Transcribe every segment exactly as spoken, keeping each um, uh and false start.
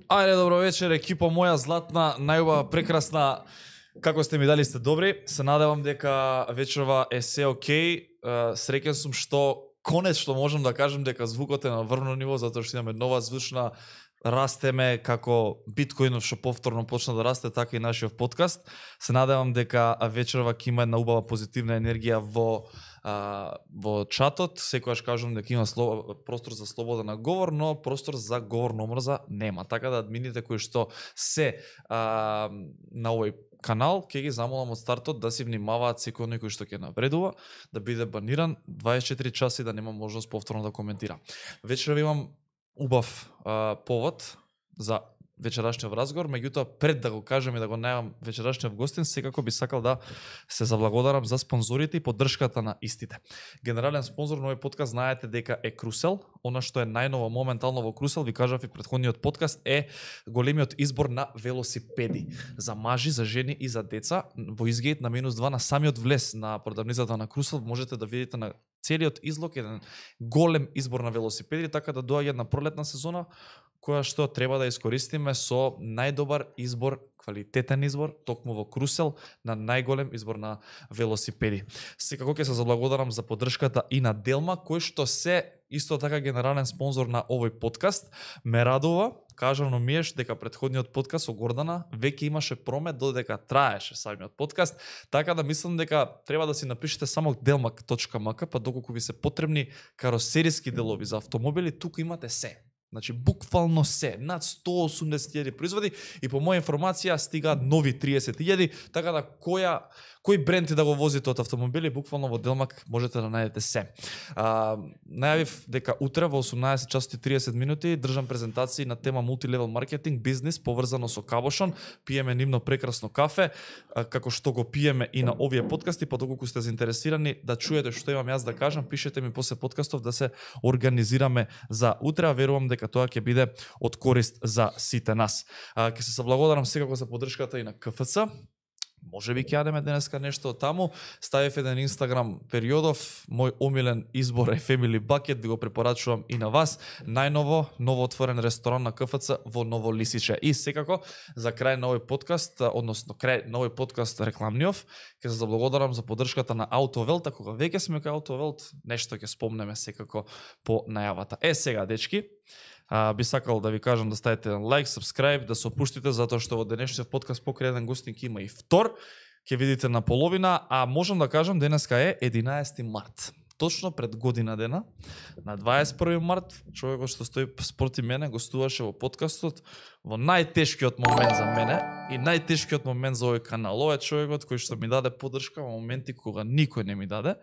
Ајде, добро вечер, екипа моја златна, најубава, прекрасна. Како сте ми, дали сте добри? Се надевам дека вечерва е се окей. Среќен сум што конечно можам да кажам дека звукот е на врвно ниво, затоа што имаме нова звучна, растеме како биткоинов што повторно почна да расте, така и нашиот подкаст. Се надевам дека вечерва ќе има една убава позитивна енергија во а, во чатот. Секогаш кажам дека има сло, простор за слободен говор, но простор за говор на омрза нема. Така да админите кои што се а, на овој канал, ќе ги замолам од стартот да си внимаваат секој некој што ќе навредува, да биде баниран дваесет и четири часа и да нема можност повторно да коментира. Вечерва имам убав а, повод за вечерашниот разговор, меѓутоа пред да го кажам и да го најавам вечерашниот гостин, секако би сакал да се заблагодарам за спонзорите и поддршката на истите. Генерален спонзор на овој подкаст знаете дека е Крусел. Она што е најново моментално во Крусел, ви кажав и претходниот подкаст, е големиот избор на велосипеди за мажи, за жени и за деца. Во изгейт на минус два на самиот влез на продавницата на Крусел можете да видите на целиот излог еден голем избор на велосипеди, така да доаѓа една пролетна сезона која што треба да искористиме со најдобар избор, квалитетен избор, токму во Крусел, на најголем избор на велосипеди. Секако ќе се заблагодарам за поддршката и на Делма, кој што се исто така генерален спонзор на овој подкаст. Ме радува, кажано ми еш дека претходниот подкаст со Гордана веќе имаше промет додека траеше самиот подкаст, така да мислам дека треба да си напишете само делмак точка ем ка, па доколку ви се потребни каросериски делови за автомобили, тука имате се. Значи, буквално се, над сто и осумдесет илјади производи и по моја информација стигаат нови триесет илјади, така да која, кој бренд да го возите од автомобили, буквално во Делмак можете да најдете се. А, најавив дека утре во осумнаесет часот и триесет минути држам презентации на тема мултилевел маркетинг, бизнис, поврзано со Кабошон, пиеме нивно прекрасно кафе, а, како што го пиеме и на овие подкасти, па доколку сте заинтересирани да чуете што имам јас да кажам, пишете ми после подкастов да се организираме за утре, а верувам дека тоа ќе биде од корист за сите нас. А, ќе се заблагодарам секако за поддршката и на ка еф це. Може би ќе јадеме денеска нешто од таму. Ставив еден Инстаграм периодов, мој омилен избор е Family Bucket, ви го препорачувам и на вас. Најново, ново отворен ресторан на ка еф це во Ново Лисиче. И секако, за крај на овој подкаст, односно крај на овој подкаст рекламниов, ќе се заблагодарам за поддршката на Автовелт, а кога веќе сме кај Автовелт, нешто ќе спомнеме секако по најавата. Е, сега, дечки, А, би сакал да ви кажам да ставите лайк, subscribe, да се опуштите, затоа што во денешниот подкаст покрај еден гостин има и втор. Ќе видите на половина, а можам да кажам денеска е единаесети март. Точно пред година дена, на дваесет и први март, човекот што стои спроти мене гостуваше во подкастот во најтешкиот момент за мене и најтешкиот момент за овој канал. Ова е човекот кој што ми даде поддршка во моменти кога никој не ми даде.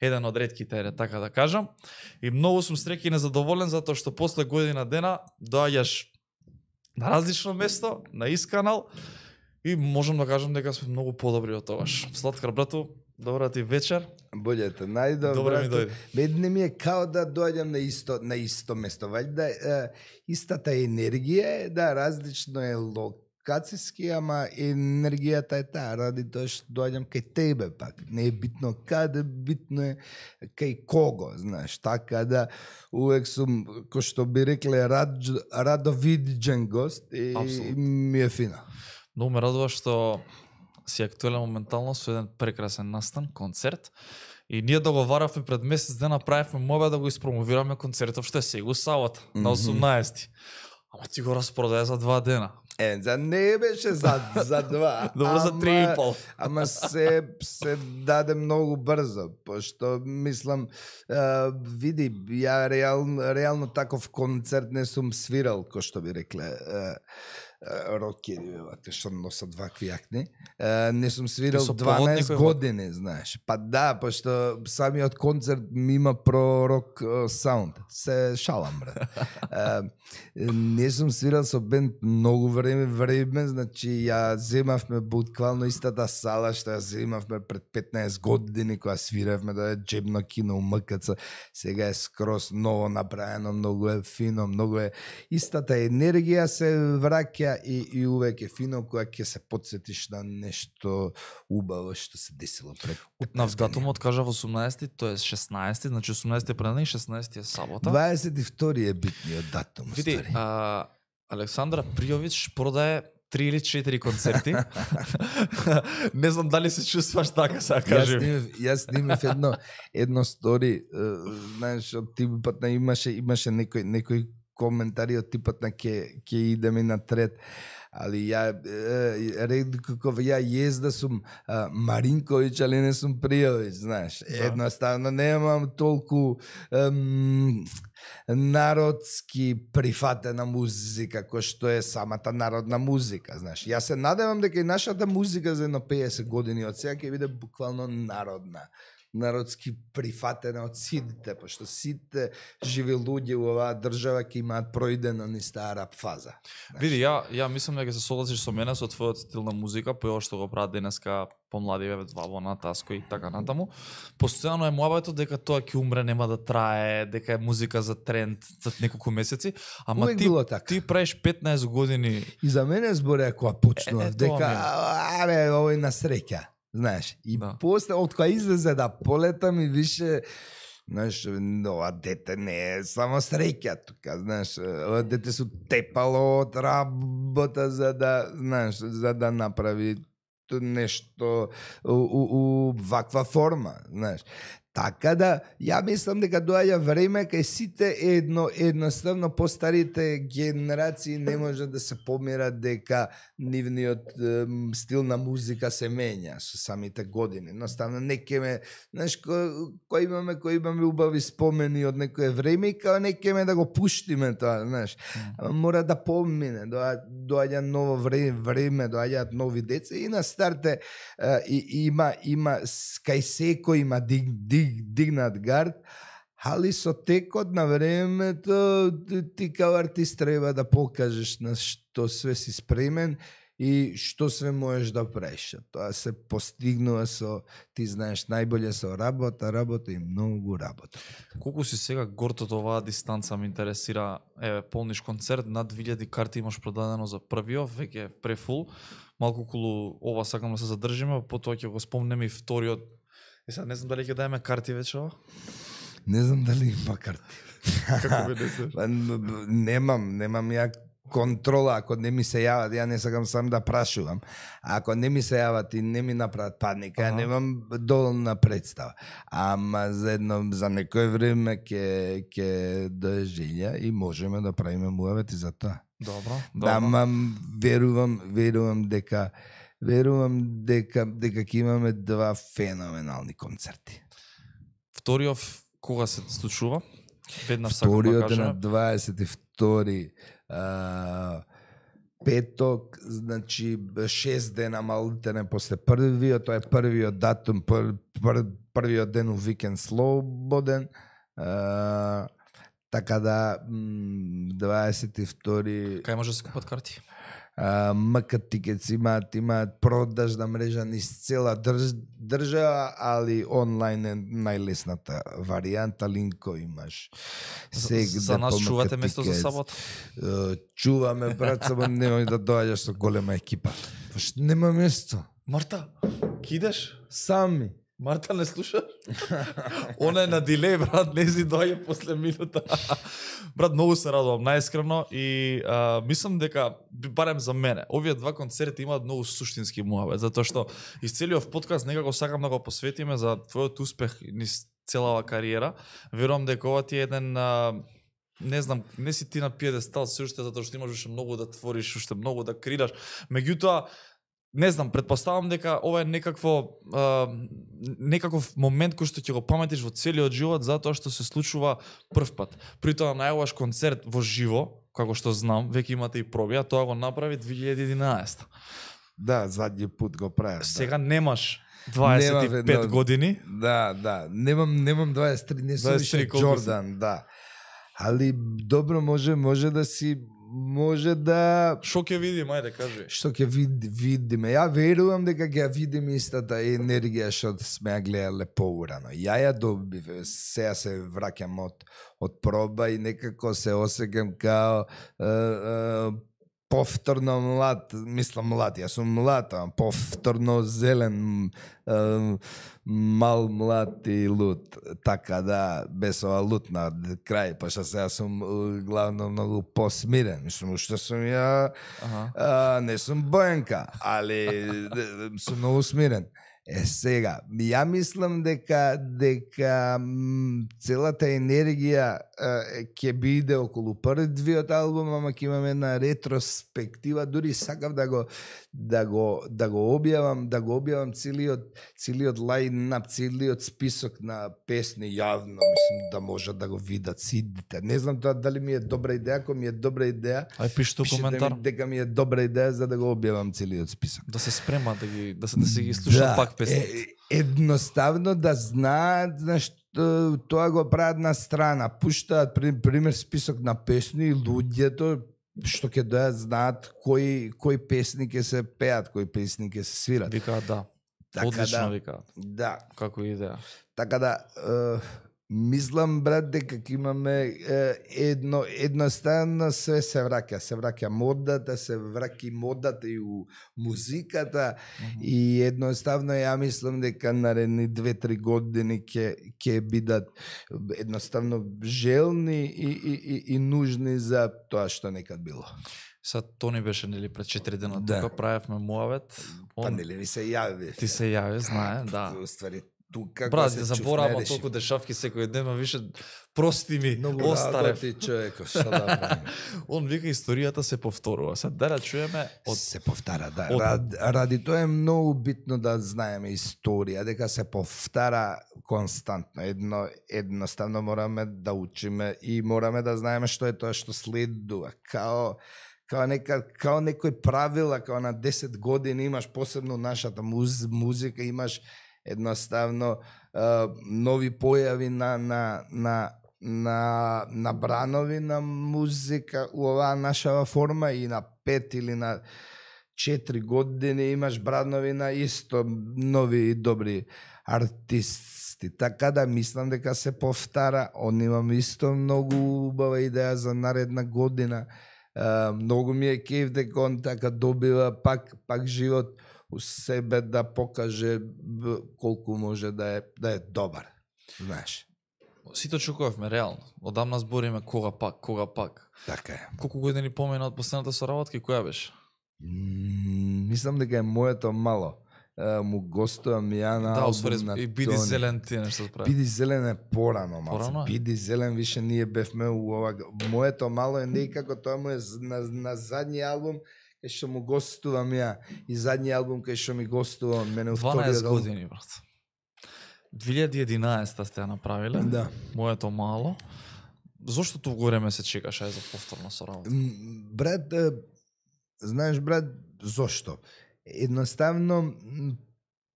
Еден од ретките, така да кажам. И многу сум среќен и незадоволен затоа што после година дена доаѓаш на различно место, на ист канал и можам да кажам дека сме многу подобри од тогаш. Сладкар брату, добра ти вечер. Болете, најдобро. Добре ми дојде. Бед не ми е као да доаѓам на исто на исто место, вајда е, истата енергија е, да, различно е локацијски, ама енергијата е таа, ради тоа што доаѓам кај тебе пак. Не е битно каде, битно е кај кого, знаеш, така да увек сум, кој што би рекле, рад, радовиден гост и, и ми е фина. Многу ме радува што си актуелен моментално со еден прекрасен настан, концерт. И ние договаравме пред месец дена, правевме мобе да го испромовираме концертов што е сега сабота, mm-hmm. на осумнаесети. Ама ти го распродаде за два дена. Е, за не беше за, за два. Добро, за три и пол. Ама се, се даде многу брзо, пошто мислам, а, види, ја реално, реално таков концерт не сум свирал, кој што би рекле, а, рокери, те што носат вакви јакни. Не сум свирал дванаесет години, знаеш. Па да, пошто самиот концерт ми има про рок саунд. Се шалам, брат. Не сум свирал со бенд многу време, време, значи ја земавме буквално истата сала што ја земавме пред петнаесет години кога свиравме да е джебно кино у ем ка це. Сега е скроз ново направено, многу е фино, многу е истата енергија се враќа и, и увек е фино кога ќе се потсетиш на нешто убаво што се десило пред петнаесет датумот кажа во осумнаесети, тоа е шеснаесети, значи осумнаесети е пранен и шеснаесети е сабота. дваесет и втори е битниот датум. Види, а, Александра Пријович продае три или четири концерти. Не знам дали се чувстваш така, сега кажи. Јас снимав, јас снимав едно едно стори, знаеш, од типот на имаше имаше некој некој коментари од типот на ке ке идеме на трет. Али ја ред како ја језда сум а, Маринковиќ, али не сум Пријовиќ, знаеш. Да. Едноставно немам толку ем, народски прифатена музика кој што е самата народна музика, знаеш. Јас се надевам дека и нашата музика за едно песет години од сега ќе биде буквално народна. Народски прифатена од сите, пошто сите живи луѓе во оваа држава ќе имаат пројдено низ таа рап фаза. Види, ја ја мислам дека се согласиш со мене со твојот стил на музика, по ова што го прават денеска помлади бебе Валбона, Таско и така натаму. Постојано е муабетот дека тоа ќе умре, нема да трае, дека е музика за тренд за неколку месеци, ама Увек ти така. ти правиш петнаесет години. И за мене збореа кога почнува Е, е, дека тоа ми е. абе овој на среќа. Знаеш, и Да. после од кога излезе да полета ми више, знаеш, ова дете не е само среќа тука, знаеш, ова дете се тепало од работа за да, знаеш, за да направи ту нешто у, у, у ваква форма, знаеш. Така да, ја мислам дека доаѓа време кај сите едно едноставно постарите генерации не може да се помират дека нивниот ем, стил на музика се менја со самите години. Едноставно не кеме, знаеш, кој ко имаме, кој имаме убави спомени од некое време и као не кеме да го пуштиме тоа, знаеш. Ама мора да помине, доаѓа, доаѓа ново време, време, доаѓаат нови деца и на старте е, и, има има кај секој има диг, диг дигнат гард, али со текот на времето ти као артист треба да покажеш на што све си спремен и што све можеш да правиш. Тоа се постигнува со, ти знаеш, најболе со работа, работа и многу работа. Колку си сега горд од оваа дистанца ме интересира, еве полниш концерт, над две илјади карти имаш продадено за првиот, веќе е префул. Малку околу ова сакам да се задржиме, потоа ќе го спомнеме и вториот. И сега не знам дали ќе даеме карти вечера. Не знам дали има карти. Како би не Па, немам, немам ја контрола, ако не ми се јават, ја не сакам сам да прашувам. А ако не ми се јават и не ми направат паника, ја немам доволна представа. Ама за едно за некој време ќе ќе дожелја и можеме да правиме муавет и за тоа. Добро, добро. Да, ама верувам, верувам дека верувам дека дека ќе имаме два феноменални концерти. Вториот кога се случува? Веднаш сакам да Вториот е кажам. на дваесет и втори а, петок, значи шест дена малтене после првиот, тоа е првиот датум, пр, пр, првиот ден у викенд слободен. А, така да дваесет и втори Кај може да се купат карти? Uh, МК Тикетс имаат, имаат продажна мрежа низ цела држ, држава, али онлайн е најлесната варијанта, линко имаш. За, за нас чувате место за сабота? Uh, чуваме, брат, само немој да доаѓаш со голема екипа. Паш нема место. Марта, ки идеш? Сами. Марта не слушаш? Она е на дилеј, брат, не си доаѓа после минута. Брат, многу се радувам, најискрено, и а, мислам дека, барем за мене, овие два концерти имаат многу суштински муабет, затоа што из целиот подкаст некако сакам да го посветиме за твојот успех низ целава кариера. Верувам дека ова ти е еден, а, не знам, не си ти на пиедестал се уште, затоа што имаш уште многу да твориш, уште многу да креираш. Меѓутоа, не знам, предпоставам дека ова е некакво а, некаков момент кој што ќе го паметиш во целиот живот, затоа што се случува прв пат. При тоа најаваш концерт во живо, како што знам, веќе имате и проби, а тоа го направи две илјади и единаесета. Да, задњи пут го правев. Сега немаш дваесет и пет Немам, години. Да, да, немам немам дваесет и три, не сум дваесет и три више колку си? Џордан, да. Али добро може може да си може да Шо ќе видим, ајде кажи. што ќе вид, видиме. Ја верувам дека ќе ја видиме истата енергија што сме ја гледале поурано. Ја ја добив, сега се враќам од од проба и некако се осеќам као е, е, повторно млад, мислам млад, јас сум млад, а повторно зелен, е, мал, млад и лут. Така да, без ова лут на крај, пошто сега сум е, главно многу посмирен. Мислам, што сум ја, Аха. а, не сум Бојанка, али сум многу смирен. Е, сега, ја мислам дека дека м, целата енергија е, ќе биде околу првиот албум, ама ќе имаме една ретроспектива, дури сакав да го да го да го објавам, да го објавам целиот целиот лајнап, целиот список на песни јавно, мислам да можат да го видат сите. Не знам тоа дали ми е добра идеја, ако ми е добра идеја, Ај пишете пишете коментар. ми дека ми е добра идеја за да го објавам целиот список. Да се спремат да ги да се да се ги слушаат пак песните. Е, едноставно да знаат, знаеш, т- тоа го прават на страна, пуштаат при- пример список на песни и луѓето што ќе дојат знаат кои кои песни ќе се пеат, кои песни ќе се свират. Викаат да. Така Одлично да, викаат. да, Како идеја. така да е, мислам брат дека ќе имаме е, едно едноставно све се враќа, се враќа модата, се враќа и модата и у музиката. И едноставно ја мислам дека наредни две-три години ќе ќе бидат едноставно желни и, и, и, и нужни за тоа што некад било. Са Тони беше нели пред четири дена Да. тука правевме муавет. Па Он нели ви се јави? ти се јави, знае, да. Уствари, тука Брат, се не заборавам чувствуваш. толку дешавки секој ден, ма више прости ми, Многу остарев. работи човеко, што да правим? Он вика историјата се повторува. Сад да чуеме од Се повтара, да. од- Ради, ради тоа е многу битно да знаеме историја, дека се повтара константно. Едно, едноставно мораме да учиме и мораме да знаеме што е тоа што следува. Као као нека као некои правила, као на десет години имаш посебно нашата муз, музика, имаш едноставно а, нови појави на на на на на бранови на музика у оваа нашава форма и на пет или на четири години имаш бранови на исто нови и добри артисти. Така да мислам дека се повтара. Он имам исто многу убава идеја за наредна година. Uh, многу ми е кеф дека он така добива пак пак живот у себе да покаже б, колку може да е да е добар. Знаеш. сите очекувавме реално. Одамна збориме кога пак, кога пак. Така е. Колку години помина од последната соработка и која беше? М, мислам дека е моето мало. Uh, му гостувам ја на Да, албум освари на и биди Тони. зелен ти нешто прави. Биди зелен е порано, Порано малце. е? Биди зелен више ние бевме у ова. Моето мало е некако тоа му е з- на, на задни албум кај што му гостувам ја и задни албум кај што ми гостува он мене у дванаесет вториот албум. години, брат. две илјади и единаесета сте ја направиле. Да. Моето мало. Зошто толку време се чекаше за повторна соработка? М, Брат, е, знаеш брат, зошто? Едноставно м,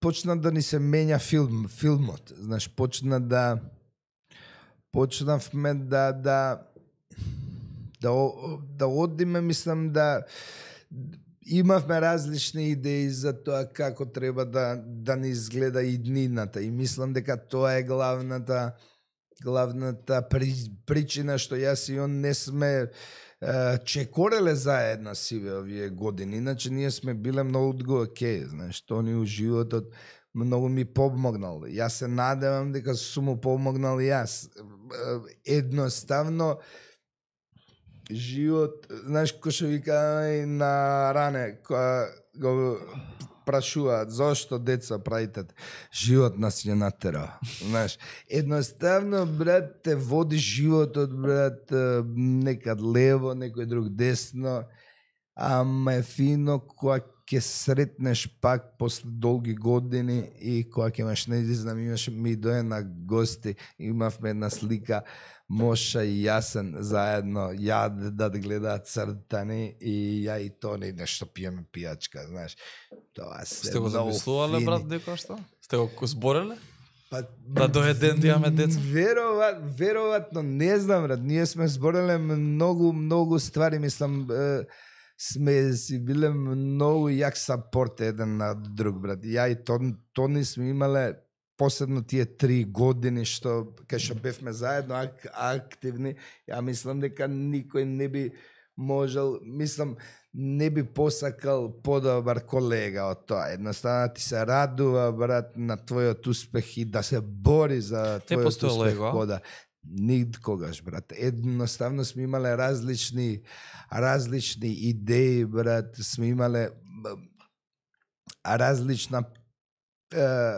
почна да ни се менја филм, филмот. Знаеш, почна да почнавме да да да о- да одиме, мислам да имавме различни идеи за тоа како треба да да ни изгледа иднината и мислам дека тоа е главната главната при, причина што јас и он не сме е, чекореле заедно сиве овие години. Иначе ние сме биле многу го окей, знаеш, тоа ни у животот многу ми помогнал. Јас се надевам дека сум му помогнал и јас. Е, Едноставно живот, знаеш, кој што вика и на ране, која го прашуваат зошто деца правите, живот нас ја натера. Знаеш, едноставно брат те води животот брат е, некад лево, некој друг десно, ама е фино кога ќе сретнеш пак после долги години и кога ќе имаш, не знам, имаш ми дое на гости, имавме една слика Моша и Јасен заедно ја да гледаат цртани и ја и Тони нешто пиеме пијачка, знаеш. Тоа се Сте го многу замислувале, фини. брат, дека што? Сте го збореле? Па, Да дое ден да имаме деца? Вероvatno, вероvatno, не знам, брат. Ние сме збореле многу, многу ствари, мислам, е, сме си биле многу јак сапорт еден на друг, брат. Ја и Тон, Тони сме имале посебно тие три години што кај што бевме заедно ак, активни, ја мислам дека никој не би можел, мислам, не би посакал подобар колега од тоа. Едноставно ти се радува, брат, на твојот успех и да се бори за твојот успех кода. Никогаш, брат. Едноставно сме имале различни различни идеи, брат. Сме имале различна е,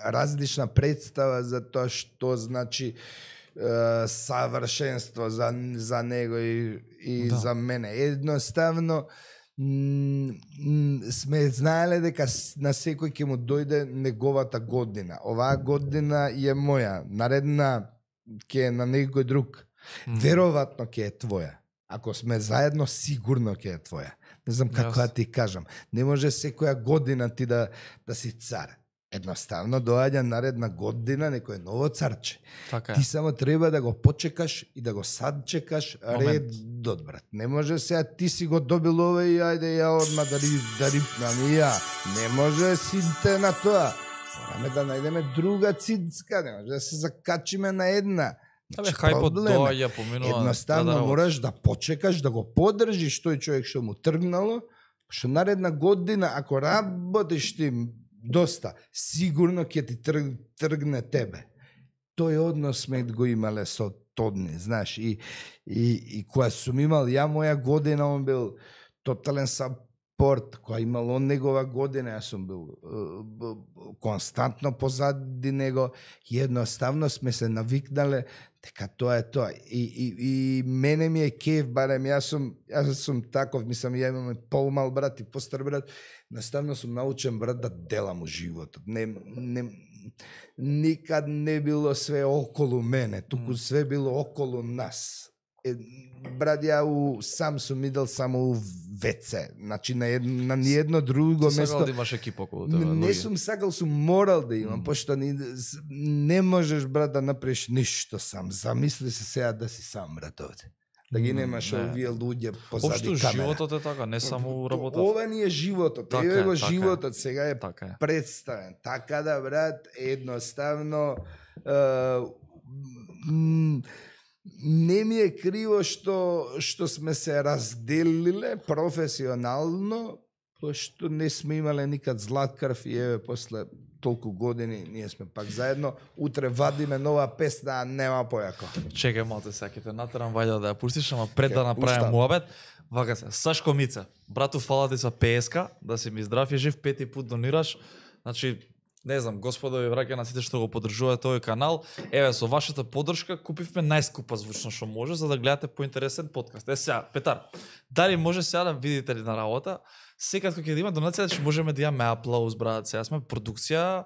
различна представа за тоа што значи е, савршенство за, за него и, и да. За мене. Едноставно сме знаеле дека на секој ќе му дојде неговата година. Оваа година е моја, наредна ќе е на некој друг. Mm. Веројатно ќе е твоја. Ако сме заедно, сигурно ќе е твоја. Не знам како да yes. ти кажам. Не може секоја година ти да, да си цар. Едноставно доаѓа наредна година некој ново царче. Така ти само треба да го почекаш и да го садчекаш редот, брат. Не може сега ти си го добил ова и ајде ја одма да, да рипнам и ја. Не може сите на тоа. Мораме да најдеме друга цицка, не може да се закачиме на една. Абе, хајпот доаѓа, поминува. Едноставно да, да, мораш да почекаш, да го подржиш тој човек што му тргнало, што наредна година, ако работиш ти доста, сигурно ќе ти трг, тргне тебе. Тој однос сме го имале со Тодни, знаеш, и, и, и која сум имал ја моја година, он бил тотален сапорт, која имал он негова година, јас сум бил uh, константно позади него, и едноставно сме се навикнале дека тоа е тоа. И, и, и мене ми е кеф, барем јас сум, јас сум таков, мислам, ја имам помал брат и постар брат, наставно сум научен брат да делам у животот. Не, не, никад не било све околу мене, туку све било околу нас. Е, брат, ја у, сам сум идел само у ВЦ, значи на, ед, на ниедно друго место. Ти сакал да имаш екипа околу тебе? Не, не сум сакал, сум морал да имам, mm. пошто не, не можеш, брат, да направиш ништо сам. Замисли се сега да си сам, брат, овде. Да ги немаш не. Овие луѓе позади Обшто, камера. Животот е така, не само работата. Ова ни е животот, така еве го така животот, сега е, така е представен. Така да, брат, едноставно е, не ми е криво што што сме се разделиле професионално, пошто не сме имале никад златкрв и еве после толку години ние сме пак заедно. Утре вадиме нова песна, а нема појако. Чекај малце, саките натерам вајда да ја пуштиш, ама пред да направим муабет, вака се. Сашко Мица, брату, фала ти за песка, да си ми здрав и жив, пети пат донираш. Значи, не знам, господа ви враќа на сите што го поддржуваат тој канал. Еве, со вашата поддршка купивме најскупа звучно што може за да гледате поинтересен подкаст. Е сега, Петар, дали може сега да видите ли на работа? Секад кога ќе да има донација, ќе можеме да имаме аплауз, брат. Сега сме продукција,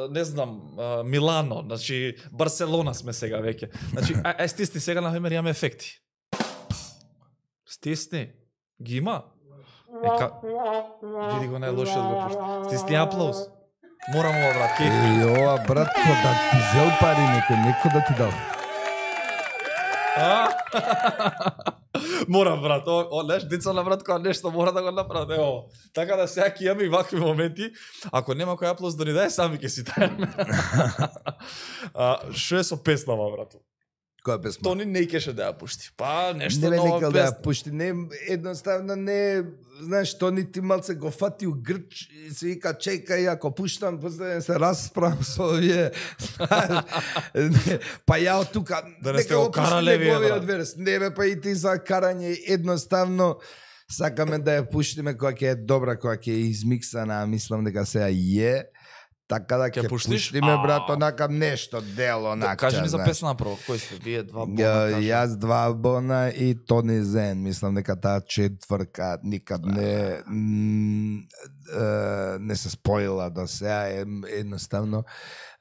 не знам, Милано, значи Барселона сме сега веќе. Значи, ај стисни сега на пример имаме ефекти. Стисни. Ги има? Ека... Види го најлошиот го пушти. Стисни аплауз. Морам ова, брат, кеф. Е, ова, брат, ко да ти зел пари некој, некој да ти дал. Морам, брат, о, о, неш, дица на брат, која нешто мора да го направи, ево. Така да сега ќе имаме и вакви моменти. Ако нема кој аплауз да ни даде, сами ќе си тајаме. Шо е со песнава, брат? Која песма? Тони не кеше да ја пушти. Па, нешто не нова песна. Да ја пушти, не, едноставно не, знаеш, Тони ти малце го фати у грч и се вика, чекај, ако пуштам, после се расправам со овие. Па ја од тука, да не сте го карале вие, брат. Не бе, па и ти за карање, едноставно сакаме да ја пуштиме која ќе е добра, која ќе е измиксана, мислам дека сега е. Така да ќе пуштиме, брат, онакам нешто, дело, онака. Кажи ми за песна прво, кој сте вие два бона? Јас два бона и Тони Зен, мислам дека таа четврка никад не не се споила до сега, едноставно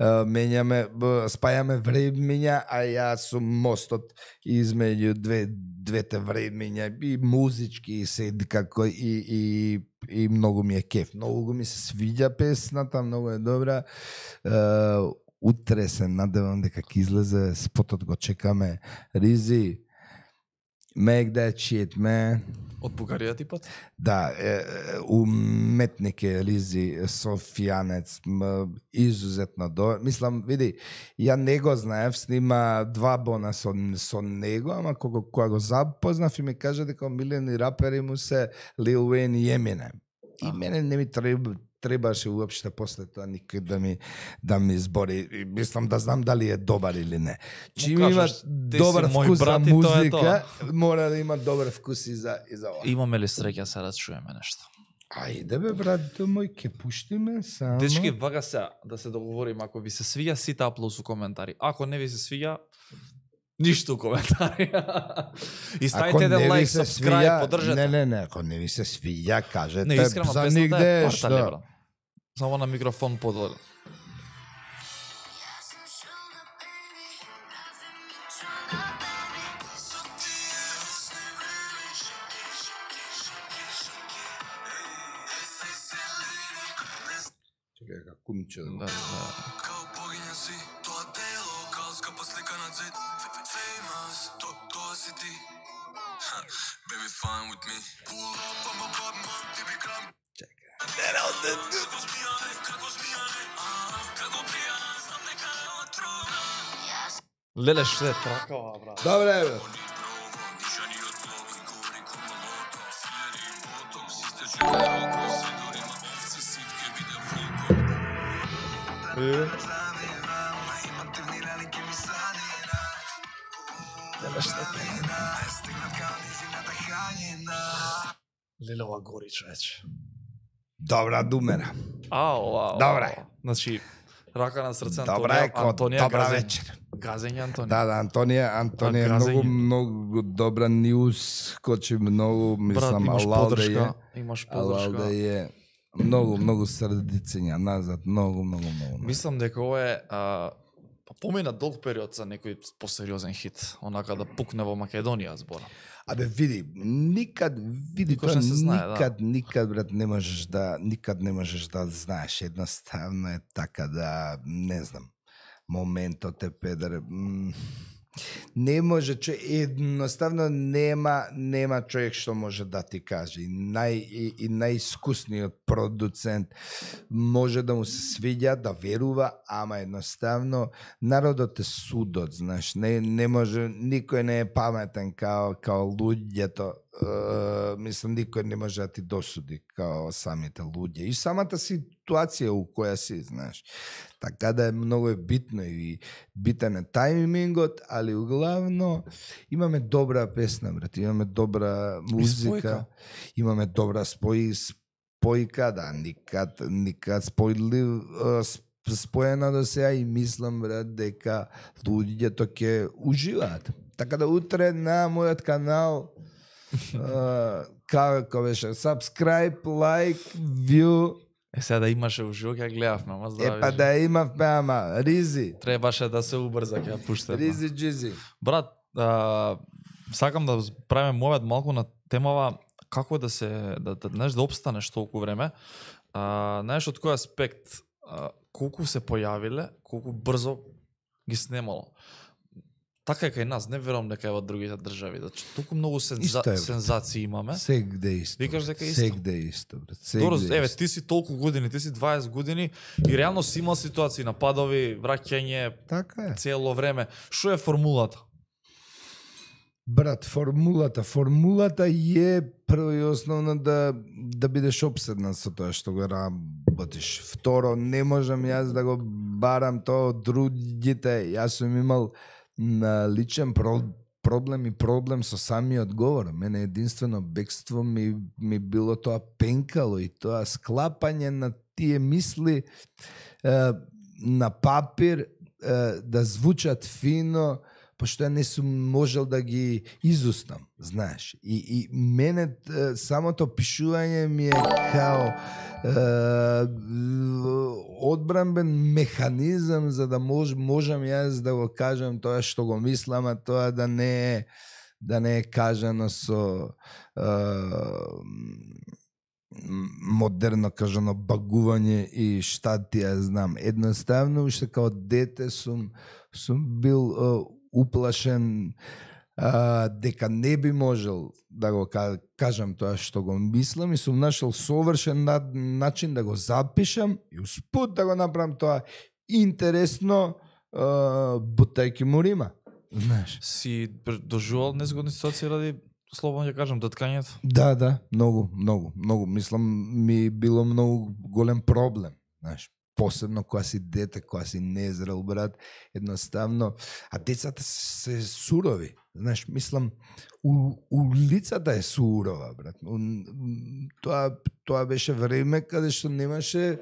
менјаме, спајаме времиња, а јас сум мостот измеѓу две двете времиња и музички и се како и и и многу ми е кеф. Многу ми се свиѓа песната, многу е добра. Uh, утре се надевам дека ќе излезе спотот, го чекаме. Ризи, Make that shit, man. Од Бугарија типот? Да, е, уметник е Ризи, софијанец, м, изузетно до. Мислам, види, ја не го знаев, снима два бона со, со него, ама кога, кога го запознав и ми кажа дека омилени рапери му се Lil Wayne и Eminem. И мене не ми треба требаше уопште после тоа никој да ми да ми избори. И мислам да знам дали е добар или не. Чим има добар вкус за музика, мора да има добар вкус и за и за ова. Имаме ли среќа се да чуеме нешто? Ајде бе брат мој, ке пуштиме само. Дечки, вака сега да се договориме, ако ви се свиѓа сите аплауз у коментари. Ако не ви се свиѓа, ништо у коментари. И ставите еден лайк, subscribe, поддржете. Не, не, не, ако не ви се свиѓа, кажете. Не, искрено, за песната нигде е што. партали, брат. Само на микрофон подоле. Чекај, како кумче. Да, да. Као богиња си, тоа дело, као скапа слика на зид. Famous, то, тоа си ти. Baby, fine with me. Pull up, I'm a bad man, ти би крам. Чекај. Како смијане, како смијане. Како пијана, знам нека е отруна. Леле, што е тракава, брат? Добре, бе. Нишани од блок, гори кума лото. Филери и ботокс, истече роко. Седорима овце, ситке биде фолко. Леле, што е Леле, ова гори, човече. Добра думера. Ау, ау. Добре. ау. Значи, рака на срце Добра Антонија, е код, Антонија добра газење. вечер. Газење Антонија. Да, да, Антонија, Антонија е А, многу, газење. многу добра ньюс, кочи многу, Брат, мислам, имаш Алалде поддршка, е, имаш Алалде поддршка. е многу, многу срдицења назад, многу, многу, многу. многу. Мислам дека ова е а, па помина долг период за некој посериозен хит, онака да пукне во Македонија збора. Абе види, никад види Никош тоа не се знае, да. никад никад брат не можеш да никад не можеш да знаеш, едноставно е така да не знам. Моментот е педер. м, Не може че едноставно нема нема човек што може да ти каже. И нај и, и најискусниот продуцент може да му се свиѓа, да верува, ама едноставно народот е судот, знаеш, не не може, никој не е паметен као као луѓето. Uh, мислам, никој не може да ти досуди као самите луѓе. И самата ситуација у која си, знаеш. Така да е многу е битно и битен е тајмингот, али углавно имаме добра песна, брат, имаме добра музика, имаме добра спој, спојка, да, никад, никад спојлив, споена до сега и мислам, брат, дека луѓето ќе уживаат. Така да утре на мојот канал Uh, како беше, subscribe, like, view. Е, сега да имаше уживо, ќе гледавме, ама Е, здрави. па да имавме, ама, Ризи. Требаше да се убрза, ќе ја пуштаме. Ризи, джизи. Брат, а, сакам да правиме мовет малку на темава како да се да да знаеш да обстанеш толку време. А, знаеш од кој аспект, а, колку се појавиле, колку брзо ги снемало. Така е кај нас, не верувам дека е во другите држави, значи толку многу сенза... Исто е, брат. сензации имаме. Сегде исто. Викаш дека е исто? Сегде исто, брат. Сегде Добро, еве, исто. ти си толку години, ти си дваесет години и реално си имал ситуации, нападови, враќање Така е. цело време. Што е формулата? Брат, формулата, формулата е прво и основно да да бидеш обседнат со тоа што го работиш. Второ, не можам јас да го барам тоа од другите. Јас сум имал на личен про, проблем и проблем со самиот говор. Мене единствено бегство ми, ми било тоа пенкало и тоа склапање на тие мисли е, на папир е, да звучат фино, пошто ја не сум можел да ги изуснам, знаеш. И, и мене е, самото пишување ми е као е, одбранбен механизам за да мож, можам јас да го кажам тоа што го мислам, а тоа да не е да не е кажано со е, модерно кажано багување и шта ти ја знам. Едноставно уште као дете сум сум бил е, уплашен а, дека не би можел да го кажам тоа што го мислам и сум нашол совршен на, начин да го запишам и успут да го направам тоа интересно, а, бутајки му рима. Знаеш. Си доживал незгодни ситуации ради, слободно ќе кажам, доткањето? Да, да, многу, многу, многу. Мислам, ми било многу голем проблем, знаеш. Посебно кога си дете, кога си незрел, брат, едноставно, а децата се сурови, знаеш, мислам, у, улицата е сурова, брат. У, тоа, тоа беше време каде што немаше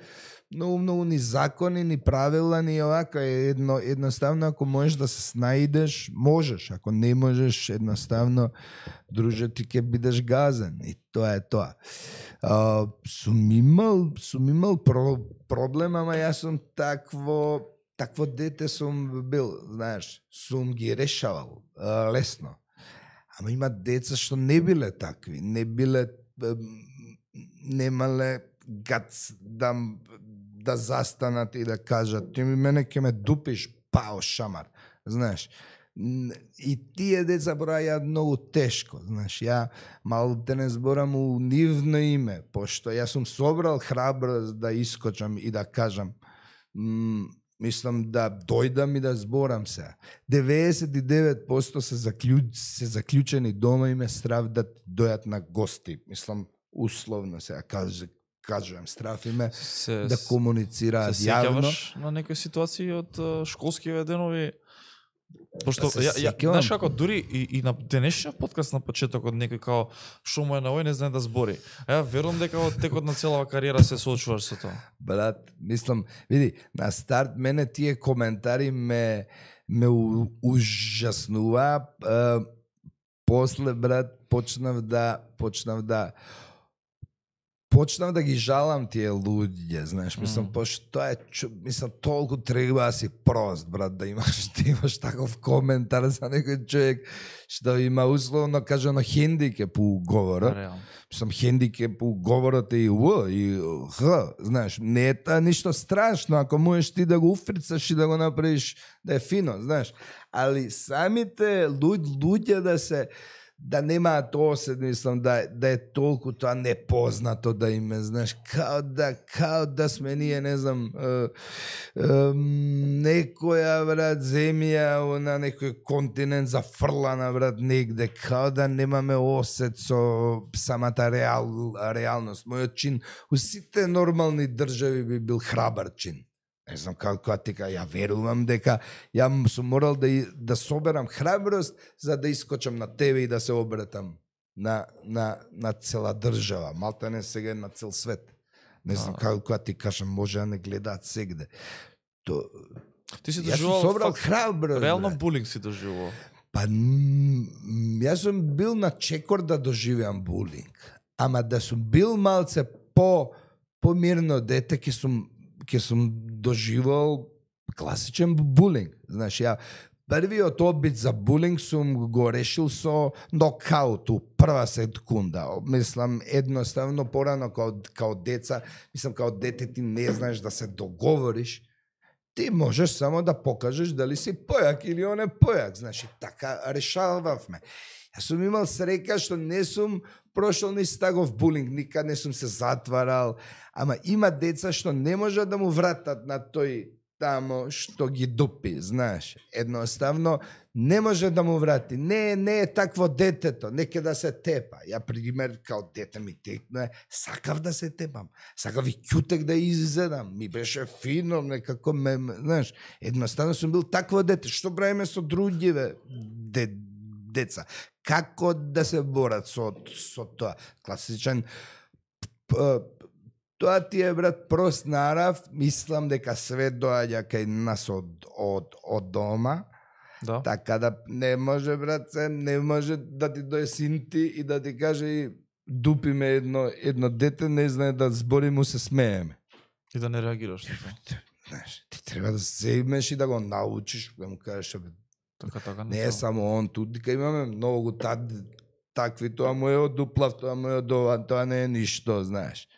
многу, многу ни закони, ни правила, ни овака, едно, едноставно, ако можеш да се снаидеш, можеш, ако не можеш, едноставно, друже, ти ќе бидеш газен, и тоа е тоа. Uh, сум имал, сум имал про, проблем, ама јас сум такво, такво дете сум бил, знаеш, сум ги решавал uh, лесно. Ама има деца што не биле такви, не биле, немале гац да, да застанат и да кажат, ти ми мене ќе ме дупиш, пао шамар, знаеш. И тие деца браја многу тешко, знаеш, ја малку те не зборам у нивно име, пошто јас сум собрал храброст да искочам и да кажам, м, мислам да дојдам и да зборам се. деветдесет и девет проценти се, заклю... се заклучени дома и ме страв да дојат на гости, мислам условно се каж... кажувам, страф име се, да комуницираат се јавно. Се на некои ситуации од школскиве денови? Пошто се ја, ја, сеќавам. знаеш како дури и, и на денешниот подкаст на почетокот некој као што му е на овој не знае да збори. А ја верувам дека од текот на целава кариера се соочуваш со тоа. Брат, мислам, види, на старт мене тие коментари ме ме у, ужаснува. Е, после, брат, почнав да почнав да почнав да ги жалам тие луѓе, знаеш, мислам, mm. пошто тоа е, мислам, толку треба да си прост, брат, да имаш, да имаш таков коментар за некој човек што има условно кажано хендикеп у говорот. Реално. Мислам, хендикеп у говорот е и У, и Х, знаеш, не е та ништо страшно, ако можеш ти да го уфрицаш и да го направиш да е фино, знаеш, али самите луѓе, луѓе да се да немаат осет, мислам, да, да е толку тоа непознато да име, знаеш, као да, као да сме ние, не знам, е, е, некоја, брат, земја на некој континент зафрлана, брат, негде, као да немаме осет со самата реал, реалност. Мојот чин у сите нормални држави би бил храбар чин. Не знам како ти кажа, ја верувам дека ја сум морал да, да соберам храброст за да искочам на тебе и да се обратам на, на, на цела држава, малта не сега на цел свет. Не знам како ти кажам, може да не гледаат сегде. То, ти си јас сум доживувал собрал факт, храброст. реално брат. булинг си доживувал. Па, м, јас сум бил на чекор да доживеам булинг, ама да сум бил малце по помирно дете, ке сум ке сум доживал класичен булинг. Знаеш, ја првиот обид за булинг сум го решил со нокаут у прва секунда. Мислам, едноставно порано као, као деца, мислам, као дете ти не знаеш да се договориш, ти можеш само да покажеш дали си појак или он е појак. Знаеш, и така решававме. Јас сум имал среќа што не сум прошол ни стагов булинг, никад не сум се затварал, ама има деца што не можат да му вратат на тој тамо што ги дупи, знаеш. Едноставно не може да му врати. Не, не е такво детето, неке да се тепа. Ја пример као дете ми текна, сакав да се тепам, сакав и ќутек да изедам, ми беше фино, некако ме, знаеш, едноставно сум бил такво дете, што правиме со другиве де, деца. Како да се борат со, со тоа? Класичен тоа ти е, брат, прост нарав, мислам дека све доаѓа кај нас од, од, од дома, Да. така да не може, брат, се, не може да ти дојде син ти и да ти каже и дупиме едно, едно дете, не знае да збори, му се смееме. И да не реагираш на тоа. Знаеш, ти треба да се земеш и да го научиш, да му кажеш, бе, Така, така, не е само он, тука имаме многу тад, такви, тоа му е од дуплав, тоа му е од ова, тоа не е ништо, знаеш.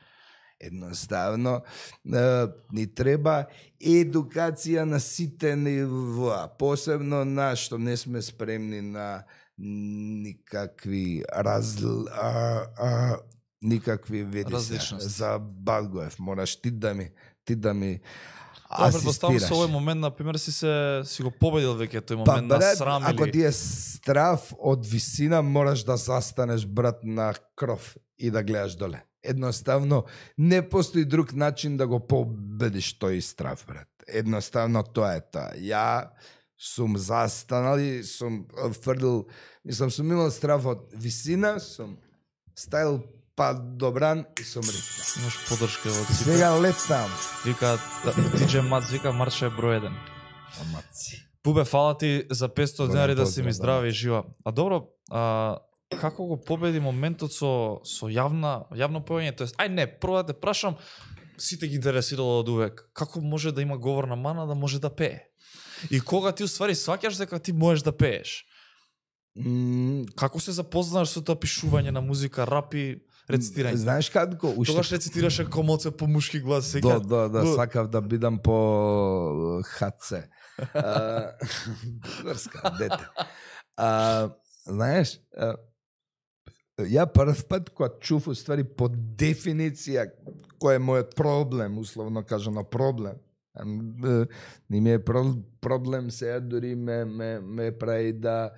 Едноставно е, ни треба едукација на сите нивоа, посебно на што не сме спремни на никакви разл... а, а, никакви види Различности. за Балгоев. Мораш ти да ми ти да ми Да, предпоставам асистираш. со овој момент, например, си се си го победил веќе тој Па, момент на брат, срам ако или... ти е страв од висина, мораш да застанеш, брат, на кров и да гледаш доле. Едноставно, не постои друг начин да го победиш тој страв, брат. Едноставно, тоа е тоа. Ја сум застанал и сум фрлил, мислам, сум имал страв од висина, сум стајал па добран и сум ритнал. Имаш подршка од сите. Сега летам. Вика, диџеј Мац, вика, Марче е број еден. Амаци. Пубе, фала ти за петсто Голем денари да си поздрав, ми да. здрави и жива. А добро, а, како го победи моментот со, со јавна, јавно појање? Тоест, ај не, прво да те прашам, сите ги интересирало од увек, како може да има говорна мана да може да пее? И кога ти уствари сваќаш дека ти можеш да пееш? М, Како се запознаш со тоа пишување на музика, рап и рецитирање? Знаеш како? Уште Тогаш рецитираше комоце по мушки глас, Да, сега. да, да, Бу- сакав да бидам по ХЦ. А, Врска, дете. А, знаеш, а, ја прв пат кога чув уствари по дефиниција кој е мојот проблем, условно кажано проблем, а, м, не ми е про- проблем сега дури ме, ме, ме прави да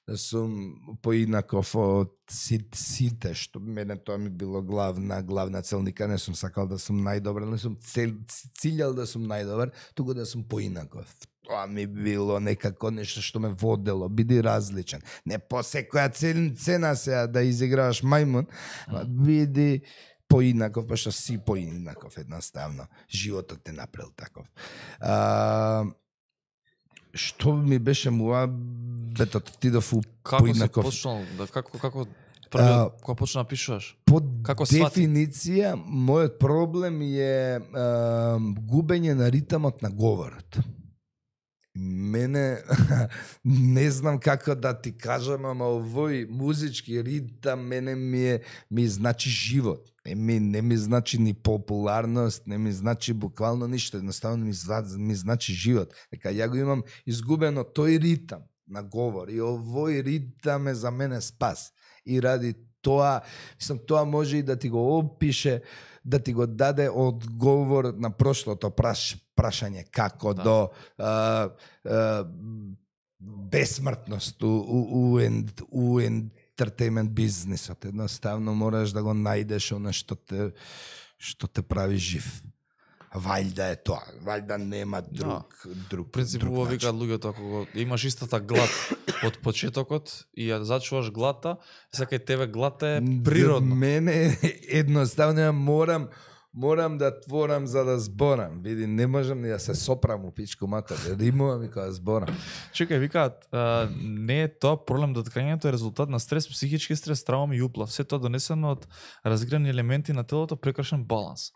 да сум поинаков од сите, сите, што мене тоа ми било главна, главна цел, никад не сум сакал да сум најдобар, не сум цел, циљал да сум најдобар, туку да сум поинаков. Тоа ми било некако нешто што ме водело, биди различен. Не по секоја цен- цена сега да изиграваш мајмун, ама биди поинаков, па што си поинаков едноставно. Животот те направил таков. А, што ми беше муа бетот отидов у Како си поинаков. почнал, да, како, како првиот, кога почна да пишуваш? По Како свати? дефиниција, мојот проблем е а, губење на ритамот на говорот. Мене, не знам како да ти кажам, ама овој музички ритам мене ми е, ми значи живот. Не ми, не ми значи ни популарност, не ми значи буквално ништо, едноставно ми, зва- ми значи живот. Дека ја го имам изгубено тој ритам на говор и овој ритам е за мене спас. И ради тоа, мислам, тоа може и да ти го опише, да ти го даде одговор на прошлото праш, прашање како Да. до а, а, бесмртност у, у, у, ен- у ентертеймент бизнисот. Едноставно мораш да го најдеш она што те, што те прави жив. Вајда е тоа, вајда нема друг, друг, В принцип, друг убаво начин. викаат луѓето, ако го, имаш истата глад од почетокот и ја зачуваш глата, сака и тебе глата е природно. Мене едноставно ја морам морам да творам за да зборам. Види, не можам ни да се сопрам у пичку матер. Римувам и кога зборам. Чекај, викаат, а, не е тоа проблем, доткањето е резултат на стрес, психички стрес, травма и уплав. Се тоа донесено од разграни елементи на телото, прекршен баланс.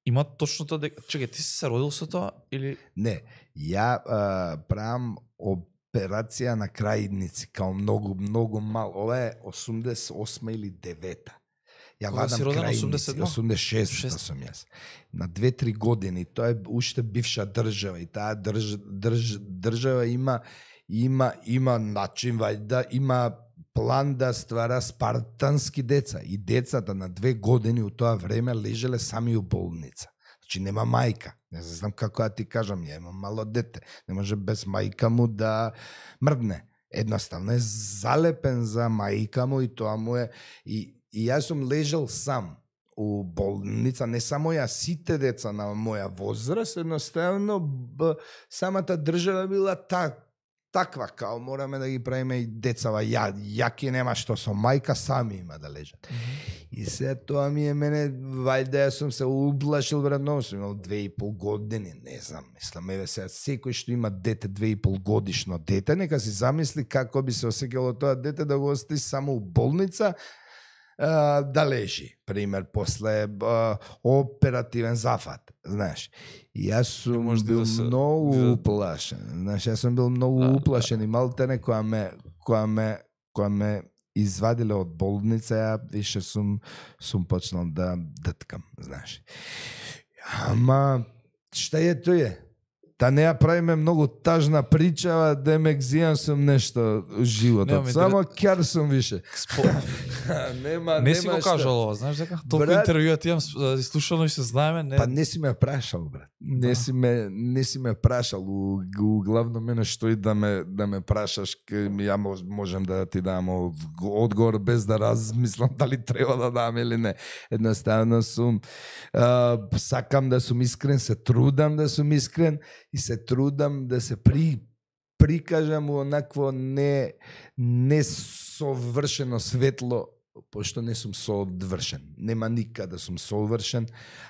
Има точно тоа дека... Чекај, ти си се родил со тоа или... Не, ја а, правам операција на крајници, као многу, многу мал. Ова е осумдесет и осма или девета. Ја Кога си вадам роден, крајници, осумдесет и едно? осумдесет и шеста Шест. сум јас. На две-три години, тоа е уште бивша држава и таа држ, држ, држава има има има начин вајда, има план да ствара спартански деца и децата на две години у тоа време лежеле сами у болница. Значи нема мајка. Не знам како да ти кажам, ја имам мало дете. Не може без мајка му да мрдне. Едноставно е залепен за мајка му и тоа му е и И јас сум лежал сам у болница, не само ја, сите деца на моја возраст, едноставно б, самата држава била та, таква, као мораме да ги правиме и децава, ја, јаки нема што со мајка, сами има да лежат. Mm-hmm. И се тоа ми е мене, вајда јас сум се уплашил вредно, сум имал две и пол години, не знам, мислам, еве сега, секој што има дете, две и пол годишно дете, нека си замисли како би се осеќало тоа дете да го остави само у болница, Uh, да лежи, пример, после uh, оперативен зафат, знаеш. И јас сум може бил да се- многу да- уплашен, знаеш, јас сум бил многу Да, уплашен и малтене која ме, која ме, која ме извадиле од болница, ја више сум сум почнал да дткам, знаеш. Ама што е тој? Та не ја правиме многу тажна прича, да ме гзијам сум нешто у животот. Нема, Само кјар сум више. Спо... нема, не си нема го што. кажал ова, знаеш дека? Толку Брат- интервјуа ти имам с- слушано и се знаеме, не. Па не си ме прашал, брат. Не Да. си ме не си ме прашал. У, у главно мене што и да ме да ме прашаш, ке, ја мож, можем да ти дам од, одговор без да размислам дали треба да дам или не. Едноставно сум а, сакам да сум искрен, се трудам да сум искрен и се трудам да се при прикажам у онакво не не совршено светло, пошто не сум соодвршен. Нема никад да сум совршен,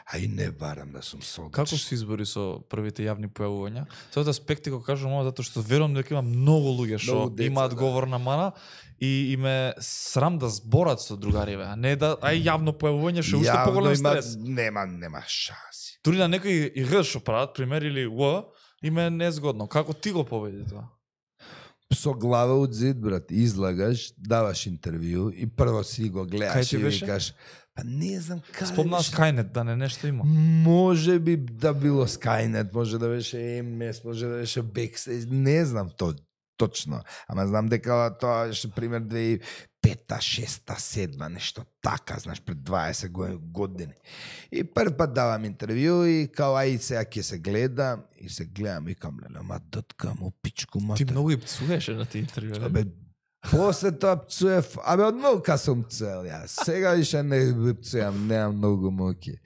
а и не барам да сум совршен. Како се избори со првите јавни појавувања? Со од аспекти го кажувам ова затоа што верувам дека има многу луѓе што Многу деца, имаат да. говорна мана и име срам да зборат со другариве, а не да ај јавно појавување што уште Јавно поголем има- стрес. Нема, нема шанси. Дури на некои и р што прават, пример или в, име незгодно. Како ти го победи тоа? Со глава од зид, брат, излагаш, даваш интервју и прво си го Кај гледаш ти и беше? викаш, па не знам каде Спомнаш беше. Skynet, да не нешто има. Може би да било Skynet, може да беше Ем Ес, може да беше Backstage, не знам то точно. Ама знам дека тоа беше пример две тисячи и пета, шеста, седма, нешто така, знаеш, пред дваесет го- години. И прв пат давам интервју и као ај сега ќе се гледа и се гледам и кам леле, ма дъткам у пичку Ти матер. многу и пцуеше на тие интервјуи. Абе, после тоа пцуев, абе од многу ка сум цел ја. Сега више не пцујам, немам многу муки.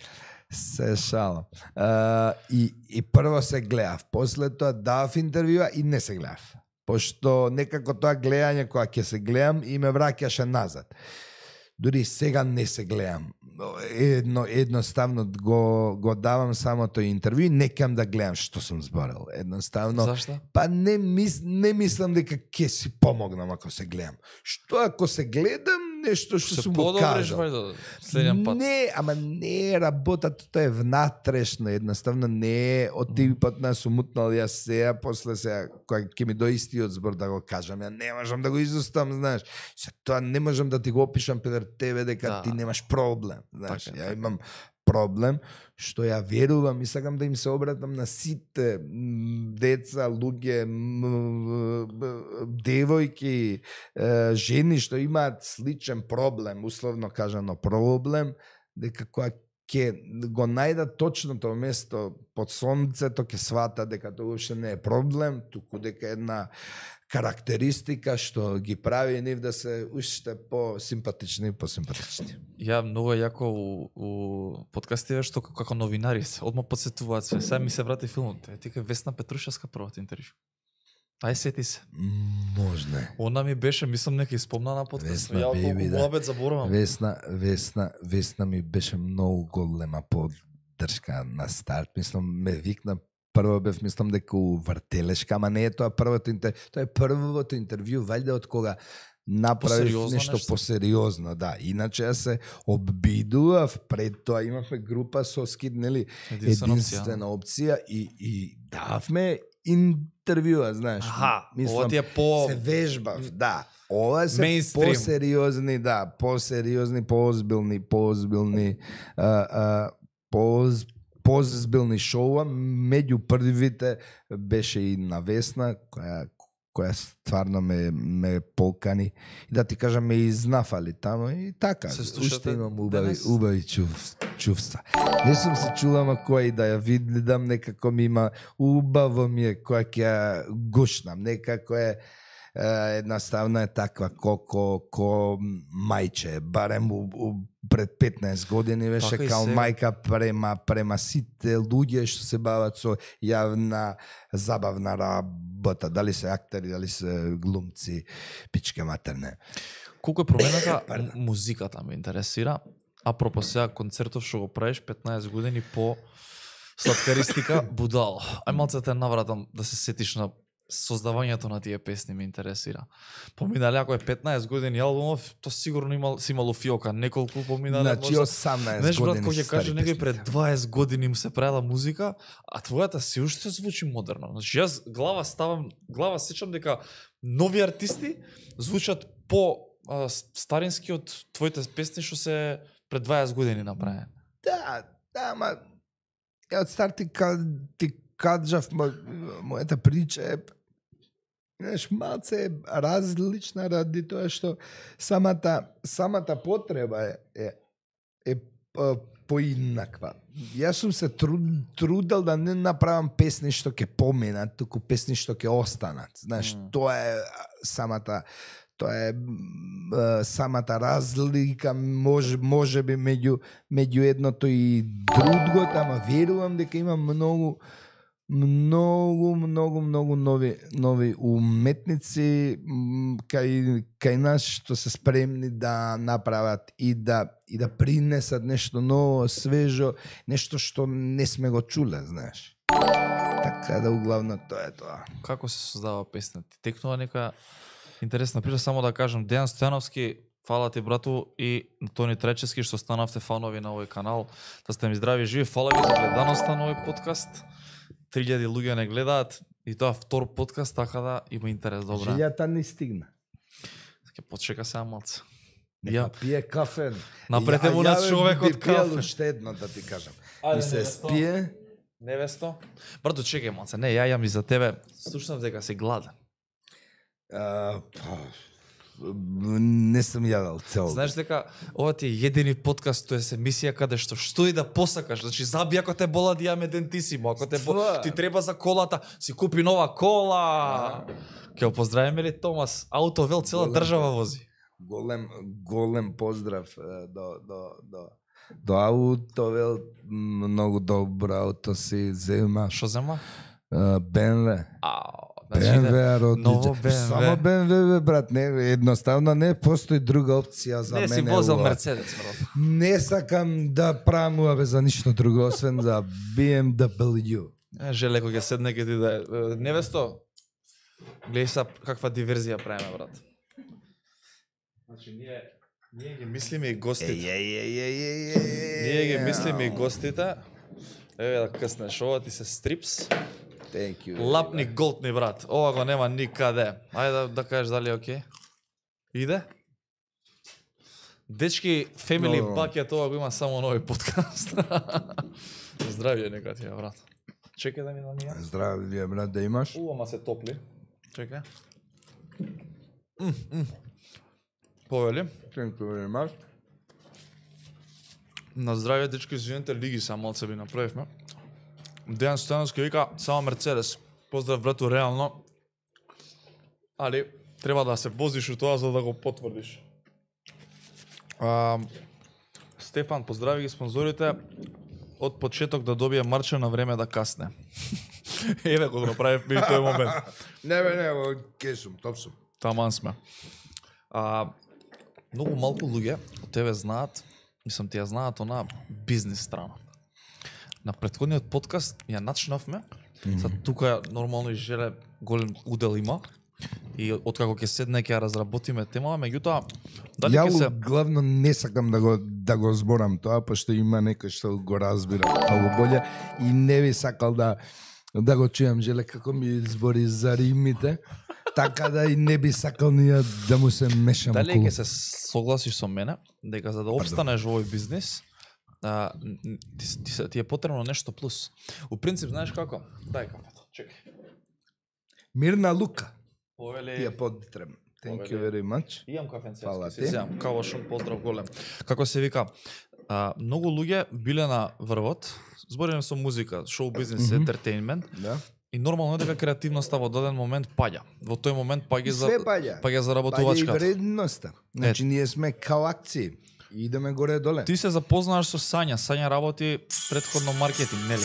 Се шалам. А, и, и прво се гледав, после тоа давав интервјуа и не се гледав. Пошто некако тоа гледање кога ќе се гледам и ме враќаше назад. Дури сега не се гледам. Едно, едноставно го, го давам само тој интервју и не кем да гледам што сум зборел. Едноставно, Зашто? па не, мис, не мислам дека ќе си помогнам ако се гледам. Што ако се гледам нешто што Се сум го подобриш кажал? вајде следен пат. Не, ама не е работа, тоа е внатрешно, едноставно не е од типот на сум утнал јас сега, после сега, кога ќе ми дојде истиот збор да го кажам, ја не можам да го изустам, знаеш. Се тоа не можам да ти го опишам пред тебе дека Да. ти немаш проблем, знаеш. Така, Ја така. имам проблем што ја верувам и сакам да им се обратам на сите м, деца, луѓе, м, б- девојки, е, жени што имаат сличен проблем, условно кажано проблем, дека кога ќе го најдат точното место под сонцето, ќе свата дека тоа уопште не е проблем, туку дека е една карактеристика што ги прави нив да се уште по-симпатични и по-симпатични. Ја многу јако у, у подкастиве што како, како новинари се одма подсетуваат се. Сега ми се врати филмот. Е, Тика Весна Петрушевска првото интервју. Ај сети се. Можна е. Она ми беше, мислам нека испомна на подкаст. Весна, Ја беби, колку да. муабет заборавам. Весна, Весна, Весна ми беше многу голема поддршка на старт. Мислам, ме викна прво бев, мислам дека у вртелешка, ама не е тоа првото интервју. Тоа е првото интервју, валјда од кога направив Посериозно нешто нешто? посериозно, да. Иначе ја се обидував, пред тоа имавме група со скид, нели, Единствена опција. единствена опција и, и дававме интервјуа, знаеш. Аха, ова ти е се по... вежбав, да. Ова се Мейнстрим. посериозни, да, посериозни, поозбилни, поозбилни, а, а, поз, поозбилни шоуа. Меѓу првите беше и на Весна, која која стварно ме, ме полкани. И да ти кажам, ме изнафали тамо и така. Се слушате Уште имам убави, денес? убави чув, чувства. Не сум се чула, ма која и да ја видам, некако ми има, убаво ми е која ќе ја гушнам, некако е е, едноставно е таква ко, ко, ко мајче, барем у, у, пред петнаесет години беше Така и као сега. мајка према, према сите луѓе што се бават со јавна забавна работа, дали се актери, дали се глумци, пичке матерне. Колку е промената Пардон. м- музиката ме интересира. Апропо сега концертов што го правиш петнаесет години по сладкаристика будал. Ај малце те навратам да се сетиш на создавањето на тие песни ме интересира. Поминале ако е петнаесет години албумов, то сигурно имал си имало фиока неколку поминале. Значи можда. осамнаесет Знаеш, брат, години кога се ќе каже стари некој пред песните. дваесет години му се правила музика, а твојата си уште звучи модерно. Значи јас глава ставам, глава сечам дека нови артисти звучат по а, старински од твоите песни што се пред дваесет години направени. Да, да, ма ја од старт ти, ка- ти кажав, мо, мојата прича е знаеш, малце е различна ради тоа што самата самата потреба е е, е а, поинаква. Јас сум се труд, трудел да не направам песни што ќе поминат, туку песни што ќе останат. Знаеш, Mm. тоа е а, самата тоа е м, а, самата разлика може можеби меѓу меѓу едното и другото, ама верувам дека има многу многу многу многу нови нови уметници м, кај кај нас што се спремни да направат и да и да принесат нешто ново, свежо, нешто што не сме го чуле, знаеш. Така да углавно тоа е тоа. Како се создава песна? Ти текнува нека интересна прича, само да кажам, Дејан Стојановски, фала ти брату, и Тони Тречевски што станавте фанови на овој канал, да сте ми здрави и живи. Фала ви за гледаноста на овој подкаст. три илјади луѓе не гледаат и тоа втор подкаст, така да има интерес, добра. Жилјата не стигна. Ќе почека сега малце. Нека Ја, пие кафе. Напрете Ја- му на ја човекот би пиел кафе. уште едно да ти кажам. Ајде, И се невесто. спие. невесто. Брато, чекај малце. Не, ја јам и за тебе. Слушнав дека си гладен. А, па, не сум јадал цел. Знаеш дека ова ти е едини подкаст, тоа е емисија каде што што и да посакаш. Значи заби ако те бола да јаме дентисимо, ако те бо... Фа. ти треба за колата, си купи нова кола. Ќе го поздравиме ли Томас? Аутовел цела Голем држава вози. Голем голем поздрав е, до до до до Аутовел, многу добро ауто си зема. Што зема? БМВ. Ау, БМВ ново родниче. БМВ. Само БМВ, бе, брат, не, едноставно не постои друга опција за не мене. си возел ова. Мерцедес, брат. Не сакам да правам ова бе за ништо друго, освен за би ем дабл ю. Е, Желе кога ќе седне ќе ти да е. Невесто. Гледај са каква диверзија правиме, брат. Значи ние ние ги мислиме и гостите. Еј, еј, еј, еј, еј, еј. Ние ги мислиме и гостите. Еве да къснеш, ова ти се стрипс. Thank you. Лапни голтни, брат. Ова го нема никаде. Ајде да, да кажеш дали е окей. Иде? Дечки, Family Добро. Bucket, ова го има само нови подкаст. Здравје нека ти е, брат. Чекај да ми намија. Здрави вие, брат, да имаш. У, ама се топли. Чекај. М, м. Повели. Thank you very much. На здравје, дечки, извинете, лиги са малце би направивме. Дејан Стојановски вика, само Мерцедес. Поздрав, брату, реално. Али, треба да се возиш у тоа за да го потврдиш. А, Стефан, поздрави ги спонзорите. Од почеток да добие марче на време да касне. Еве го направивме и тој момент. Не, бе, не, бе, ке сум, топ сум. Таман сме. А, многу малку луѓе од тебе знаат, мислам ти ја знаат она бизнес страна. На претходниот подкаст ја начнавме, mm -hmm. Сад тука нормално и желе голем удел има и откако ќе седне ќе ја разработиме темава, меѓутоа дали ќе Ја се главно не сакам да го да го зборам тоа, пошто има некој што го разбира многу боле и не би сакал да да го чујам желе како ми збори за римите, така да и не би сакал ни ја да му се мешам дали околу. ќе се согласиш со мене дека за да опстанеш во овој бизнес, а, н- ти, с- ти, се- ти е потребно нешто плюс. У принцип, знаеш како? Дај кафето, чекај. Мирна Лука. Ти Повели, ја потребам. Thank you Повели. very much. имам кафенце, Фала се ти. земам. Кавошун, поздрав голем. Како се вика? А, многу луѓе биле на врвот, збориме со музика, шоу бизнес, Мгм. ентертейнмент, Да. и нормално е дека креативноста во даден момент паѓа. Во тој момент паѓа за Све паѓа. паѓа Паѓа и заработувачката. вредноста. Значи ние сме као акции. И идеме горе доле. Ти се запознаваш со Сања. Сања работи претходно маркетинг, нели?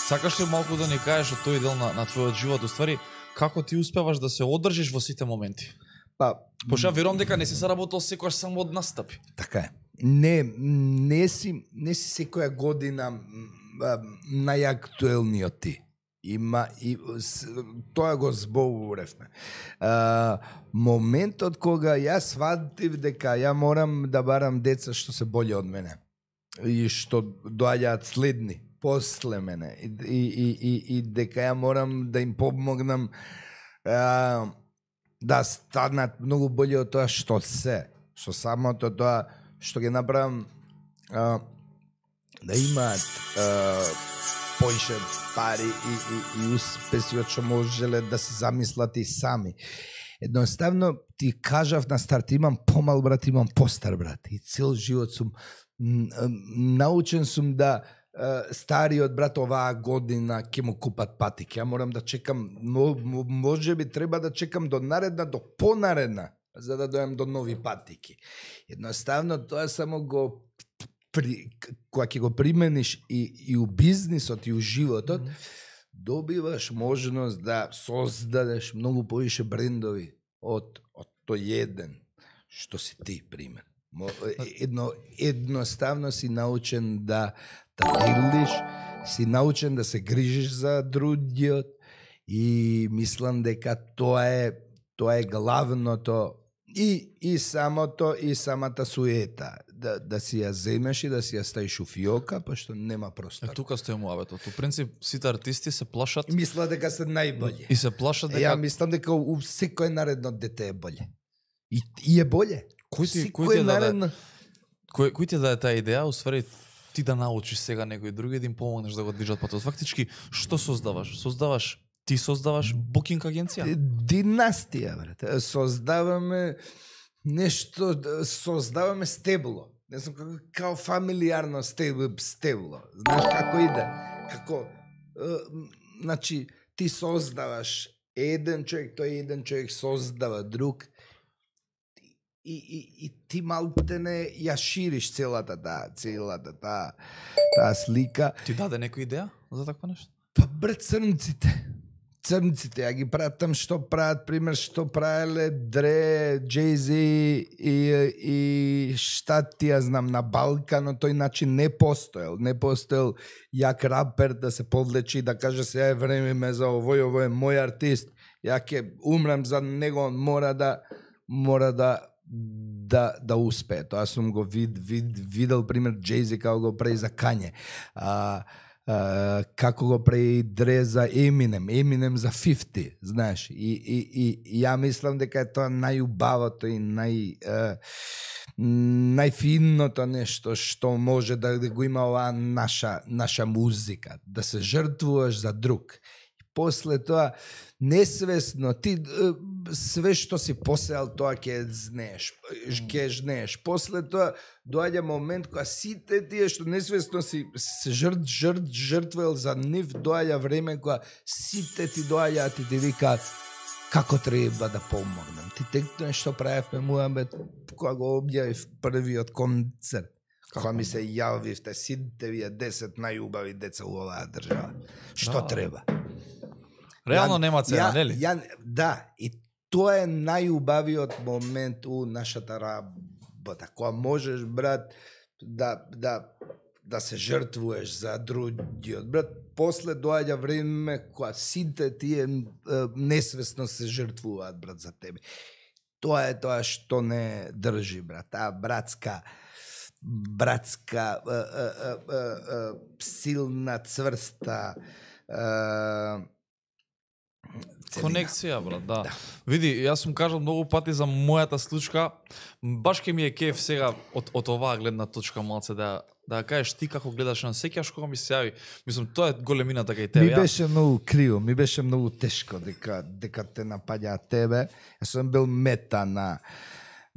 Сакаш ли малку да ни кажеш од тој дел на, на твојот живот, уствари, како ти успеваш да се одржиш во сите моменти? Па, Пошто ја верувам дека не си заработал секогаш само од настапи. така е. Не, не си, не си секоја година м, а, најактуелниот ти. Има и с, тоа го зборувавме. А, моментот кога јас сватив дека ја морам да барам деца што се боле од мене и што доаѓаат следни после мене и, и, и, и, и дека ја морам да им помогнам а, да станат многу боле од тоа што се. Со самото тоа што ги направам а, да имаат а, поише пари и, и, и успеси од што можеле да се замислат и сами. Едноставно ти кажав на старт, имам помал брат, имам постар брат. И цел живот сум научен сум да стариот брат оваа година ќе му купат патик. Ја морам да чекам, може би треба да чекам до наредна, до понаредна, за да дојам до нови патики. Едноставно тоа само го при, кога ќе го примениш и, и у бизнисот и у животот, mm-hmm. добиваш можност да создадеш многу повише брендови од, од тој еден што си ти, пример. Едно, едноставно си научен да да делиш, си научен да се грижиш за другиот и мислам дека тоа е тоа е главното и и самото и самата суета да да си ја земеш и да си ја ставиш у фиока, пошто нема простор. Е, тука стои муабетот. У принцип сите артисти се плашат. Мисла дека се најболе. И се плашат дека Ја мислам дека у секој наредно дете е боле. И, и е боле. Кој ти кој ти даде кој кој ти даде таа идеја, усвари ти да научиш сега некој други да им помогнеш да го движат патот. Фактички што создаваш? Создаваш ти создаваш букинг агенција? Династија, брате. Создаваме нешто, создаваме стебло. Не знам како, као фамилиарно стебло, стебло. Знаеш како иде? Како е, значи ти создаваш еден човек, тој еден човек создава друг. И, и, и ти малтене ја шириш целата таа, целата таа, таа слика. Ти даде некоја идеја за такво нешто? Па брат, црнците. Црнците, ја ги пратам што прават, пример, што правеле Дре, Джей-Зи и, и шта ти ја знам, на Балкано тој начин не постоел. Не постоел јак рапер да се повлечи и да каже сега е време за овој, овој е мој артист. Ја ќе умрам за него, он мора да мора да да да успее. Тоа сум го вид, вид, видел пример Джей-Зи како го прави за Кање. А, а, како го прави Дре за Еминем, Еминем за петдесет, знаеш. И, и, и, и ја мислам дека е тоа најубавото и нај а, најфинното нешто што може да го има оваа наша наша музика, да се жртвуваш за друг. И после тоа несвесно ти све што си посеал тоа ќе знеш, ќе жнеш. После тоа доаѓа момент кога сите тие што несвесно си се жрт жрт жртвувал за нив, доаѓа време кога сите ти доаѓаат и ти викаат како треба да помогнам. Ти текно што правевме муабет кога го објавив првиот концерт. Кога ми се јавивте сите вие десет најубави деца у оваа држава. Што да. треба? Реално ја, нема цена, нели? Ја, да, и тоа е најубавиот момент у нашата работа. Кога можеш, брат, да, да, да се жртвуваш за другиот. Брат, после доаѓа време кога сите тие несвесно се жртвуваат, брат, за тебе. Тоа е тоа што не држи, брат. Таа братска братска е, е, е, е, силна, цврста е, конекција, брат, да. да. Види, јас сум кажал многу пати за мојата случка, баш ке ми е кеф сега од, од оваа гледна точка малце да да кажеш ти како гледаш на сеќаш кога ми се јави. Мислам, тоа е големината кај тебе. Ми беше многу криво, ми беше многу тешко дека дека те напаѓа тебе. Јас сум бил мета на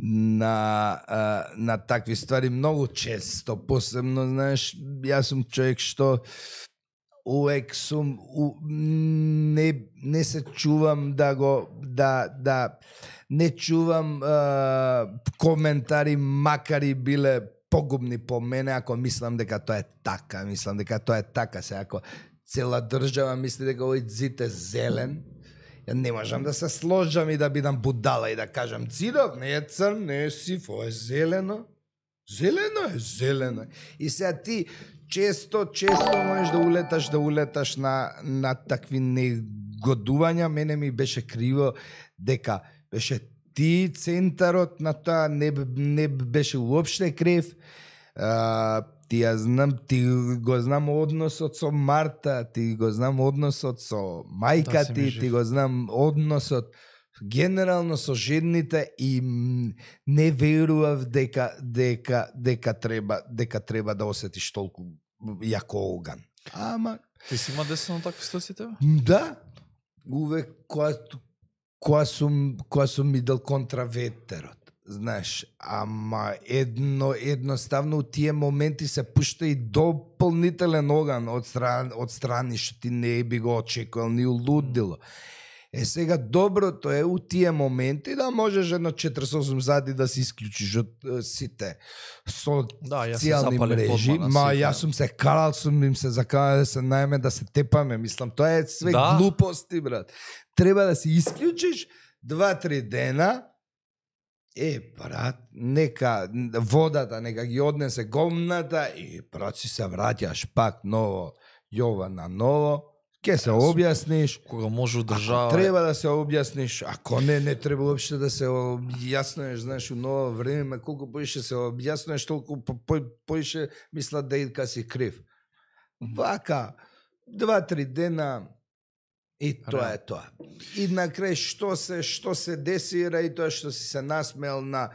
на а, на такви ствари многу често, посебно, знаеш, јас сум човек што увек сум у, не не се чувам да го да да не чувам а, коментари макар и биле погубни по мене ако мислам дека тоа е така, мислам дека тоа е така, се ако цела држава мисли дека овој зид е зелен, ја не можам да се сложам и да бидам будала и да кажам цидов не е црн, не е сив, ова е зелено. Зелено е, зелено. И сега ти често, често можеш да улеташ, да улеташ на, на такви негодувања. Мене ми беше криво дека беше ти центарот на тоа, не, не беше уопште крив. А, ти ја знам, ти го знам односот со Марта, ти го знам односот со мајка ти, ти го знам односот генерално со жените и м, не верував дека дека дека треба дека треба да осетиш толку јако оган. Ама Ти си има десено такви ситуации тебе? да, увек кога кога сум кога сум идел контра ветерот. Знаеш, ама едно едноставно у тие моменти се пушта и дополнителен оган од страни од страни што ти не би го очекувал ни улудило. Е сега доброто е у тие моменти да можеш едно четиридесет и осум зади да се исклучиш од е, сите Да, јас се социјални запалив мрежи, одма на ма сите. јас сум се карал, сум им се заканал да се најме да се тепаме, мислам, тоа е све Да. глупости, брат. Треба да се исклучиш два-три дена. Е, брат, нека водата, нека ги однесе гомната и брат си се враќаш пак ново, Јована ново, ке се објасниш. Кога може Ако одржава. треба да се објасниш, ако не, не треба уопште да се објаснеш, знаеш, у ново време, колку поише се објаснеш, толку по, по, поише мислат да идка си крив. Вака, два-три дена и тоа е тоа. И на крај што се што се десира и тоа што си се насмеал на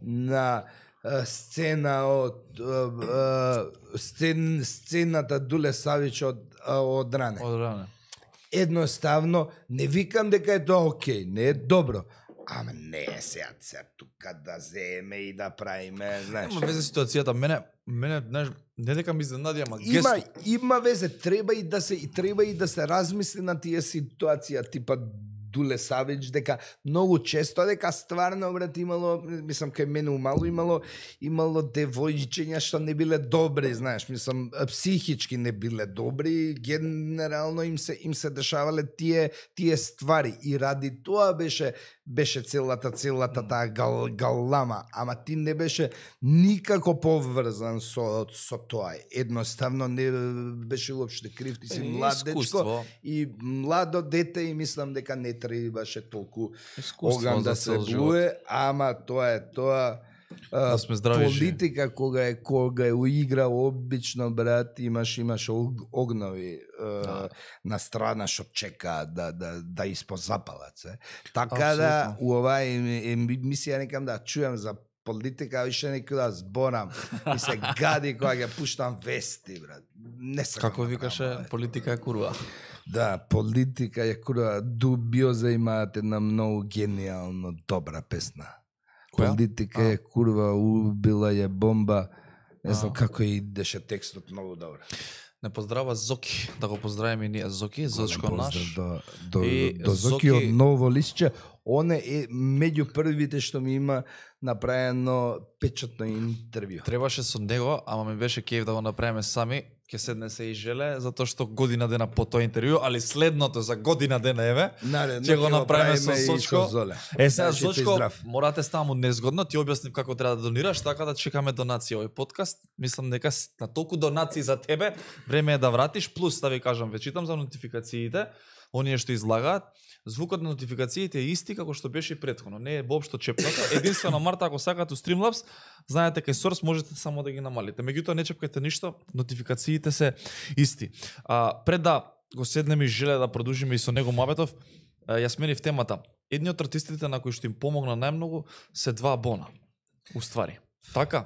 на е, сцена од е, е, сцен, сцената Дуле Савич од е, од ране. Од ране. Едноставно, не викам дека е тоа окей, не е добро. Ама не е сега тука да земе и да правиме, знаеш. Има везе ситуацијата, мене, мене, знаеш, не дека ми изненади, ама Има, гест. има везе, треба и да се и треба и да се размисли на тие ситуација типа Дуле Савич, дека многу често дека стварно брат имало, мислам кај мене умало имало имало девојчиња што не биле добри, знаеш, мислам психички не биле добри, генерално им се им се дешавале тие тие ствари и ради тоа беше беше целата целата таа гал, галама, ама ти не беше никако поврзан со со тоа. Едноставно не беше уопште крив, ти си Е, млад дечко искуство. и младо дете и мислам дека не требаше толку Искуство оган за да се цел живот. блуе, ама тоа е тоа. А, Да сме здрави политика кога е кога е уигра обично брат, имаш имаш ог, огнови а, Да. на страна што чека да да да испозапалат се. Така Апсолутно. да у оваа емисија некам да чујам за политика, више некој да зборам и се гади кога ќе пуштам вести брат. Не сакам Како да викаше, правам, бе. политика е курва. Да, политика е кура. Дубиоза имаат една многу генијално добра песна. Која? Политика А. е курва, убила е бомба. Не знам А. како идеше текстот многу добро. Не поздрава Зоки, да го поздравиме и ние Зоки, Зочко Голем наш. поздрав До, до, И до, до Зоки Зоки- од Ново листче. Он е меѓу првите што ми има направено печатно интервју. Требаше со него, ама ми беше кејф да го направиме сами. Ке седне се и желе, затоа што година дена по тоа интервју, али следното за година дена еве. Наредно Ќе го направиме со правиме и Зочко. Золе. Е, сега Значи, тој Зочко, здрав. морате ставам незгодно, ти објаснив како треба да донираш, така да чекаме донација овој подкаст. Мислам дека с- на толку донации за тебе, време е да вратиш, плюс да ви кажам, ве читам за нотификациите, оние што излагаат, звукот на нотификациите е исти како што беше и претходно, не е воопшто чепнато. Единствено Марта, ако сакате у Streamlabs, знаете кај Source можете само да ги намалите. Меѓутоа не чепкајте ништо, нотификациите се исти. А, пред да го седнеме и желе да продолжиме и со него мабетов, ја сменив темата. Едни од артистите на кои што им помогна најмногу се два Бона. Уствари. Така.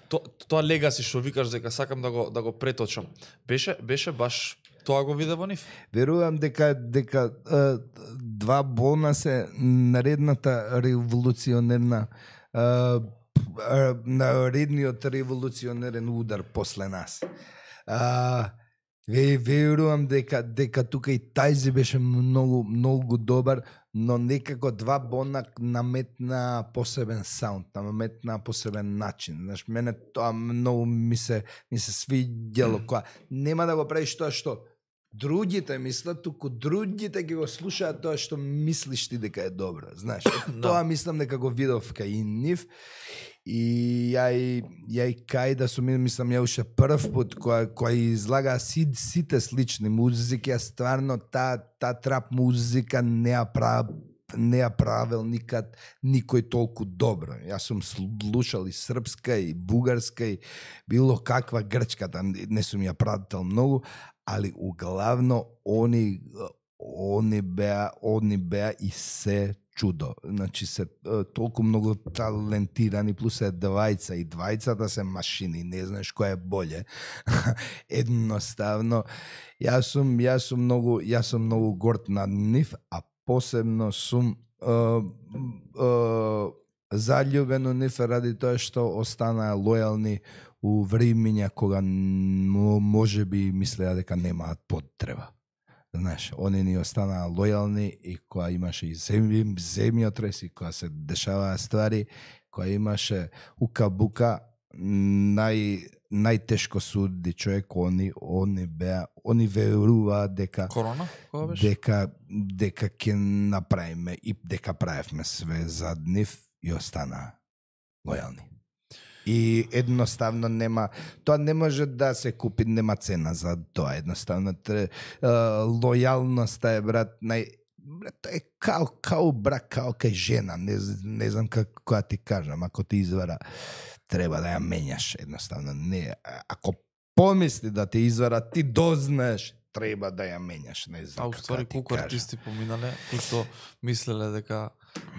То, тоа легаси што викаш дека сакам да го да го преточам. Беше беше баш тоа го виде во нив. Верувам дека дека е, два Бона се наредната револуционерна е, е, наредниот револуционерен удар после нас. А, ве, верувам дека дека тука и Тајзи беше многу многу добар, но некако два Бона наметна посебен саунд, наметна посебен начин. Знаеш, мене тоа многу ми се ми се свиѓало кога нема да го правиш тоа што другите мислат, туку другите ќе го слушаат тоа што мислиш ти дека е добро, знаеш. Тоа мислам дека го видов кај нив. И ја и ја и кај да сум мислам ја уште прв пат која која излага си, сите слични музики, а стварно таа та трап музика не ја прав не ја правил никад никој толку добро. Јас сум слушал и српска и бугарска и било каква грчката, не сум ја прател многу, али углавно они они беа они беа и се чудо. Значи се е, толку многу талентирани, плюс е двајца и двајцата се машини, не знаеш кој е боле. Едноставно, јас сум, јас сум многу, јас сум многу горд над нив, а посебно сум е, е, заљубен у нив ради тоа што останаа лојални у времиња кога може би мислеа дека немаат потреба. Знаеш, они ни останаа лојални и кога имаше и земји, земјотрес и кога се дешаваа ствари, кога имаше ука-бука, нај најтешко суди човек, они они беа, они веруваа дека Корона, кога беше? дека дека ќе направиме и дека правевме све за нив и останаа лојални. И едноставно нема, тоа не може да се купи, нема цена за тоа. Едноставно тре, лојалноста е, брат, нај брат, е као као брак, као кај жена, не, не знам како да ти кажам, ако ти извара треба да ја менјаш, едноставно не. Ако помисли да ти извара, ти дознаеш, треба да ја менјаш, не знам А како уствари да ти колку кажам. артисти поминале кои што мислеле дека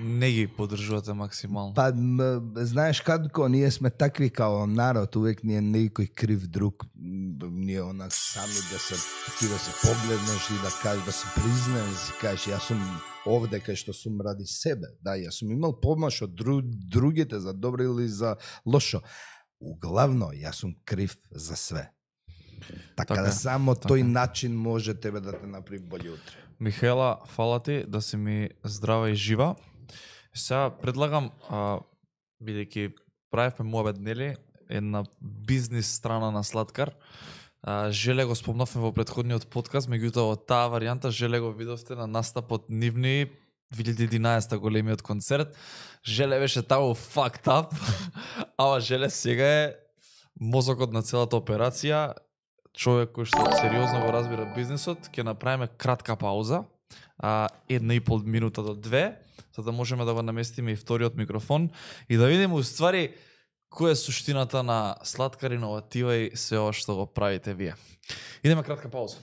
не ги поддржувате максимално. Па, м, знаеш како, ние сме такви као народ, увек ни е некој крив друг, м, ние онак сами да се, ти да се погледнеш и да кажеш, да се признаеш, да си кажеш, јас сум овде кај што сум ради себе, да, јас сум имал помош од дру, другите за добро или за лошо. Углавно, јас сум крив за све. Така, Така да е, само така тој е. начин може тебе да те направи боље утре. Михаела, фала ти да си ми здрава и жива. Сега предлагам, а, бидејќи правевме муабет, нели, една бизнис страна на Слаткар. А, Желе го спомнавме во претходниот подкаст, меѓутоа од таа варијанта Желе го видовте на настапот нивни две илјади и единаесета големиот концерт. Желе беше таму fucked up, ама Желе сега е мозокот на целата операција, човек кој што сериозно го разбира бизнисот. Ќе направиме кратка пауза, а, една и пол минута до две, за да можеме да го наместиме и вториот микрофон и да видиме уствари која е суштината на Слаткар, иноватива и се ова што го правите вие. Идеме кратка пауза.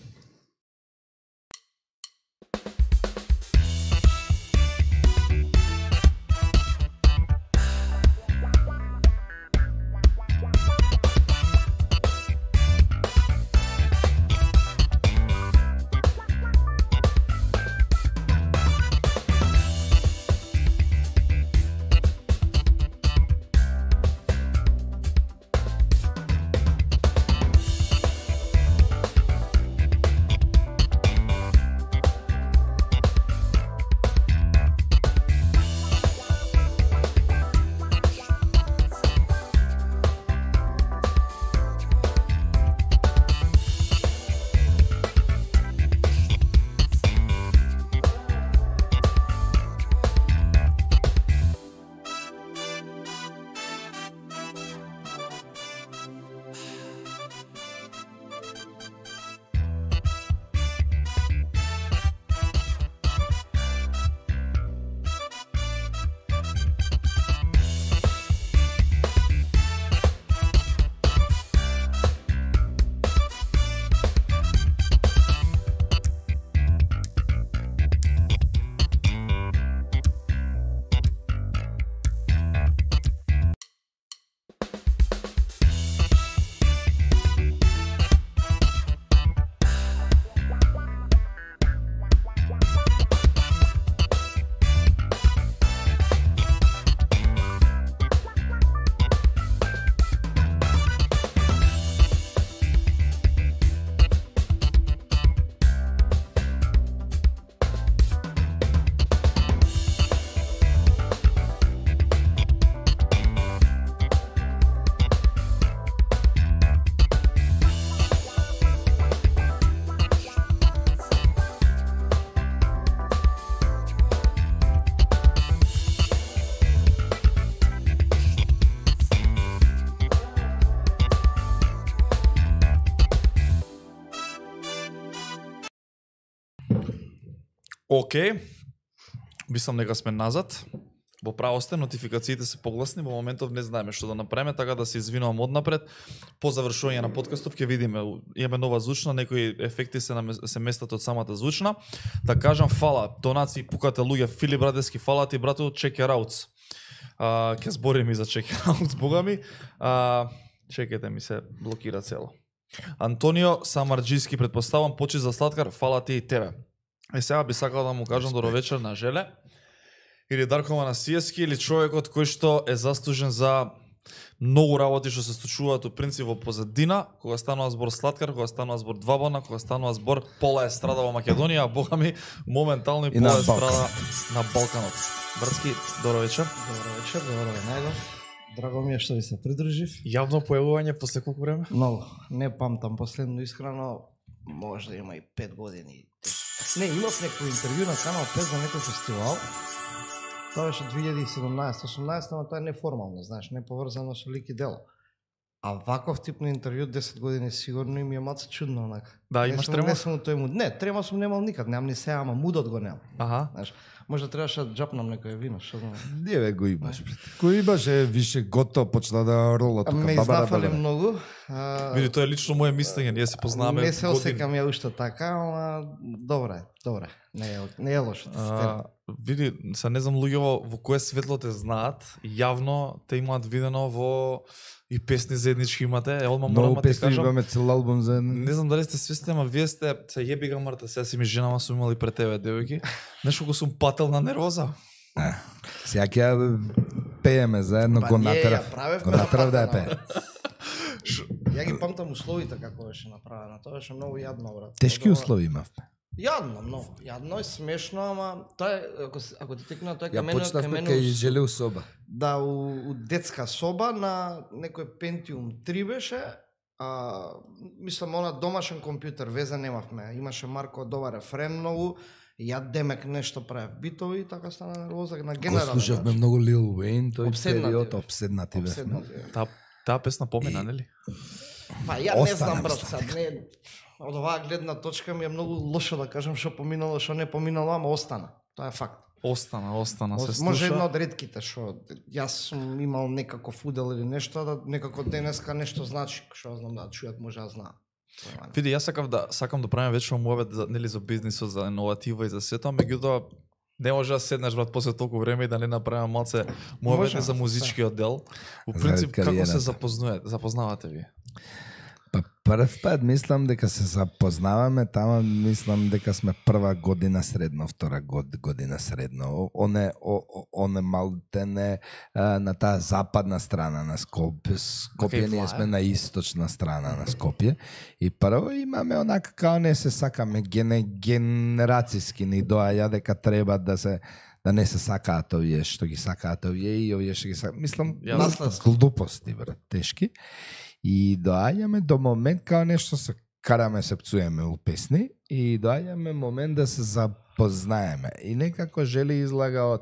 Океј, мислам дека сме назад. во правосте нотификациите се погласни, во моментов не знаеме што да направиме, така да се извинувам однапред. По завршување на подкастов ќе видиме, имаме нова звучна, некои ефекти се на, се местат од самата звучна. Да кажам фала, донации пукате луѓе, Филип Радески, фала ти брату, check it out. А, ќе збориме и за check it out, бога ми. А, чекайте ми се блокира цело. Антонио Самарџиски, предпоставам, почи за сладкар, фала ти и тебе. Е сега би сакал да му кажам добро вечер на Желе, или Дарко Манасиевски, или човекот кој што е заслужен за многу работи што се случуваат у принцип во позадина, кога станува збор сладкар, кога станува збор двабона, кога станува збор пола естрада во Македонија, а бога ми моментално и, и пола естрада на Балканот. Братски, добро вечер. Добро вечер, добро ве најдов. Драго ми е што ви се придружив. Јавно појавување после колку време? Многу. Не памтам последно искрено, може да има и пет години. Не, имав некој интервју на Канал пет за некој фестивал. Тоа беше две илјади и седумнаесета осумнаесета, но тоа е неформално, знаеш, не поврзано со лик и дело. А ваков тип на интервју десет години сигурно и ми е маца чудно онака. Да, не имаш сум, трема? Не сум тој муд. Не, трема сум немал никад, немам ни сега, ама мудот го немам. Аха. Знаеш, може требаше да джапнам некој вино, што знам. Не бе, го имаш. Го имаш, е, више готово, почна да рола тука. Ме изнафали многу. А, Види, тоа е лично моje мислење, ние се познаваме Не се години. осекам ја уште така, ама добре, добре. Не е, не е лошо. А, види, се не знам луѓе во, во кое светло те знаат, јавно те имаат видено во и песни заеднички имате, е одма морам Многу да ти песни кажам. имаме цел албум за Не знам дали сте свесни, ама вие сте, се јеби га Марта, сега си ми женама сум имали пред тебе, девојки. Нешто го сум пател на нервоза. Сега ќе ја пееме заедно, Па го ние ја натерав. правевме Го на натерав да ја патена, пее. Ја ги памтам условите како беше направено. Тоа беше многу јадно, брат. Тешки Тоа- услови имавме. Јадно, многу. Јадно и смешно, ама тоа е, ако, се- ако ти текна тоа е Ја кај мене, кај почнавме мене кај у- Желеу соба. Да, у, у детска соба на некој Pentium три беше, а, мислам, она домашен компјутер, веза немавме. Имаше Марко добар рефрен многу, ја демек нешто правев битови и така стана нервоза на Го генерален слушавме начин. многу Лил Уейн, тој Обседнати период, бевме. обседнати бевме. Обседнати бевме. Таа таа песна помина, нели? Па ја не Остана знам, ми брат, стана. сад не од оваа гледна точка ми е многу лошо да кажам што поминало, што не поминало, ама остана. Тоа е факт. Остана, остана, се Ос- слуша. Може едно од ретките што јас сум имал некаков удел или нешто, да некако денеска нешто значи, што знам да чујат може да знаат. Тоа е. Види, јас сакам да сакам да правиме вечно муабет за нели за бизнисот, за иноватива и за сето, меѓутоа не може да седнеш брат после толку време и да не направиме малце муабет Може, за музичкиот дел. У За принцип како се кариерата. запознавате, запознавате ви? Па прв пат мислам дека се запознаваме, тама мислам дека сме прва година средно, втора год, година средно. Оне, о, о- оне малтене а, на таа западна страна на Скопје. Скопје, Кај ние Влае? сме на источна страна на Скопје. И прво имаме онака као не се сакаме, гене, генерацијски ни доаѓа дека треба да се да не се сакаат овие што ги сакаат овие и овие што ги сакаат. Мислам, Ја наследство. глупости, брат, тешки. И доаѓаме до момент као нешто се караме се пцуеме у песни и доаѓаме момент да се запознаеме. И некако Жели излага од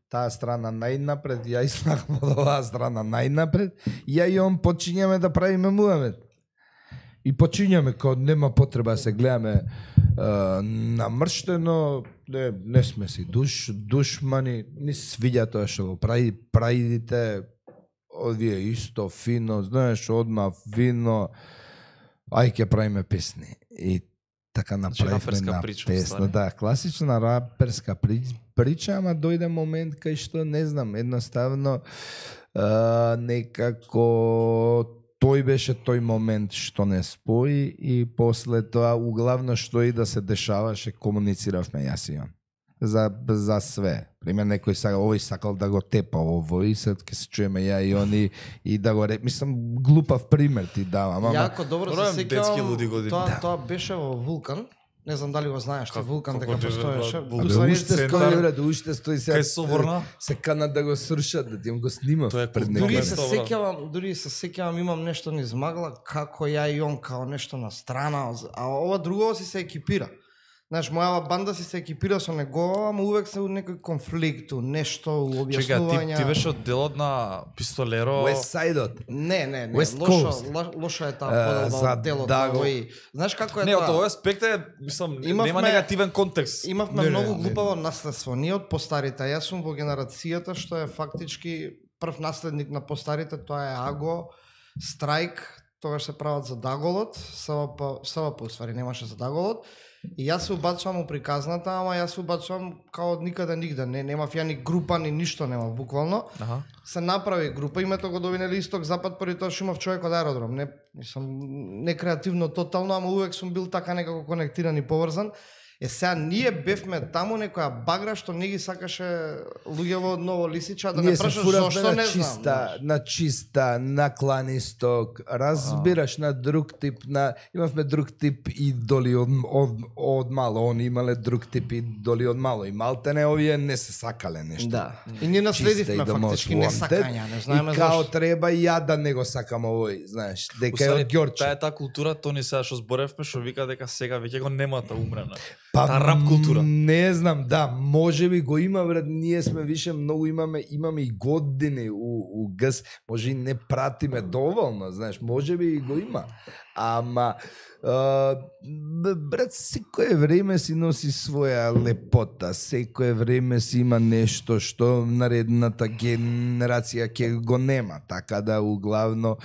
таа страна најнапред, ја излагам од оваа страна најнапред, и ја и он почињаме да правиме муабет. И почињаме као нема потреба да се гледаме а, намрштено, не, не сме си душ, душмани, ни се свиѓа тоа што го прави, правите овие исто фино, знаеш, одма вино, ај ќе правиме песни. И така направивме раперска на прича, песна. уствари. Да, класична раперска при- прича, ама дојде момент кај што, не знам, едноставно а, некако тој беше тој момент што не спои и после тоа углавно што и да се дешаваше комунициравме јас и он. За, за све. Пример, некој сакал, овој сакал да го тепа овој, сед ќе се чуеме ја и они и да го ре... Мислам, глупав пример ти давам, ама... Јако добро Добро, се детски луди сеќавам, години. тоа Да. тоа беше во Вулкан. Не знам дали го знаеш, ти Како- Вулкан како дека ти, постоеше. брат, У Абе, ствари, уште центар, стои, брат, уште стои сега. кај Соборна? Се канат да го срушат, да ти го снимав Тоа е пред културно Дури некој. се Добро. сеќавам, дури се сеќавам, имам нешто низ магла, како ја и он као нешто на страна, а ова друго си се екипира. Знаеш, моја банда си се екипира со него, ама увек се у некој конфликт, у нешто, у Чека, објаснувања. ти, ти беше од делот на Пистолеро. West Side-от. Не, не, не, West лошо, Coast. ло- лошо е таа Е, подоба за од делот Даго. на овој. Знаеш како е Не, од тоа? овој аспект е, мислам, Имавме- нема негативен контекст. Имавме Не, не, многу не, глупаво наследство. Ние од постарите, јас сум во генерацијата што е фактички прв наследник на постарите, тоа е Аго, Страйк, тогаш се прават за Даголот, СВП, СВП уствари немаше за Даголот. И јас се убацувам у приказната, ама јас се убацувам као од никаде нигде. Не, немав ја ни група, ни ништо немав, буквално. Аха. Се направи група, името го довинели исток, запад, први тоа што имав човек од аеродром. Не, мислам, не креативно тотално, ама увек сум бил така некако конектиран и поврзан. Е, сега ние бевме таму некоја багра што не ги сакаше луѓево од Ново Лисича, да не Ние се прашаш фуравме зошто на не чиста, знам. на чиста, на клан исток, разбираш, на друг тип, на имавме друг тип идоли од, од, од мало, они имале друг тип идоли од мало и малтене овие не се сакале нешто. Да. И ние наследивме да фактички most не wanted. сакања, не знаеме И као зошто. треба и ја да не го сакам овој, знаеш, дека е Усари, од Ѓорче. таа е таа култура, Тони сега што зборевме, што вика дека сега веќе го нема таа умрена. Па, Таа рап култура. Не знам, да, може би го има, брат, ние сме више многу имаме, имаме и години у, у ГС, може и не пратиме доволно, знаеш, може би и го има. Ама, а, брат, секое време си носи своја лепота, секое време си има нешто што наредната генерација ќе го нема, така да углавно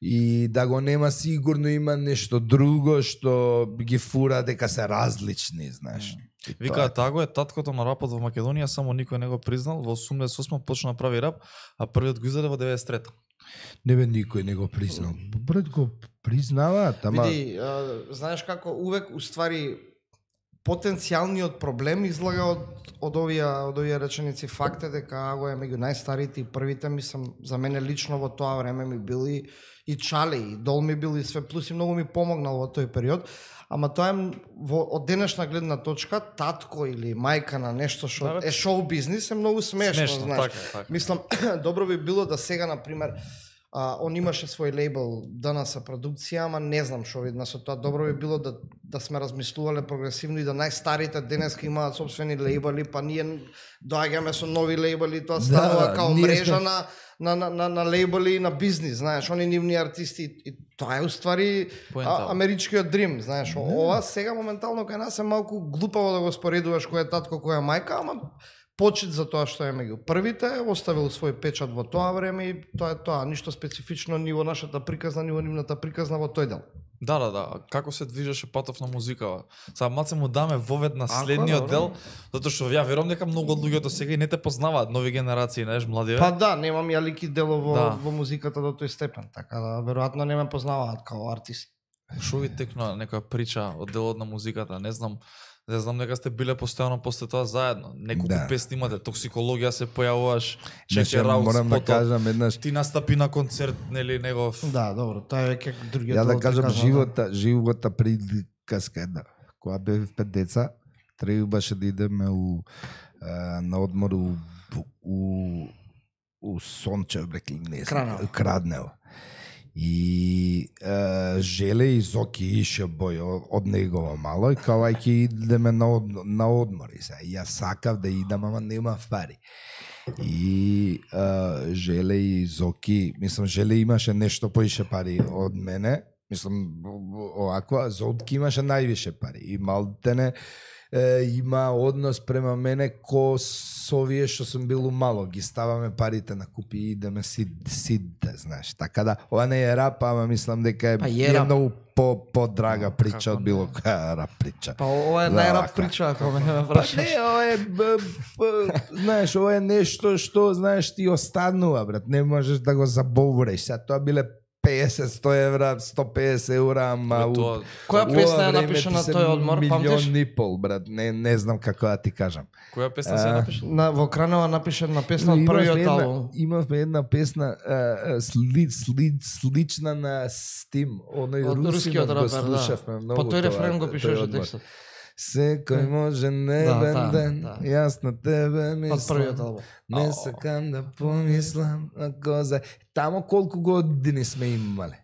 и да го нема сигурно има нешто друго што ги фура дека се различни, знаеш. И тоа Вика, е. Таго е таткото на рапот во Македонија, само никој не го признал. Во осумдесет и осма почна да прави рап, а првиот го издаде во деветдесет и трета. Не бе, никој не го признал. Брат го признаваат, ама Види, а, знаеш како увек уствари потенцијалниот проблем излага од од овие од овие реченици. Факт е дека Аго е меѓу најстарите и првите, мислам, за мене лично во тоа време ми били и Чали, и Дол ми бил и све, плюс и многу ми помогнал во тој период. Ама тоа е во од денешна гледна точка, татко или мајка на нешто што Да, бе. е шоу бизнис е многу смешно, Смешно, знаеш. така, така. Мислам, добро би било да сега, на пример, а, он имаше свој лейбл ДНС продукција, ама не знам што видна со тоа. Добро би било да да сме размислувале прогресивно и да најстарите денеска имаат собствени лейбли, па ние доаѓаме со нови лейбли, тоа станува да, као ние мрежа сме- на на на на, на лейбли и на бизнис, знаеш, они нивни артисти и тоа е уствари Поента. а, америчкиот дрим, знаеш. Ова сега моментално кај нас е малку глупаво да го споредуваш кој е татко, кој е мајка, ама почит за тоа што е меѓу првите, оставил свој печат во тоа време и тоа е тоа, ништо специфично ни во нашата приказна, ни во нивната приказна во тој дел. Да, да, да. Како се движеше патов на музикава? Сега маце му даме вовед на Ако, следниот добро. дел, затоа што ја верувам дека многу од луѓето сега и не те познаваат, нови генерации, знаеш, младиве. Па да, немам ја лики дело во, Да. во музиката до тој степен, така да веројатно не ме познаваат као артист. Шо ви текна некоја прича од делот на музиката, не знам. Не знам дека сте биле постојано после тоа заедно. Неколку Да. песни имате, токсикологија се појавуваш, Значи, Чеке Раус, морам да потоа кажам еднаш, ти настапи на концерт, нели, негов. Да, добро, тоа е веќе другиот ја да дел, кажам приказна, живота, живота приказка една. Кога бев пет деца, требаше да идеме у а, на одмор у у у Сончев, бреки, не знам, Краднево. у Краднево. И а, Желе и Зоки ише бој о- од негова мало и као ај ќе идеме на, од, на одмори. Сега, и јас сакав да идам, ама немав пари. И а, Желе и Зоки, мислам, Желе имаше нешто поише пари од мене, мислам, овако, а Зотки имаше највише пари. И малтене е, има однос према мене ко со овие што сум бил мало, ги ставаме парите на купи и идеме сид, сидте, знаеш. Така да, ова не е рап, ама мислам дека е, Па е е рап. многу по, по-драга О, прича како од било не. која рап прича. Па ова е Да, најрап вака. прича, ако ме Па прашаш. не, ова е, б, б, знаеш, ова е нешто што, знаеш, ти останува, брат, не можеш да го забориш. Сега тоа биле песет, сто евра, сто песет евра, ама Бе, у- тоа- Која у песна ова ја време напиша ти на се тој одмор, памтиш? Милион и пол, брат, не, не знам како да ти кажам. Која песна се А, напиша? На во Кранева напише една песна од Имавме првиот една- албум. Имавме една песна а, а, сли, сли, слична на Стим, оној Од русинот рускиот го рапер, да. слушавме многу. По тој тоа, рефрен го тој пишуваше одмор. текстот. Секој може небен да, ден, да. јас на тебе Од мислам. првиот албум. Не Ао. сакам да помислам на коза. Тамо колку години сме имале.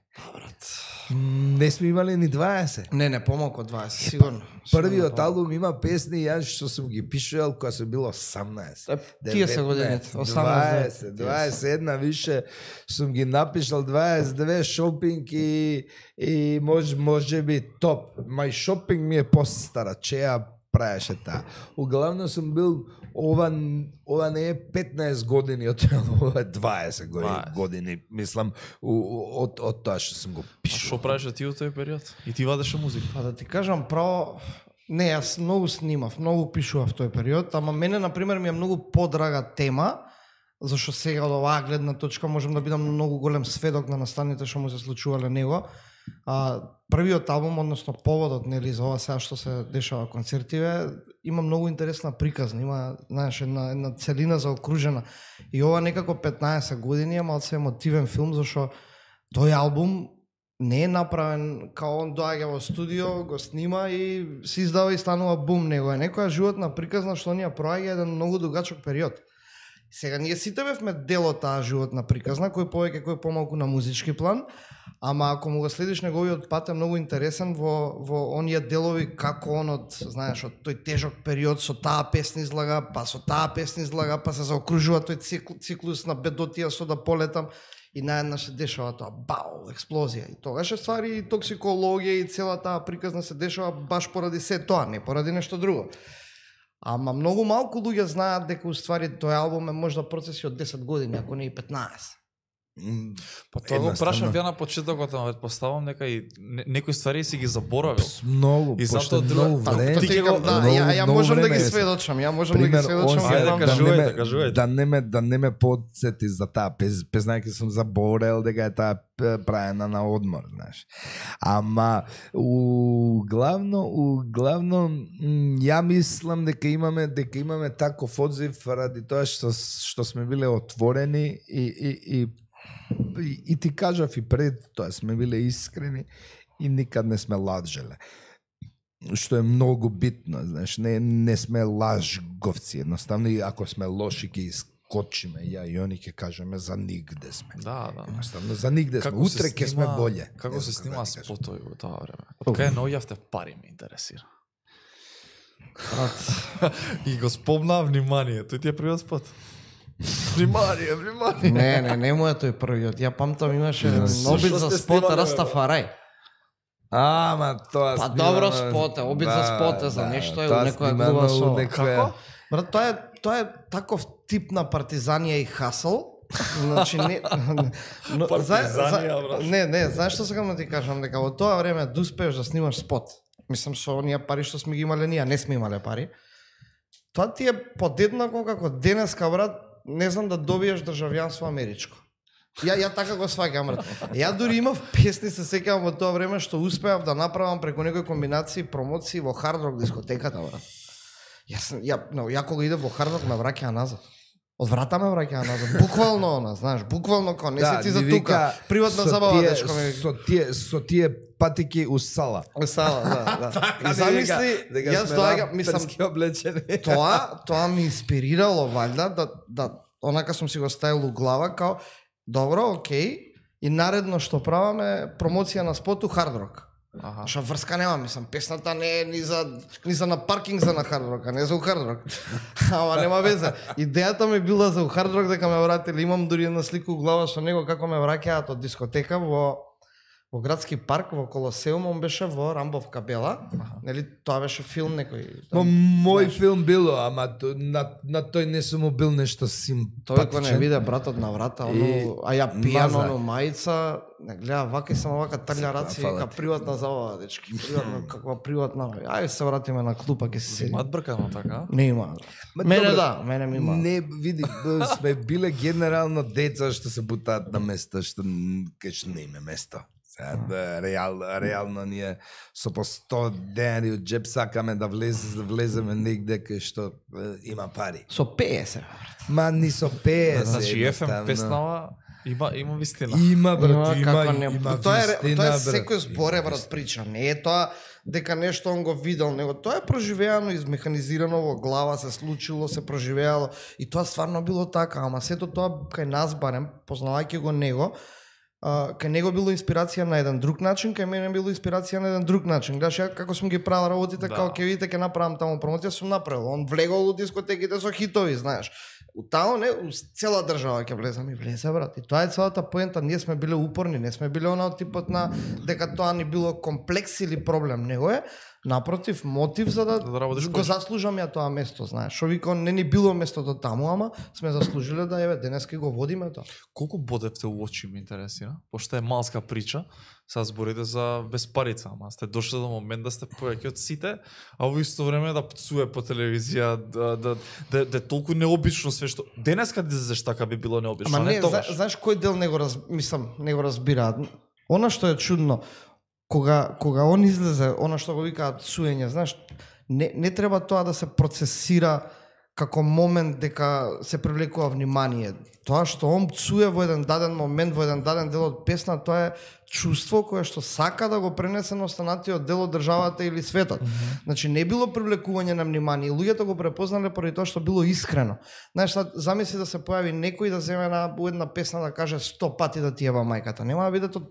Не сме имали ни дваесет. Не, не, помалку од дваесет, сигурно. Првиот албум има песни јас што сум ги пишувал кога сум бил осамнаесет. Тие се годините, осамнаесет, дваесет и една више сум ги напишал, дваесет и две шопинг и и може може би топ. Мај шопинг ми е постара, чеја правеше таа. Углавно сум бил ова ова не е петнаесет години од ова е дваесет години, мислам од од тоа што сум го пишал. Што правеше ти во тој период? И ти вадеше музика? Па да ти кажам право, не, јас многу снимав, многу пишував в тој период, ама мене на пример ми е многу подрага тема, зашто сега од оваа гледна точка можам да бидам многу голем сведок на настаните што му се случувале него. А, првиот албум, односно поводот, нели, за ова сега што се дешава концертиве, има многу интересна приказна, има, знаеш, една, една целина заокружена. И ова некако петнаесет години е малце емотивен филм, зашто тој албум не е направен као он доаѓа во студио, го снима и се издава и станува бум, него е некоја животна приказна што ни ја проаѓа еден многу дугачок период. Сега ние сите бевме дел од таа животна приказна, кој повеќе, кој помалку на музички план, ама ако му го следиш неговиот пат е многу интересен во во оние делови како он од, знаеш, од тој тежок период со таа песна излага, па со таа песна излага, па се заокружува тој цикл, циклус на бедотија со да полетам и наеднаш се дешава тоа бау, експлозија. И тогаш е ствари и токсикологија и цела таа приказна се дешава баш поради се тоа, не поради нешто друго. Ама многу малку луѓе знаат дека уствари тој албум е можда процеси од десет години, ако не и петнаесет. Па тоа го прашам ја на почетокот, ама предпоставам дека и некои ствари си ги заборавил. Многу, и пошто затоа многу време. Ти ќе го да, ја, ја можам да ги сведочам, ја можам да ги сведочам. Ајде, кажувајте, кажувајте. Да не ме да не ме подсети за таа пез, пезнајќи сум заборел дека е таа правена на одмор, знаеш. Ама у главно у главно ја мислам дека имаме дека имаме таков одзив ради тоа што што сме биле отворени и и и И, и ти кажав и пред тоа сме биле искрени и никад не сме лажеле. Што е многу битно, знаеш, не не сме лажговци, едноставно и ако сме лоши ќе искочиме, ја и они ќе кажеме за нигде сме. Да, да. Едноставно за нигде сме, Како утре ќе сме боле. Како се знам снима да ти кажам. спотови во тоа време? Кај наоѓавте пари ме интересира. И го спомна внимание, тој ти е првиот спот. Внимание, внимание. Не, не, не му е тој првиот. Ја памтам имаше Со обид што за сте спот снимале, Растафарај. Ама тоа Па снимано- добро спот е, обид за спот е, за нешто е, тоа некоја снимано глува у со- некоја- Како? Брат, тоа е тоа е таков тип на партизанија и хасл. Значи не но, Партизанија, брат. Не, не, знаеш што сакам да ти кажам, дека во тоа време да успееш да снимаш спот. Мислам со оние пари што сме ги имале ние, не сме имале пари. Тоа ти е подеднакво како денеска, брат, не знам да добиеш државјанство америчко. Ја ја така го сваќам, брат. Ја дури имав песни, се сеќавам во тоа време што успеав да направам преку некои комбинации промоции во Hard Rock дискотеката, брат. Јас ја, но, ја кога идев во Hard Rock ме враќаа назад. Од врата ме враќаа назад. Буквално она, знаеш, буквално кон, не Да, се ти за ми тука. вика, Приватна со забава, тие- дечко ме. Со тие со тие патики у сала. Сала, да, да. И замисли, јас доаѓам, мислам, облечени. тоа, тоа ми инспирирало валјда да да онака сум си го ставил у глава као добро, окей, и наредно што правам е промоција на споту Hard Rock. Аха. Што врска нема, мислам, песната не е ни за ни за на паркинг за на Hard Rock, а не за у Hard Rock. Ама нема веза. Идејата ми била за у Hard Rock дека ме вратили, имам дури една слика у глава со него како ме враќаат од дискотека во во градски парк, во Колосеум, он беше во Рамбов Кабела. Нели, тоа беше филм некој. Мо мој филм било, ама то- на на тој не сум му бил нешто Тој кога не симпатичен. виде братот на врата, И оно, а ја пијано, маза. оно мајца, не гледа вака и само вака трља раци, фала вика ти. приватна забава, дечки, приватна, каква приватна, ајде се вратиме на клупа, ќе се седи. Имаат бркано така? Не има. Ма Мене добро, да, мене ми има. Не, види, б- сме биле генерално деца што се бутаат на места што н- кај што не име место. Сега, да, реал, реално ние со по сто денари од джеп сакаме да влез, влеземе негде кај што е, има пари. Со пеесет. Ма ни со пеесет. Значи еф ем едноставно. песнава има има вистина. Има, брат, има, како има, не. има Тоа е, вистина, тоа е брат. секој зборе, брат, прича. Не е тоа дека нешто он го видел, него тоа е проживеано, измеханизирано во глава, се случило, се проживеало и тоа стварно било така, ама сето тоа кај нас барем, познавајќи го него, Uh, кај него било инспирација на еден друг начин, кај мене било инспирација на еден друг начин. Гледаш, ја како сум ги правил работите, Да. како ќе видите, ќе направам таму промоција, сум направил. Он влегол у дискотеките со хитови, знаеш. У тамо не, у цела држава ќе влезам и влезе, брат. И тоа е целата поента, ние сме биле упорни, не сме биле она од типот на дека тоа ни било комплекс или проблем, него е напротив мотив за да, Да работиш го повеќе. заслужам ја тоа место, знаеш. Што вика, не ни било местото таму, ама сме заслужиле да еве денеска го водиме тоа. Колку бодевте у очи ми интересира, пошто е малска прича, сега зборите за безпарица, ама сте дошли до момент да сте повеќе од сите, а во исто време да пцуе по телевизија, да, да, да, да е толку необично све што... Денеска да излезеш така би било необично, Ама не, не, тогаш. зна, знаеш кој дел не го раз, мислам, не го разбираат. Она што е чудно, кога кога он излезе, она што го викаат суење, знаеш, не не треба тоа да се процесира како момент дека се привлекува внимание. Тоа што он пцуе во еден даден момент, во еден даден дел од песна, тоа е чувство кое што сака да го пренесе на останатиот дел од државата или светот. Mm -hmm. Значи не било привлекување на внимание, луѓето го препознале поради тоа што било искрено. Знаеш, сад, замисли да се појави некој да земе на една песна да каже сто пати да ти еба мајката. Нема да биде тоа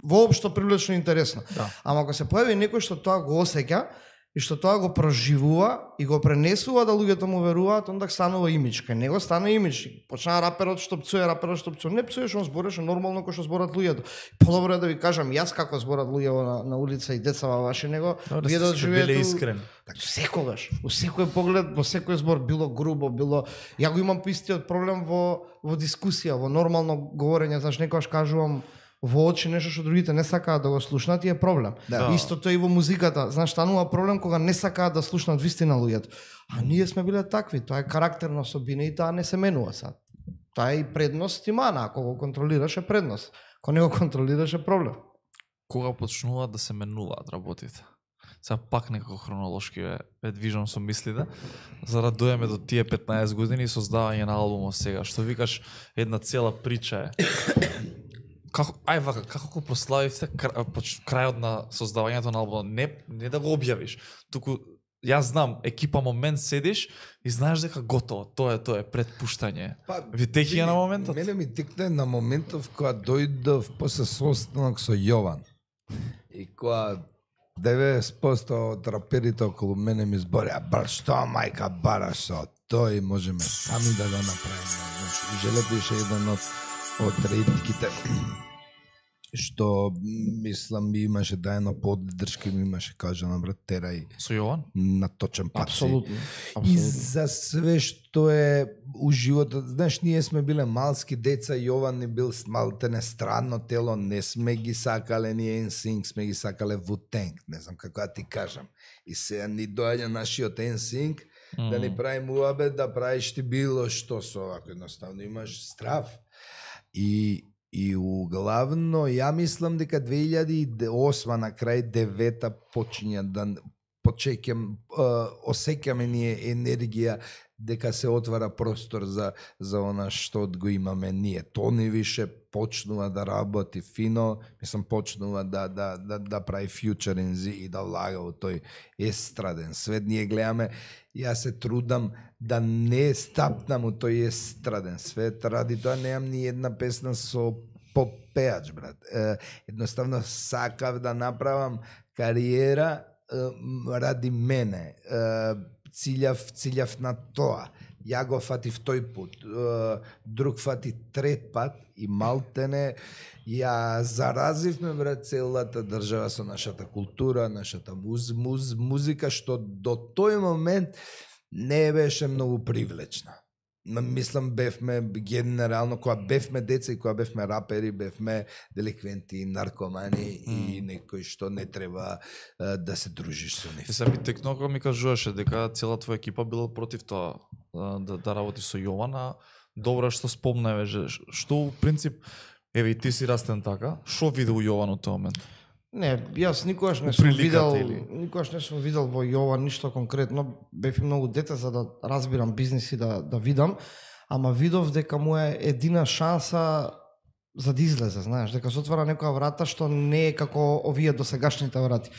воопшто привлечно интересно. Да. Ама ако се појави некој што тоа го осеќа и што тоа го проживува и го пренесува да луѓето му веруваат, онда станува имидж. Кај него стана имидж. Почна раперот што пцуе, раперот што пцуе. Не пцуеш, он збореше нормално кој што зборат луѓето. Подобро е да ви кажам јас како зборат луѓе на, на улица и деца во ваше него, Да, вие да сте биле живеете искрени. Така секогаш, во секој поглед, во секој збор, било грубо, било... Ја го имам истиот проблем во, во дискусија, во нормално говорење, знаеш, некогаш кажувам во очи нешто што другите не сакаат да го слушнат и е проблем. Да. Истото и во музиката, знаеш, станува проблем кога не сакаат да слушнат вистина луѓето. А ние сме биле такви, тоа е карактерна особина и таа не се менува сад. Тоа е и предност и мана, ако го контролираш е предност. Ако не го контролираш е проблем. Кога почнуваат да се менуваат работите? Сега пак некако хронолошки ве, ве движам со мислите, за да дојдеме до тие петнаесет години и создавање на албумот сега. Што викаш, една цела прича е. Како, ај вака, како го прославивте крајот на создавањето на албумот? Не, не да го објавиш, туку јас знам, екипа момент седиш и знаеш дека готово, тоа е, тоа е предпуштање. Па, Ви текија види, на моментот? Мене ми текне на моментов кога дојдов после состанок со Јован. И кога деветдесет проценти од раперите околу мене ми зборија, брат, што мајка бараш со тој, можеме сами да го направиме. Значи, Желето ише еден од од ретките што мислам имаше да едно поддршка ми имаше кажано, брат, терај Со Јован? на точен пат. си. Апсолутно. И за све што е у животот, знаеш, ние сме биле малски деца, Јован ни бил малтене странно тело, не сме ги сакале ни ен синк, сме ги сакале Wu-Tang, не знам како да ти кажам. И сега ни доаѓа нашиот ен синк, mm. да ни прави муабет, да правиш ти било што со овако, едноставно имаш страв. И И углавно, ја мислам дека две илјади и осма на крај девета почиња да почекам, осеќаме ние енергија дека се отвара простор за за она што го имаме ние. Тони више почнува да работи фино, мислам почнува да да да да прави фьючеринзи и да влага во тој естраден свет. Ние гледаме, јас се трудам да не стапнам у тој естраден свет, ради тоа немам ни една песна со попеач, брат. Е, едноставно сакав да направам кариера е, ради мене. Е, Циљав, циљав на тоа. Ја го фатив тој пат, друг фати трет пат и малтене ја заразивме, брат, целата држава со нашата култура, нашата муз, муз, музика, што до тој момент не беше многу привлечна. Мислам, бевме генерално, кога бевме деца и кога бевме рапери, бевме деликвенти, наркомани mm. и некои што не треба uh, да се дружиш со нив. И се би текно кога ми кажуваше дека цела твоја екипа била против тоа да, да работи со Јован, а добро што спомнаве, што у принцип, еве и ти си растен така, што виде у Јован од тој момент? Не, јас никогаш не сум Приликата видел, или? никогаш не сум видел во Јован ништо конкретно. Бев и многу дете за да разбирам бизнис и да да видам, ама видов дека му е едина шанса за да излезе, знаеш, дека се отвара некоја врата што не е како овие досегашните врати.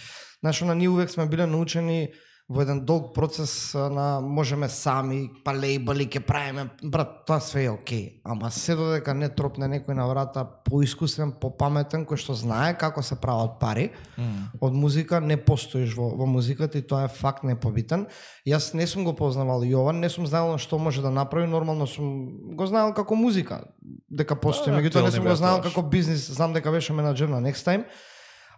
Знаеш, на ние увек сме биле научени во еден долг процес на можеме сами, па лейбли ќе правиме, брат, тоа све е окей. Ама се додека не тропне некој на врата поискусен, попаметен, кој што знае како се прават пари mm. од музика, не постоиш во, во музиката и тоа е факт непобитен. Јас не сум го познавал Јован, не сум знаел што може да направи, нормално сум го знаел како музика, дека постои, меѓутоа не сум го знаел како бизнис, знам дека беше менаџер на Next Time.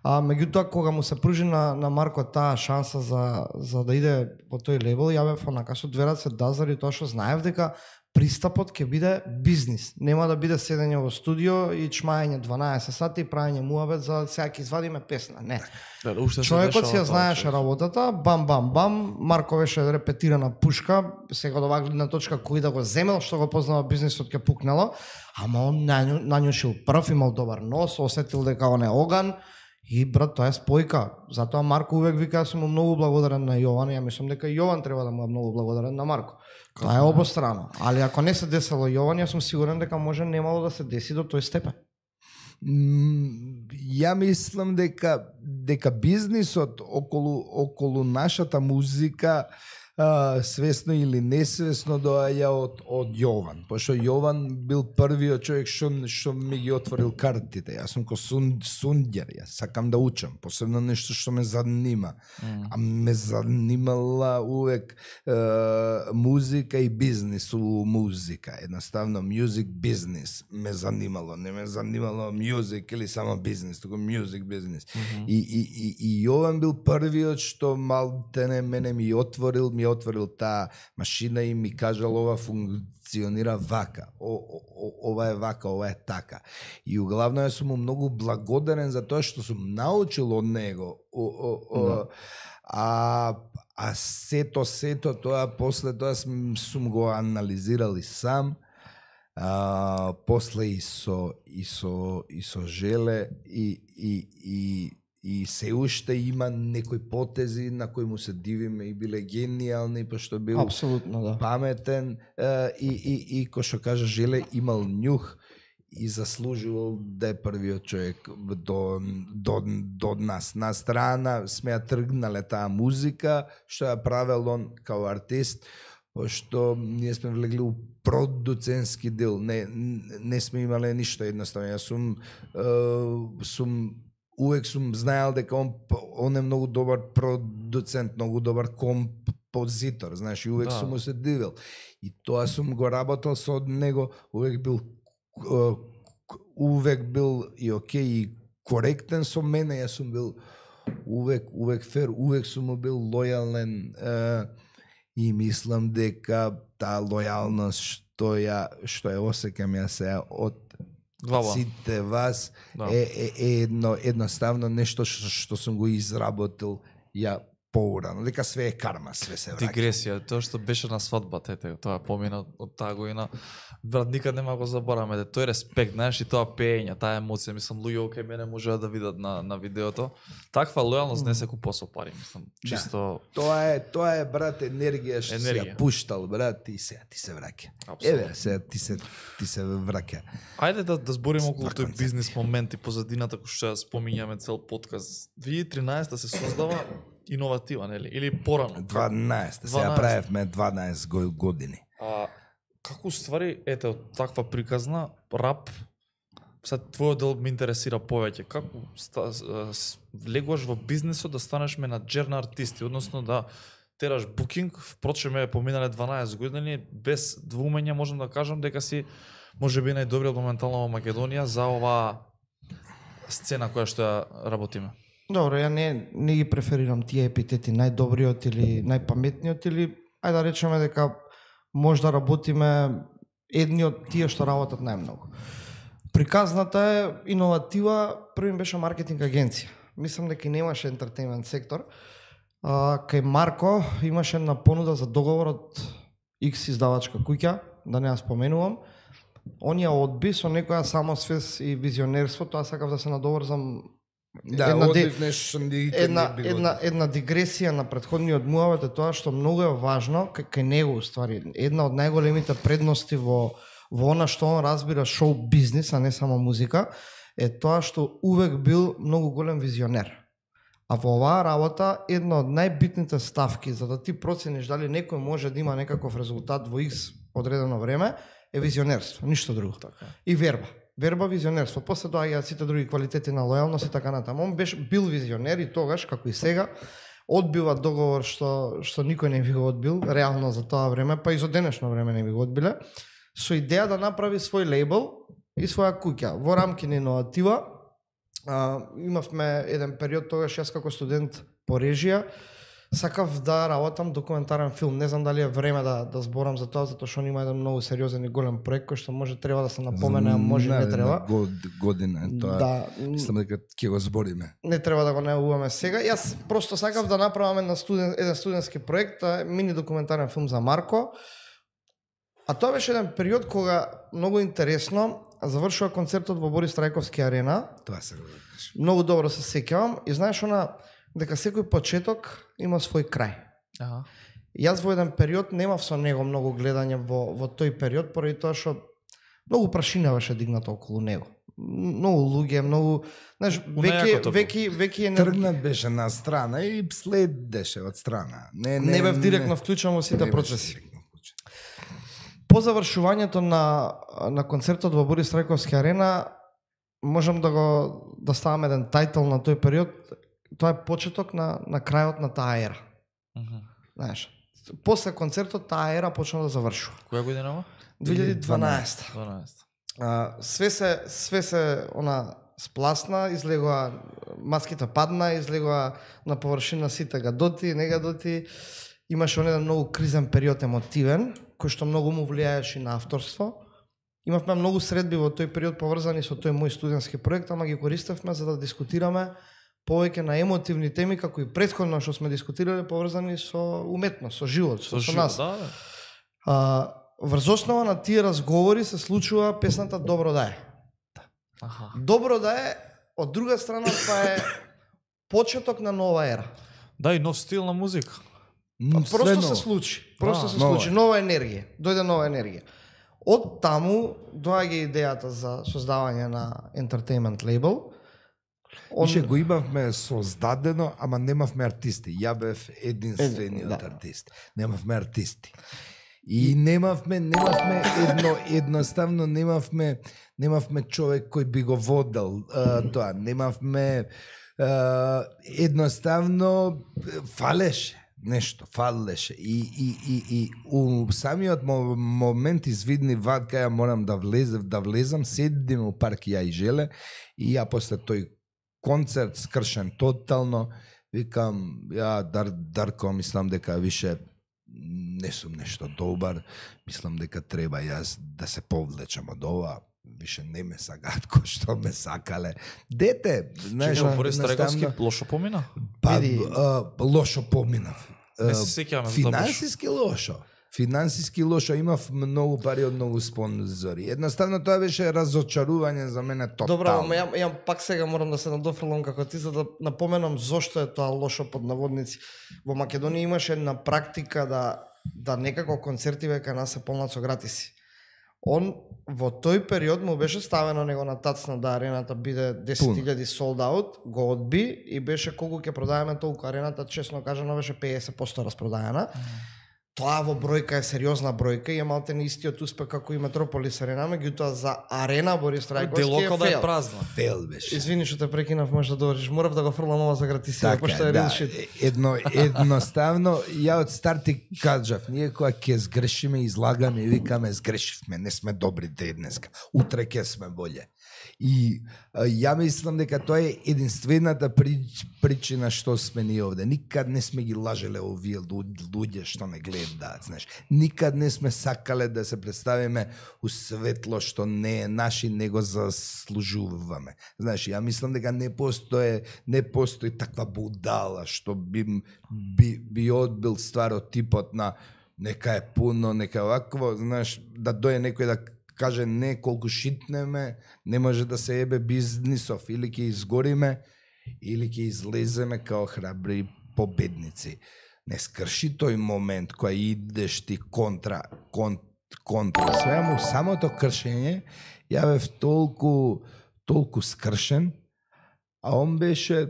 А меѓутоа кога му се пружи на, на Марко таа шанса за, за да иде во тој лейбл, ја бев онака со две раце да, заради тоа што знаев дека пристапот ќе биде бизнис. Нема да биде седење во студио и чмаење дванаесет сати и правење муабет за сега ќе извадиме песна. Не. Да, човекот си ја знаеше работата, бам бам бам, Марко беше репетирана пушка, сега од оваа гледна точка кој да го земел, што го познава бизнисот ќе пукнело, ама он нањушил прв, имал добар нос, осетил дека он е оган. И брат, тоа е спојка. Затоа Марко увек вика, јас сум му многу благодарен на Јован, ја мислам дека Јован треба да му е многу благодарен на Марко. Тоа е обострано. Али ако не се десело Јован, јас сум сигурен дека може немало да се деси до тој степен. Mm, ја мислам дека дека бизнисот околу околу нашата музика Uh, свесно или несвесно доаѓа од од Јован, пошто Јован бил првиот човек што што ми ги отворил картите. Јас сум ко сун, сундјар, јас сакам да учам, посебно нешто што ме занима. Mm. А ме занимала увек uh, музика и бизнис у музика. Едноставно music бизнис ме занимало, не ме занимало music или само бизнис, туку music бизнис. Mm-hmm. И, и, и, и Јован бил првиот што малтене мене ми отворил, ми отворил таа машина и ми кажал ова функционира вака, о, о, ова е вака, ова е така. И углавно јас сум му многу благодарен за тоа што сум научил од него. О, о, о, да. А а сето сето тоа после тоа сум, сум го анализирал и сам. А, после и со и со и со Желе и и и и се уште има некои потези на кои му се дивиме и биле гениални, пошто бил апсолутно да паметен и и и кој што кажа Желе имал нюх и заслужувал да е првиот човек до до до нас. На страна сме ја тргнале таа музика што ја правел он као артист, пошто ние сме влегли у продуцентски дел, не не сме имале ништо едноставно. Јас сум сум увек сум знаел дека он, он е многу добар продуцент, многу добар композитор, знаеш, и увек да. Сум му се дивел. И тоа сум го работел со него, увек бил увек бил и окей и коректен со мене, јас сум бил увек увек фер, увек сум му бил лојален е, и мислам дека таа лојалност што ја што ја осеќам ја се од Глава. Сите вас да. е, е, е едно, едноставно нешто што, што сум го изработил ја поурано, дека све е карма, све се враќа. Дигресија, тоа што беше на свадбата, ете, тоа помина од таа година, брат, никад нема го забораваме, тој респект, знаеш, и тоа пеење, таа емоција, мислам, луѓе окей мене можеа да видат на на видеото. Таква лојалност не се купува со пари, мислам, чисто. Да. Тоа е, тоа е брат енергија што си ја пуштал, брат, и сега ти се враќа. Еве, сега ти се ти се враќа. Ајде да да збориме околу тој бизнис момент и позадината кој што ја спомињаме цел подкаст. две илјади и тринаесетта се создава иноватива, нели? Или порано? дванаесет, сега правевме дванаесет години. А како ствари, ете, од таква приказна, рап, сега твојот дел ме интересира повеќе. Како ста, влегуваш во бизнисот да станеш менаџер на артисти, односно да тераш букинг, впрочем е поминале дванаесет години, без двумење можам да кажам дека си можеби најдобриот моментално во Македонија за оваа сцена која што ја работиме. Добро, ја не, не ги преферирам тие епитети, најдобриот или најпаметниот, или ајде да речеме дека може да работиме едни од тие што работат најмногу. Приказната е иноватива, првим беше маркетинг агенција. Мислам дека немаше ентертејмент сектор. А, кај Марко имаше една понуда за договор од X издавачка куќа, да не ја споменувам. Он ја одби со некоја самосвест и визионерство, тоа сакав да се надоврзам. Да, една, одбив нешто една, една, една дигресија на претходниот муавет е тоа што многу е важно кај него уствари. Една од најголемите предности во во она што он разбира шоу бизнис, а не само музика, е тоа што увек бил многу голем визионер. А во оваа работа, една од најбитните ставки за да ти процениш дали некој може да има некаков резултат во X одредено време, е визионерство, ништо друго. Така. И верба. Верба, визионерство. После доаѓаат сите други квалитети на лојалност и така натаму. Он беше бил визионер и тогаш, како и сега, одбива договор што што никој не би го одбил, реално за тоа време, па и за денешно време не би го одбиле, со идеја да направи свој лейбл и своја куќа. Во рамки на иноватива, а, имавме еден период тогаш јас како студент по режија, сакав да работам документарен филм. Не знам дали е време да да зборам за тоа, затоа што он има еден многу сериозен и голем проект кој што може треба да се напомене, а може не треба. Год, година е тоа. Да, Мислам дека ќе го збориме. не треба да го најавуваме сега. Јас просто сакав да направам една студен, еден студентски проект, а, мини документарен филм за Марко. А тоа беше еден период кога многу интересно завршува концертот во Борис Трајковски арена. Тоа се го кажеш. Многу добро се сеќавам и знаеш она дека секој почеток има свој крај. Аха. Јас во еден период немав со него многу гледање во во тој период поради тоа што многу прашина беше дигната околу него. Многу луѓе, многу, знаеш, веќе нејакото веќе веќе енергија. Тргнат беше на страна и следеше од страна. Не, не, Не бев директно вклучен во сите не беше процеси. директно вклучен. По завршувањето на на концертот во Борис Трајковски арена можам да го да ставам еден тајтл на тој период. Тоа е почеток на на крајот на таа ера. Мгм. Знаеш, после концертот таа ера почна да завршува. Која година ова? две илјади и дванаесета. дванаесета. А, све се све се она спласна, излегоа маските падна, излегоа на површина сите гадоти, негадоти. Имаше он еден многу кризен период емотивен, кој што многу му влијаеше на авторство. Имавме многу средби во тој период поврзани со тој мој студентски проект, ама ги користевме за да дискутираме повеќе на емотивни теми, како и претходно што сме дискутирале, поврзани со уметност, со живот, со, Со со живот, нас. да, да. А, врз основа на тие разговори се случува песната Добро да е. Аха. Добро да е, од друга страна, тоа е почеток на нова ера. Да, и нов стил на музика. М, Просто све се ново. случи. Просто Да, се нова случи. е. Нова енергија. Дојде нова енергија. Од таму доаѓа идејата за создавање на entertainment label. Он... Ише го имавме создадено, ама немавме артисти. Ја бев единствениот Е, да. артист. Немавме артисти. И немавме, немавме едно, едноставно немавме, немавме човек кој би го водел а, тоа. Немавме, а, едноставно фалеше нешто, фалеше. И, и, и, и у самиот мо- момент извидни вад кај ја морам да влезем, да влезам, седим у парк ја и Желе и ја после тој концерт скршен тотално, викам, ја Дар, Дарко, мислам дека више не сум нешто добар, мислам дека треба јас да се повлечам од ова, више не ме сакаат кој што ме сакале. Дете, знаеш, Чекам, Борис едноставно, Трајковски лошо помина? па, Види. а, лошо поминав. Не А, се сеќаваме за тоа баш. Финансиски лошо. Финансиски лошо, имав многу пари од многу спонзори. Едноставно тоа беше разочарување за мене тотално. Добро, ама ја, ја пак сега морам да се надофрлам како ти за да напоменам зошто е тоа лошо под наводници. Во Македонија имаше една практика да да некако концерти века нас се полнат со гратиси. Он во тој период му беше ставено него на тацна да арената биде десет илјади sold out, го одби и беше колку ќе продаваме толку арената, честно кажано беше педесет проценти распродаена. Тоа во бројка е сериозна бројка и е малте не истиот успех како и Метрополис арена, меѓутоа за арена Борис Трајковски Делоко е да е фейл. празна. Фел беше. Извини што те прекинав, може да довршиш. Морав да го фрлам ова за гратисија, Така, пошто е да, real shit. едно, едноставно, ја од старт ти кажав, ние кога ќе сгрешиме, излагаме и викаме сгрешивме, не сме добри денеска, утре ќе сме боле. И а, ја мислам дека тоа е единствената прич, причина што сме ние овде. Никад не сме ги лажеле овие луѓе, луѓе што не гледаат, знаеш. Никад не сме сакале да се представиме у светло што не е наши, него заслужуваме. Знаеш, ја мислам дека не постои, не постои таква будала што би би, би одбил стварот типот на нека е пуно, нека е вакво, знаеш, да дојде некој да каже не колку шитнеме, не може да се ебе бизнисов, или ќе изгориме, или ќе излеземе као храбри победници. Не скрши тој момент кој идеш ти контра, кон, контра. Свеаму самото кршење, ја бев толку, толку скршен, а он беше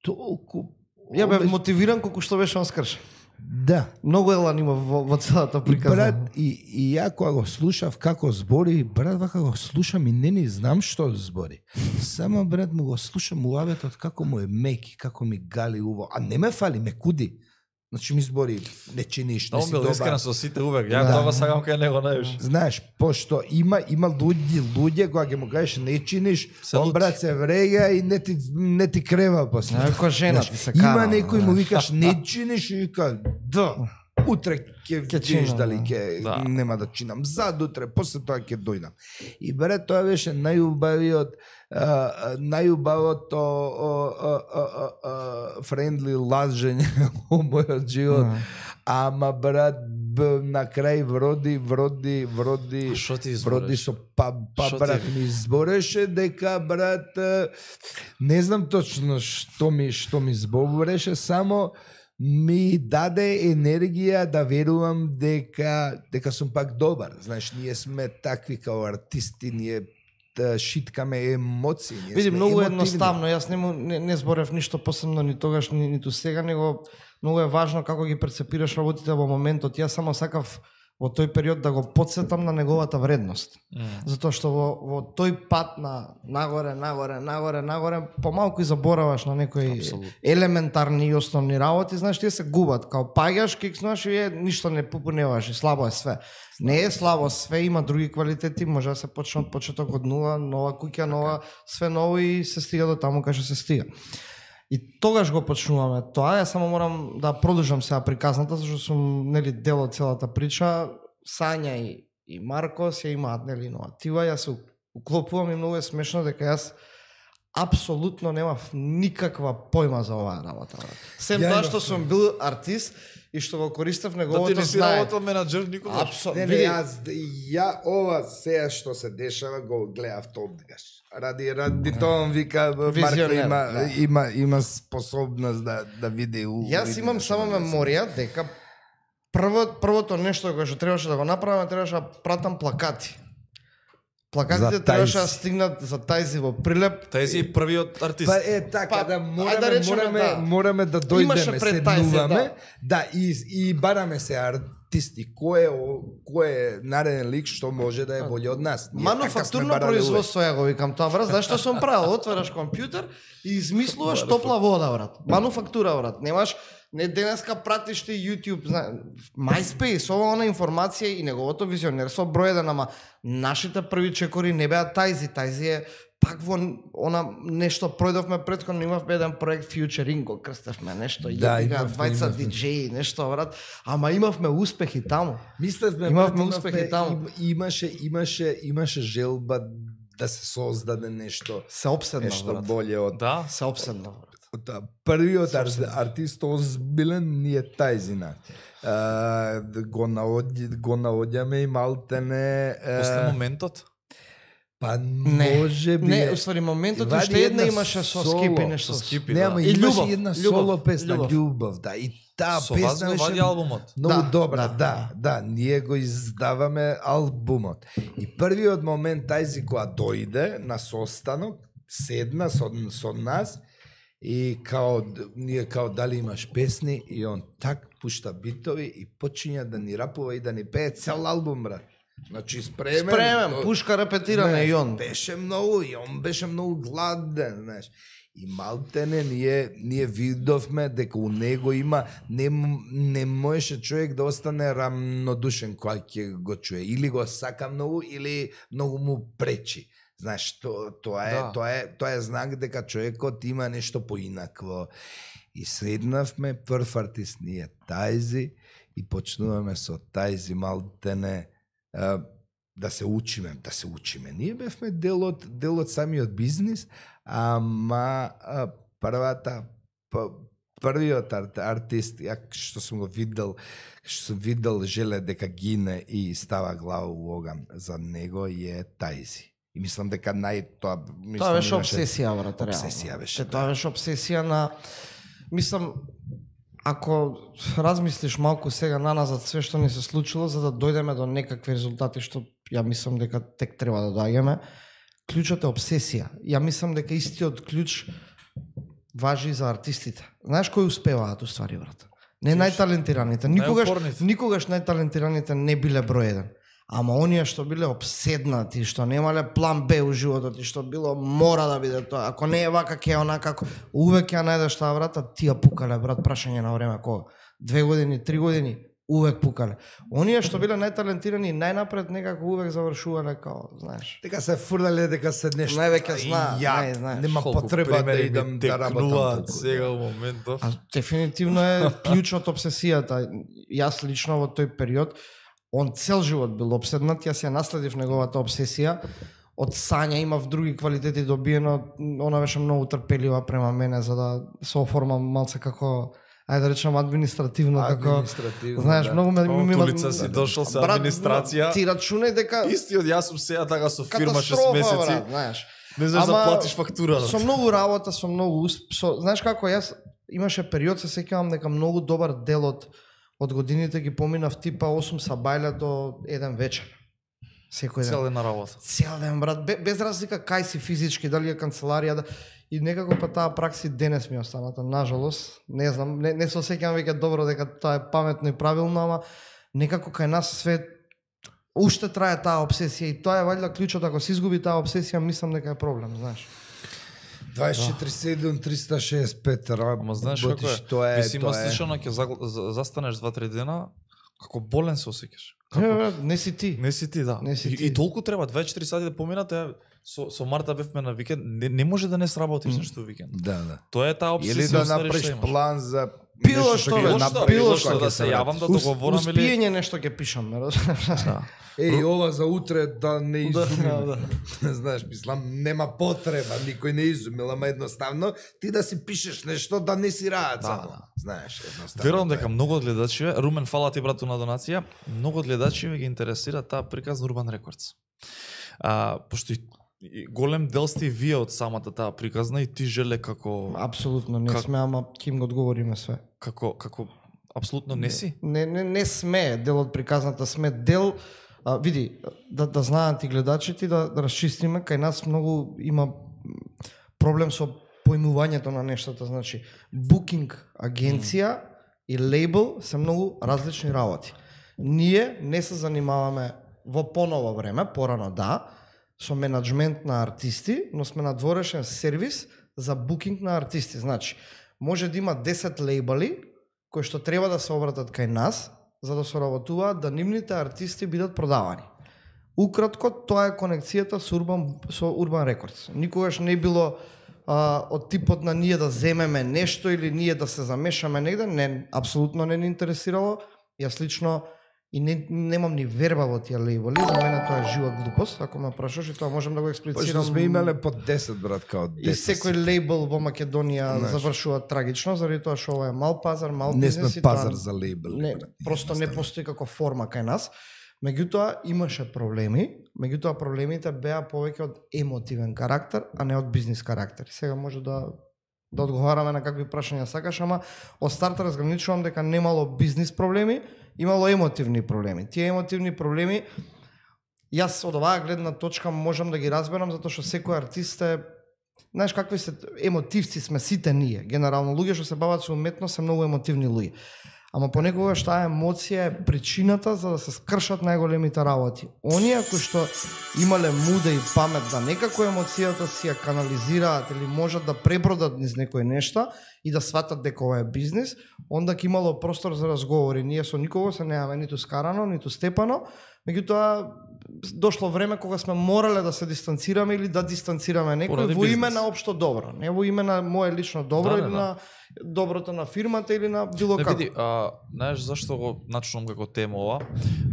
толку Ја бев мотивиран колку што беше он скрш. Да. Многу елан има во, во целата И приказна. брат, и, и ја кога го слушав како збори, брат, вака го слушам и не ни знам што збори. Само брат му го слушам муабетот како му е меки, како ми гали уво, а не ме фали, ме куди. Значи ми збори, не чиниш, не Он си бил искрен добар. со сите увек. Ја Да. тоа сакам кај него највише. Знаеш, пошто има има луѓе, луѓе кога ќе му кажеш не чиниш, Се он лути. брат се врега и не ти не ти крева после. Ако жена ти се Има кара, некој му знаеш. викаш не чиниш и вика да. Утре ќе Ќе видиш чинам, дали да. ќе Да. нема да чинам. Задутре, после тоа ќе дојдам. И брат, тоа беше најубавиот а, а, најубавото о, о, о, о, о, френдли лажење во мојот живот. Да. Ама брат, б, на крај вроди, вроди, вроди, Што ти вроди избориш? со па, па Шо ти- брат ми збореше дека брат е, не знам точно што ми што ми збореше, само ми даде енергија да верувам дека дека сум пак добар. Знаеш, ние сме такви као артисти, ние да шиткаме емоции. Ние Види, сме многу емотивни. едноставно, јас не, му- не, не зборев ништо посебно ни тогаш, ни, ниту сега, него многу е важно како ги перцепираш работите во моментот. Јас само сакав во тој период да го подсетам на неговата вредност. Затоа што во, во тој пат на нагоре, нагоре, нагоре, нагоре, помалку и забораваш на некои Апсолутно. елементарни и основни работи, знаеш, тие се губат. Као паѓаш, кикснуваш и е, ништо не попуневаш и слабо е све. Не е слабо све, има други квалитети, може да се почне од почеток од нула, нова куќа, нова, све ново и се стига до таму кај што се стига. И тогаш го почнуваме тоа, јас само морам да продолжам сега приказната, зашто сум нели дел од целата прича. Сања и, и Маркос ја имаат нели иноватива, јас се уклопувам и многу е смешно дека јас апсолутно немав никаква појма за оваа работа. брат. Сем Ја тоа имав што сум бил артист и што го користев Да ти неговото не си знание. работел менаџер никогаш. Апсолутно. Не, не, јас, ја ова се што се дешава го гледав тогаш. Ради ради тоа он вика Марко Визионер, има да. има има способност да да види у. Јас види имам нешто само да се- меморија дека прво, првото нешто кое што требаше да го направам, требаше да пратам плакати. Плакатите За требаше да Тајзи. стигнат за Тајзи во Прилеп. Тај си првиот артист. Па е така, Па, да ајде мораме, да речеме, мораме, да. мораме да Имаше дојдеме, пред Тајзи, седнуваме, да. да, и, и бараме се артисти, кој е, о- кој е нареден лик што може да е боле од нас. Ние така сме Мануфактурно барали производство ја го викам тоа, брат. Знаеш што сум правил? Отвараш компјутер и измислуваш топла вода, брат. Мануфактура, брат. Немаш не денеска пратиш ти YouTube, зна, MySpace, ова она информација и неговото визионерство број еден, ама нашите први чекори не беа Тајзи, Тајзи е пак во она нешто пројдовме претходно, имавме еден проект Futuring, го крстевме нешто, Да, јебига, имавме, двајца имавме. диџеи, нешто, брат. Ама имавме успехи таму. Мислевме, Имавме брат, успехи таму. им- Имаше, имаше, имаше желба да се создаде нешто, Се обседнав, нешто брат. боле од Да. Се обседнав, брат. Од таа. Првиот ар, артист озбилен ни е Тајзина. А, го наоѓи, го наоѓаме и малтене е, После моментот. па Не, може би не, е- уствари моментот вади уште една една имаше со соло, Скипи нешто. со Скипи. Не, ама И имаше љубов, една љубов, соло песна, љубов. љубов, да. И таа Со вас песна го беше вади албумот. многу Да, добра, да, да, да, да, ние го издаваме албумот. И првиот момент Тајзи кога дојде на состанок, седна со, со нас и као ние као дали имаш песни и он так пушта битови и почиња да ни рапува и да ни пее цел албум, брат. Значи спремен. Спремен, до- пушка репетиране знаеш, и он. Беше многу и он беше многу гладен, знаеш. И малтене ние ние видовме дека у него има не м- не можеше човек да остане рамнодушен кога ќе го чуе, или го сака многу или многу му пречи. Знаеш, то, тоа е Да. тоа е тоа е знак дека човекот има нешто поинакво. И седнавме прв артист ние Тајзи и почнуваме со Тајзи малтене а, да се учиме, да се учиме. Ние бевме дел од, дел од самиот бизнис, ама а, првата, п, првиот ар, артист, ја што сум го видел, што сум видел желе дека гине и става глава у оган за него е Тајзи. И мислам дека нај тоа мислам Тоа беше имаше- обсесија, брат, реално. Обсесија беше, Те, Тоа беше обсесија на... Мислам, ако размислиш малку сега наназад све што ни се случило, за да дојдеме до некакви резултати што ја мислам дека тек треба да доаѓаме, клучот е обсесија. Ја мислам дека истиот клуч важи за артистите. Знаеш кои успеваат уствари, брат? Не најталентираните. Никогаш, Најупорните. никогаш најталентираните не биле број еден. Ама оние што биле обседнати, што немале план Б у животот и што било мора да биде тоа. Ако не е вака, ке е онака, како увек ја најдеш таа, брат, а тие пукале, брат, прашање на време, кога? Две години, три години, увек пукале. Оние што биле најталентирани, најнапред некако увек завршувале као, знаеш. Дека се фурдале дека се нешто. Највеќе знаат, Ја, нај, знаеш. нема Колку потреба да примери идам ми да работам текнуваат толку. сега у моментов. А дефинитивно е клучот обсесијата. Јас лично во тој период, он цел живот бил обседнат, јас ја наследив неговата обсесија. Од сања имав други квалитети добиено, она беше многу трпелива према мене за да се оформам малце како, ајде да речам, административно, како, Административно, знаеш, да. многу ме О, ми тулица си дошол со Брат, администрација. Ти рачунај дека Истиот, јас сум сега така со фирма шест катастрофа, месеци. брат, знаеш. Не знаеш да Ама, платиш фактура. Со многу работа, со многу усп... со, знаеш како јас имаше период, се сеќавам дека многу добар дел од од годините ги поминав типа осум сабајле до еден вечер. Секој ден. Цел ден на работа. Цел ден, брат, бе- без разлика кај си физички, дали е канцеларија, да... и некако па таа пракси денес ми останата, нажалост. Не знам, не, не се сеќавам веќе добро дека тоа е паметно и правилно, ама некако кај нас све уште трае таа обсесија и тоа е валјда клучот, ако се изгуби таа обсесија, мислам дека е проблем, знаеш. дваесет и четири седум триста шест и пет раб. Ама знаеш како е? Тоа е, Ти си има тоа е. слично ќе загл- за- застанеш два-три дена, како болен се осеќаш. Не, бе, не си ти. Не си ти, да. Не си и, ти. и толку треба дваесет и четири сати да поминат, е, со со Марта бевме на викенд, не, не може да не сработиш Мм. нешто викенд. Да, да. Тоа е таа обсесија. Или да уствари, направиш што имаш. план за Било нешто што, ќе било направиш, што, било било што што, ќе да се вратиш. јавам да Ус- договорам или Успиење нешто ќе пишам, ме разбираш? да. Еј, ова за утре да не Да, изумиме. да, Знаеш, мислам, нема потреба, никој не изумил, ама едноставно ти да си пишеш нешто да не си раат Да, само. да. Знаеш, едноставно. Верувам тоа е. дека многу од гледачиве, Румен, фала ти брату на донација, многу од гледачиве ги интересира таа приказна Urban Records. А, пошто и и голем дел сте и вие од самата таа приказна и ти желе како Апсолутно не Как- сме, ама ким го одговориме све. како како апсолутно не си. Не, не, не сме дел од приказната, сме дел, а, види, да, да знаат и гледачите, да, да расчистиме, кај нас многу има м, проблем со поимувањето на нештата, значи, букинг агенција и лейбл се многу различни работи. Ние не се занимаваме во поново време, порано да, со менаџмент на артисти, но сме надворешен сервис за букинг на артисти. Значи, може да има десет лейбали кои што треба да се обратат кај нас за да соработуваат да нивните артисти бидат продавани. Укратко, тоа е конекцијата со Urban, со Urban Records. Никогаш не било а, од типот на ние да земеме нешто или ние да се замешаме негде, не, апсолутно не ни интересирало. Јас лично и не, немам ни верба во тие лейбли, за мене тоа е жива глупост, ако ме прашаш, и тоа можем да го Пошто експлицирам. сме имале по десет, брат, као И десет. секој лейбл во Македонија Знаеш. завршува трагично, заради тоа што ова е мал пазар, мал Не бизнес. сме и тоа пазар за лейбл. Не, просто не постои како форма кај нас. Меѓутоа имаше проблеми, меѓутоа проблемите беа повеќе од емотивен карактер, а не од бизнис карактер. Сега може да да одговараме на какви прашања сакаш, ама од старт разграничувам дека немало бизнис проблеми, имало емотивни проблеми. Тие емотивни проблеми јас од оваа гледна точка можам да ги разберам затоа што секој артист е, знаеш какви се емотивци сме сите ние. Генерално луѓе што се бават со уметност се многу емотивни луѓе. Ама понекогаш таа емоција е причината за да се скршат најголемите работи. Оние кои што имале муда и памет да некако емоцијата си ја канализираат или можат да пребродат низ некои нешта и да сватат дека ова е бизнис, онда ќе имало простор за разговори. Ние со никого се немаме ниту скарано, ниту степано, меѓутоа дошло време кога сме морале да се дистанцираме или да дистанцираме некој Поради во име бизнис. на општо добро, не во име на мое лично добро Да, да, или да. на доброто на фирмата или на било Не како. види, а, знаеш зашто го начнувам како тема ова?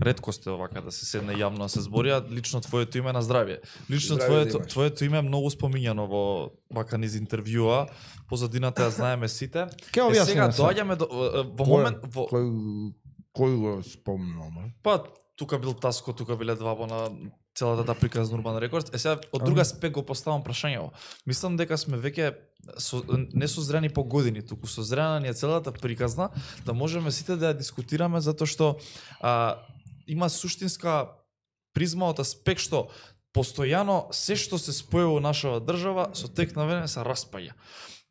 Ретко сте овака да се седне јавно да се збори, а лично твоето име на здравје. Лично Здравје твоето да имаш. твоето име е многу спомињано во вака низ интервјуа, позадината ја знаеме сите. Ке Е, објасниме сега се. доаѓаме до во момент во Кој кој го спомнал, ме? па тука бил Таско, тука биле двабо на целата таа приказна Urban Records. Е сега од друга аспект го поставам прашањево. Мислам дека сме веќе со, не созрени по години, туку созрена ни е целата приказна да можеме сите да ја дискутираме затоа што а, има суштинска призма од аспект што постојано се што се спојува во нашава држава со тек на време се распаѓа.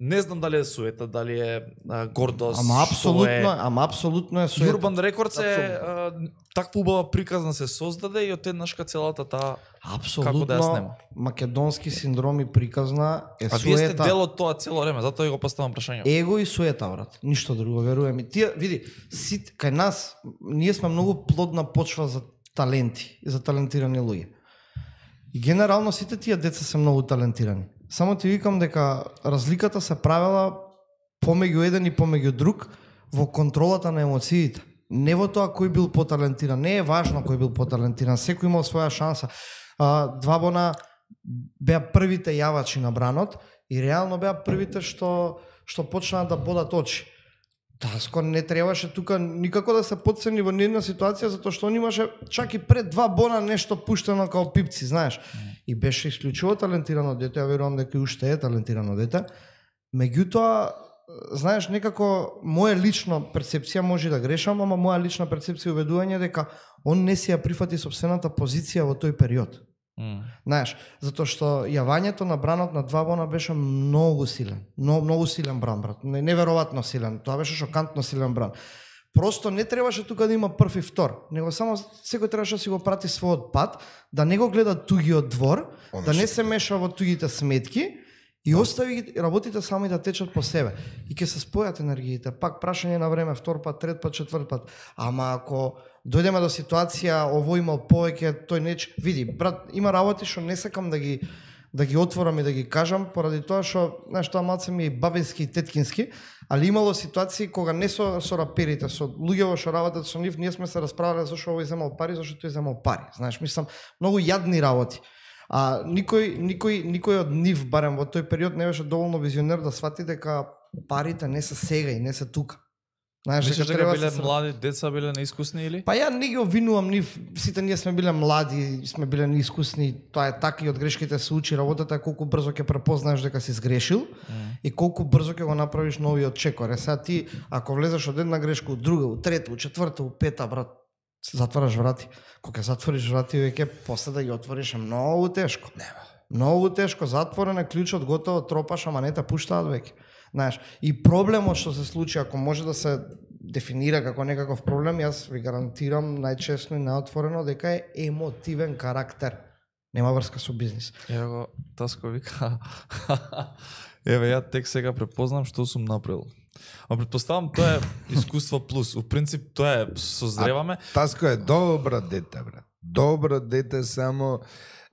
Не знам дали е суета, дали е а, гордост, Ама апсолутно, е... е, ама апсолутно е суета. Urban Records е а, таква убава приказна се создаде и одеднашка целата таа како да ја Апсолутно снема. македонски синдром и приказна е А вие сте суета. дел од тоа цело време, затоа ја го поставам прашање. Его и суета, брат. Ништо друго, верувам ми. Тие, види, си, кај нас, ние сме многу плодна почва за таленти и за талентирани луѓе. И генерално сите тие деца се многу талентирани. Само ти викам дека разликата се правела помеѓу еден и помеѓу друг во контролата на емоциите. Не во тоа кој бил поталентиран. Не е важно кој бил поталентиран. Секој имал своја шанса. А, два бона беа првите јавачи на бранот и реално беа првите што што почнаа да бодат очи. Таско не требаше тука никако да се потцени во ни една ситуација затоа што он имаше чак и пред два бона нешто пуштено као пипци, знаеш. И беше исклучиво талентирано дете, ја верувам дека и уште е талентирано дете. Меѓутоа, знаеш, некако моја лична перцепција, може да грешам, ама моја лична перцепција и убедување дека он не си ја прифати собствената позиција во тој период. Mm. Знаеш, затоа што јавањето на бранот на два бона беше многу силен. Многу, многу силен бран, брат. Не, неверојатно силен. Тоа беше шокантно силен бран. Просто не требаше тука да има прв и втор, него само секој требаше да си го прати својот пат, да не го гледа тугиот двор, Оно да не што- се меша во тугите сметки и остави ги работите сами да течат по себе. И ќе се спојат енергиите. Пак прашање на време, втор пат, трет пат, четврт пат. Ама ако дојдеме до ситуација, ово имал повеќе, тој неч... Види, брат, има работи што не сакам да ги да ги отворам и да ги кажам, поради тоа што, знаеш, тоа малце ми е бабински и теткински, али имало ситуации кога не со, со раперите, со луѓето што работат со нив, ние сме се расправале зашто овој земал пари, зашто тој земал пари. Знаеш, мислам, многу јадни работи. А никој, никој, никој од нив, барем во тој период, не беше доволно визионер да свати дека парите не се сега и не се тука. Знаеш, Мислиш дека треба биле се- млади деца, биле неискусни или? Па ја не ги обвинувам нив, сите ние сме биле млади, сме биле неискусни, тоа е така и од грешките се учи, работата е колку брзо ќе препознаеш дека си сгрешил Mm. и колку брзо ќе го направиш новиот чекор. Е сега ти, ако влезеш од една грешка, од друга, од трета, од четврта, од пета, брат, затвараш врати. Кога ќе затвориш врати, веќе после да ги отвориш е многу тешко. Нема. Многу тешко, затворен е клучот, готово, тропаш, ама не те пуштаат веќе. Знаеш, и проблемот што се случи, ако може да се дефинира како некаков проблем, јас ви гарантирам најчесно и наотворено дека е емотивен карактер. Нема врска со бизнис. Ево го, Таско вика. Еве ја тек сега препознам што сум направил. А предпоставам тоа е искуство плюс. У принцип тоа е созреваме. Таско е добро дете, брат. Добро дете, само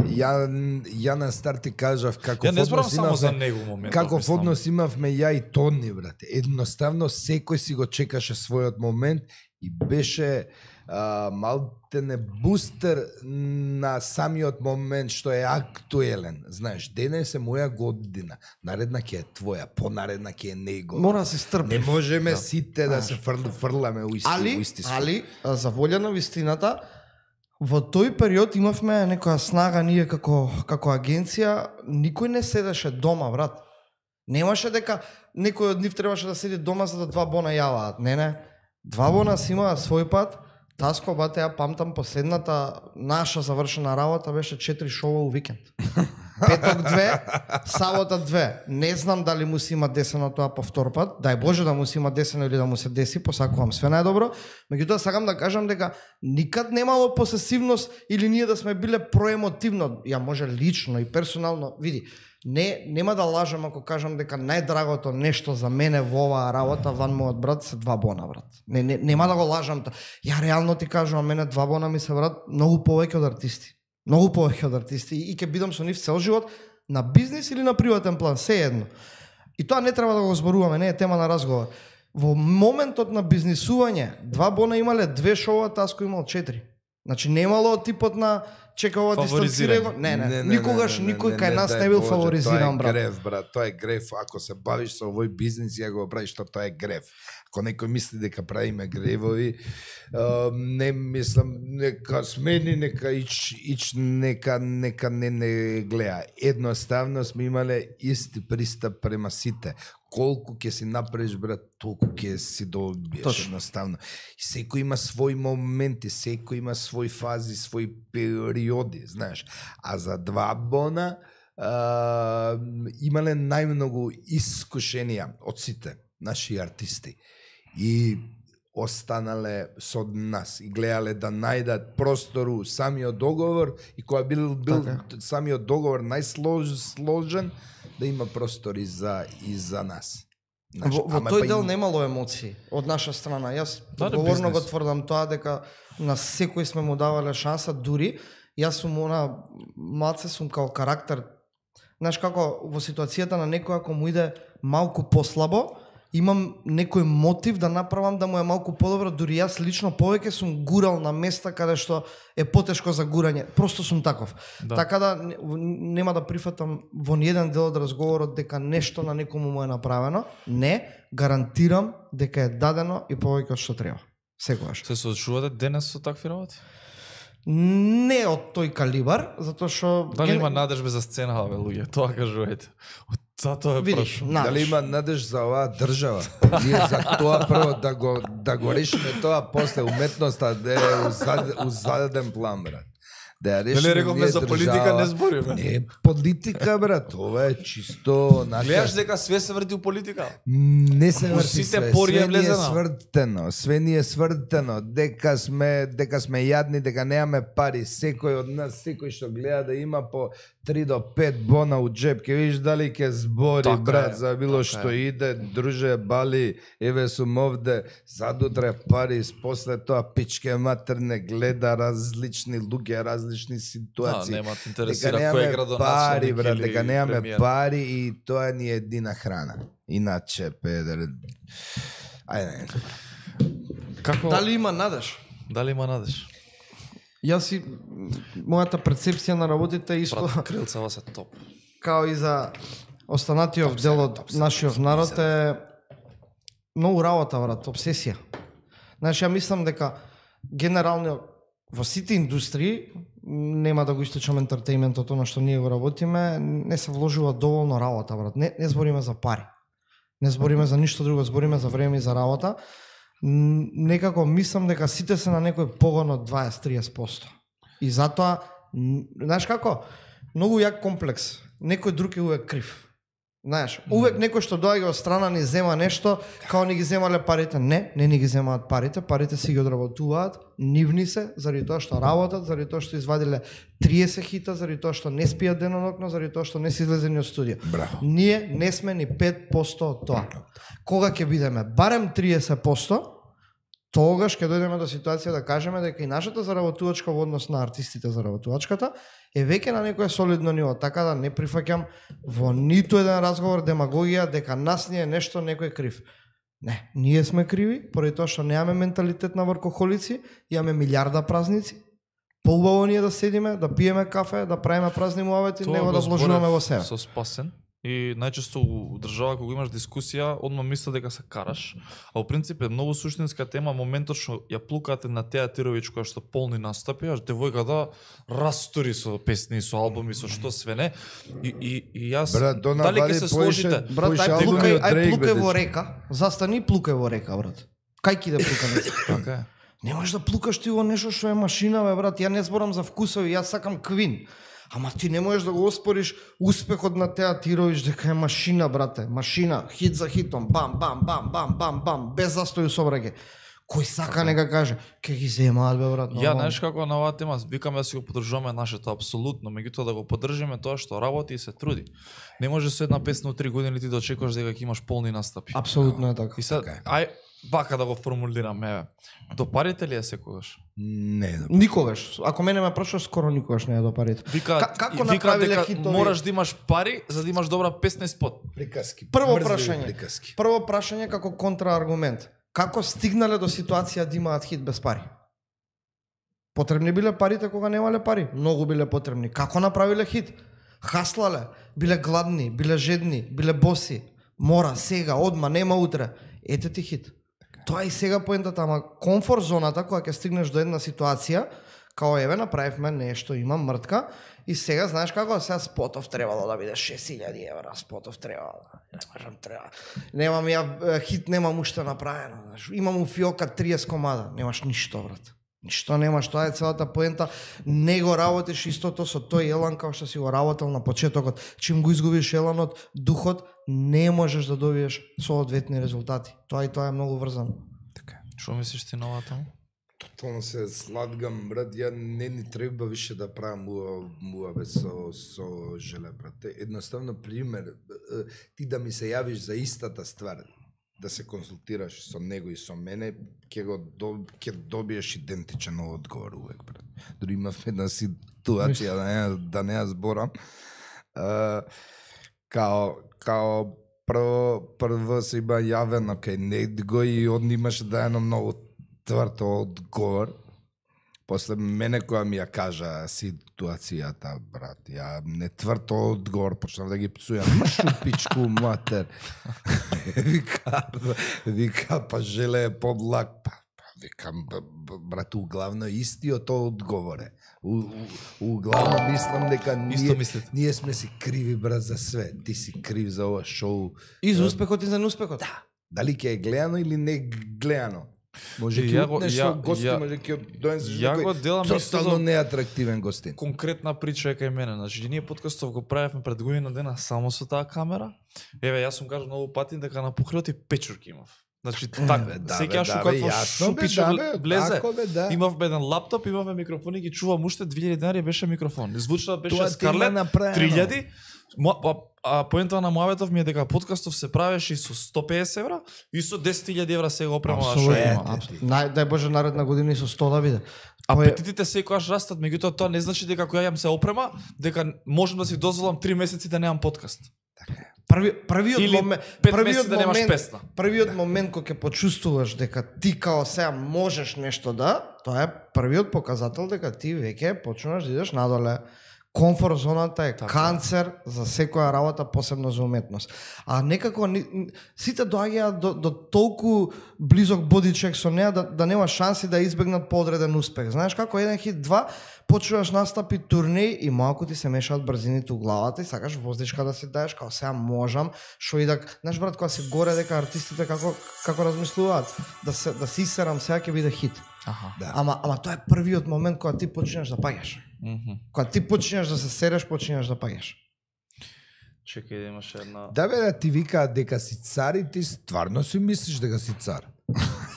ја ја на старт ти кажав како Ја не зборам однос само за имавме- него моментот. Каков мислам. однос имавме ја и Тони, брате. Едноставно секој си го чекаше својот момент и беше а, малтене бустер на самиот момент што е актуелен. Знаеш, денес е моја година, наредна ќе е твоја, понаредна ќе е него. Мора да се стрпи. Не можеме Да. сите да се фрл, фрламе у исти, у Али, исти скоп. али, а, за волја на вистината, во тој период имавме некоја снага ние како како агенција, никој не седеше дома, брат. Немаше дека некој од нив требаше да седи дома за да два бона јаваат. Не, не. Два бона си имаа свој пат. Таско, бате, ја памтам последната наша завршена работа беше четири шоу у викенд. Петок две, сабота две. Не знам дали му си има десено тоа по втор пат. Дај Боже да му си има десено или да му се деси, посакувам све најдобро. Меѓутоа сакам да кажам дека никад немало посесивност или ние да сме биле проемотивно. Ја може лично и персонално, види, не нема да лажам ако кажам дека најдрагото нешто за мене во оваа работа ван мојот брат се два бона, брат. Не, не нема да го лажам. Ја реално ти кажувам, мене два бона ми се брат многу повеќе од артисти. Многу повеќе од артисти и ќе бидам со нив цел живот на бизнис или на приватен план, се едно. И тоа не треба да го зборуваме, не е тема на разговор. Во моментот на бизнисување, два бона имале две шоуа, Таско имал четири. Значи немало типот на чека ова Фаворизирање. дистанцирање. Не, не, никогаш никој кај нас не бил фаворизиран, брат. Тоа е брат. греф, брат. Тоа е греф. Ако се бавиш со овој бизнис, ја го правиш, што тоа е греф. Ако некој мисли дека правиме гревови, а, не мислам, нека смени, нека ич, ич нека, нека не не гледа. Едноставно сме имале исти пристап према сите. колку ќе си направиш, брат, толку ќе си добиеш. Точно. Едноставно. И секој има своји моменти, секој има своји фази, своји периоди, знаеш. А за два бона а, имале најмногу искушенија од сите наши артисти. И останале со нас и гледале да најдат простору самиот договор и кога бил, бил Така. самиот договор најсложен, да има простори за и за нас. Знаеш, Во, во ама тој па дел им- немало емоции од наша страна. Јас Да, да, одговорно го бизнес. тврдам тоа дека на секој сме му давале шанса, дури јас сум она малце сум као карактер. Знаеш како во ситуацијата на некој ако му иде малку послабо, имам некој мотив да направам да му е малку подобро, дури јас лично повеќе сум гурал на места каде што е потешко за гурање. Просто сум таков. Да. Така да не- нема да прифатам во ниеден дел од разговорот дека нешто на некому му е направено. Не, гарантирам дека е дадено и повеќе од што треба. Секогаш. Се соочувате денес со такви работи? Не од тој калибар, затоа што Дали ген- има надежба за сцена, бе, луѓе? Тоа кажувајте. Од затоа е видиш, прошло. надеж. Дали има надеж за оваа држава? Ние за тоа прво да го да го решиме тоа, после уметноста да е узад, узаден план, брат. Да ја решиме. Нели рековме ние за политика држава. не збориме? Не политика, брат, ова е чисто нака. Гледаш дека све се врти у политика? Не се У врти сите све, пори е све ни е влезено. свртено, све ни е свртено, дека сме, дека сме јадни, дека немаме пари, секој од нас, секој што гледа да има по три до пет бона у джеб, ќе видиш дали ќе збори, Така брат, е, за било така што е. иде, друже, бали, еве сум овде, задутре пари, после тоа пичке матерне гледа различни луѓе, различни Да, ситуации. нема те Дека интересира кој е немаме градоначелник пари, брат, или дека немаме премиер. пари и тоа ни е едина храна. Иначе, педер... Ајде, Како Дали има надеж? дали има надеж? Јас си мојата перцепција на работите е исто Брат, крилцава се топ. као и за останатиот дел од нашиот народ е многу работа, брат, обсесија. Знаеш, ја мислам дека генерално во сите индустрии, нема да го источам ентертејментот, оно што ние го работиме, не се вложува доволно работа, брат. Не, не збориме за пари. Не збориме за ништо друго, збориме за време и за работа. Н- Некако мислам дека сите се на некој погон од дваесет до триесет проценти. И затоа, н- знаеш како, многу јак комплекс. Некој друг е увек крив. Знаеш, увек некој што доаѓа од страна ни зема нешто, као ни ги земале парите. Не, не ни ги земаат парите, парите си ги одработуваат, нивни се, заради тоа што работат, заради тоа што извадиле триесет хита, заради тоа што не спијат денонокно, заради тоа што не се излезени од студио. Браво. Ние не сме ни пет проценти од тоа. Кога ќе бидеме барем триесет проценти, тогаш ќе дојдеме до ситуација да кажеме дека и нашата заработувачка во однос на артистите заработувачката е веќе на некое солидно ниво, така да не прифаќам во ниту еден разговор демагогија дека нас ни е нешто некој крив. Не, ние сме криви, поради тоа што немаме менталитет на вркохолици, имаме милиарда празници. Поубаво ние да седиме, да пиеме кафе, да правиме празни муавети, Тоа него го да вложуваме зборев во себе. Со Спасен. И најчесто у држава кога имаш дискусија, одма мисля дека се караш, а во принцип е многу суштинска тема моментот што ја плукате на Театировиќ која што полни настапи, а девојката растори со песни, со албуми, со што све не. И и и јас Брат, Дона дали ќе Вали се поише- сложите? Брат, Поише ај албуми плукај, од ај Дрейк, плукај бе, во дечко. река. Застани и плукај во река, брат. Кај ќе да плукаш? Така е. Не можеш да плукаш ти во нешто што е машина, бе, брат. Ја не зборам за вкусови, јас сакам Квин. Ама ти не можеш да го оспориш успехот на Театировиќ дека е машина, брате. Машина, хит за хитом, бам, бам, бам, бам, бам, бам, без застој собраќе. Кој сака нека каже, ќе ги земаат, бе, брат. Ја, нормално. знаеш како на оваа тема, викаме да си го поддржуваме нашето апсолутно, меѓутоа да го поддржиме тоа што работи и се труди. Не може со една песна од три години ти да очекуваш дека ќе имаш полни настапи. Апсолутно е така. И сега, Така е. ај, вака да го формулираме, еве. До парите ли е секогаш? Не, да. Никогаш. Ако мене ме прашаш, скоро никогаш не е до парите. Вика, Ка- како вика направиле дека хитови? мораш да имаш пари за да имаш добра песна и спот. Приказки. Прво Мрзливи прашање. Приказки. Прво прашање како контрааргумент. Како стигнале до ситуација да имаат хит без пари? Потребни биле парите кога немале пари? Многу биле потребни. Како направиле хит? Хаслале, биле гладни, биле жедни, биле боси. Мора, сега, одма, нема утре. Ете ти хит. Тоа е и сега поентата, ама комфорт зоната кога ќе стигнеш до една ситуација, као еве направивме нешто, има мртка и сега знаеш како сега спотов требало да биде шест илјади евра, спотов требало. Не можам, треба. Немам ја хит, немам уште направено, знаеш. Имам у фиока триесет комада, немаш ништо, брат. Ништо немаш, тоа е целата поента. Не го работиш истото со тој елан како што си го работел на почетокот. Чим го изгубиш еланот, духот, не можеш да добиеш соодветни резултати. Тоа и тоа е многу врзано. Така. Што мислиш ти на ова таму? Тотално се сладгам, брат, ја не ни треба више да правам муабе со, со Желе, брат. Едноставно, пример, ти да ми се јавиш за истата ствар, да се консултираш со него и со мене, ќе го до, ќе добиеш идентичен одговор увек, брат. Дори имав една ситуација, да не, да не ја зборам, а, као, као прво, прво се има јавено кај него и он имаше да едно многу тврд одговор. После мене која ми ја кажа ситуацијата, брат, ја не тврд одговор, почнав да ги пцујам, шупичку матер. Вика, вика, па Желе е подлак, па, па викам, брат, углавно истиот одговор е. У, у, углавно мислам дека ние, ние сме си криви, брат, за све. Ти си крив за ова шоу. И за успехот и за неуспехот. Да. Дали ќе е гледано или не гледано. Може ќе однеш со гости, може ќе донесеш некој тотално неатрактивен гостин. Конкретна прича е кај мене. Значи, ние подкастов го правевме пред година дена само со таа камера. Еве, јас сум кажал многу пати дека на покривот и печурки имав. Значи, така, сеќаш да, какво шупичо влезе. Да. Имавме еден лаптоп, имавме микрофони, ги чувам уште две илјади денари беше микрофон. Звучно беше Скарлет, три илјади. А, а поента на муабетов ми е дека подкастов се правеше и со сто педесет евра и со десет илјади евра сега опрема што има. Нај дај Боже наредна година и со сто да биде. Апетитите секогаш растат, меѓутоа тоа не значи дека кога јам се опрема, дека можам да си дозволам три месеци да немам подкаст. Така е. Први, првиот Или момент, пет првиот месеци да немаш момент, песна. Првиот момент кога ќе почувствуваш дека ти као сега можеш нешто да, тоа е првиот показател дека ти веќе почнуваш да идеш надоле. Комфорт зоната е така. Канцер за секоја работа, посебно за уметност. А некако ни, сите доаѓаат до, до толку близок бодичек со неа да, да нема шанси да избегнат подреден успех. Знаеш како еден хит, два, почуваш настапи турнеи и малку ти се мешаат брзините у главата и сакаш воздишка да се даеш, као сега можам, шо и да... Знаеш брат, кога се горе дека артистите како, како размислуваат, да се, да си серам сега ќе биде хит. Аха. Да. Ама, ама тоа е првиот момент кога ти почнеш да паѓаш. Mm -hmm. Кога ти почнеш да се сереш, почнеш да паѓаш. Чекај да имаше една... Да бе, да ти викаат дека си цар и ти стварно си мислиш дека си цар.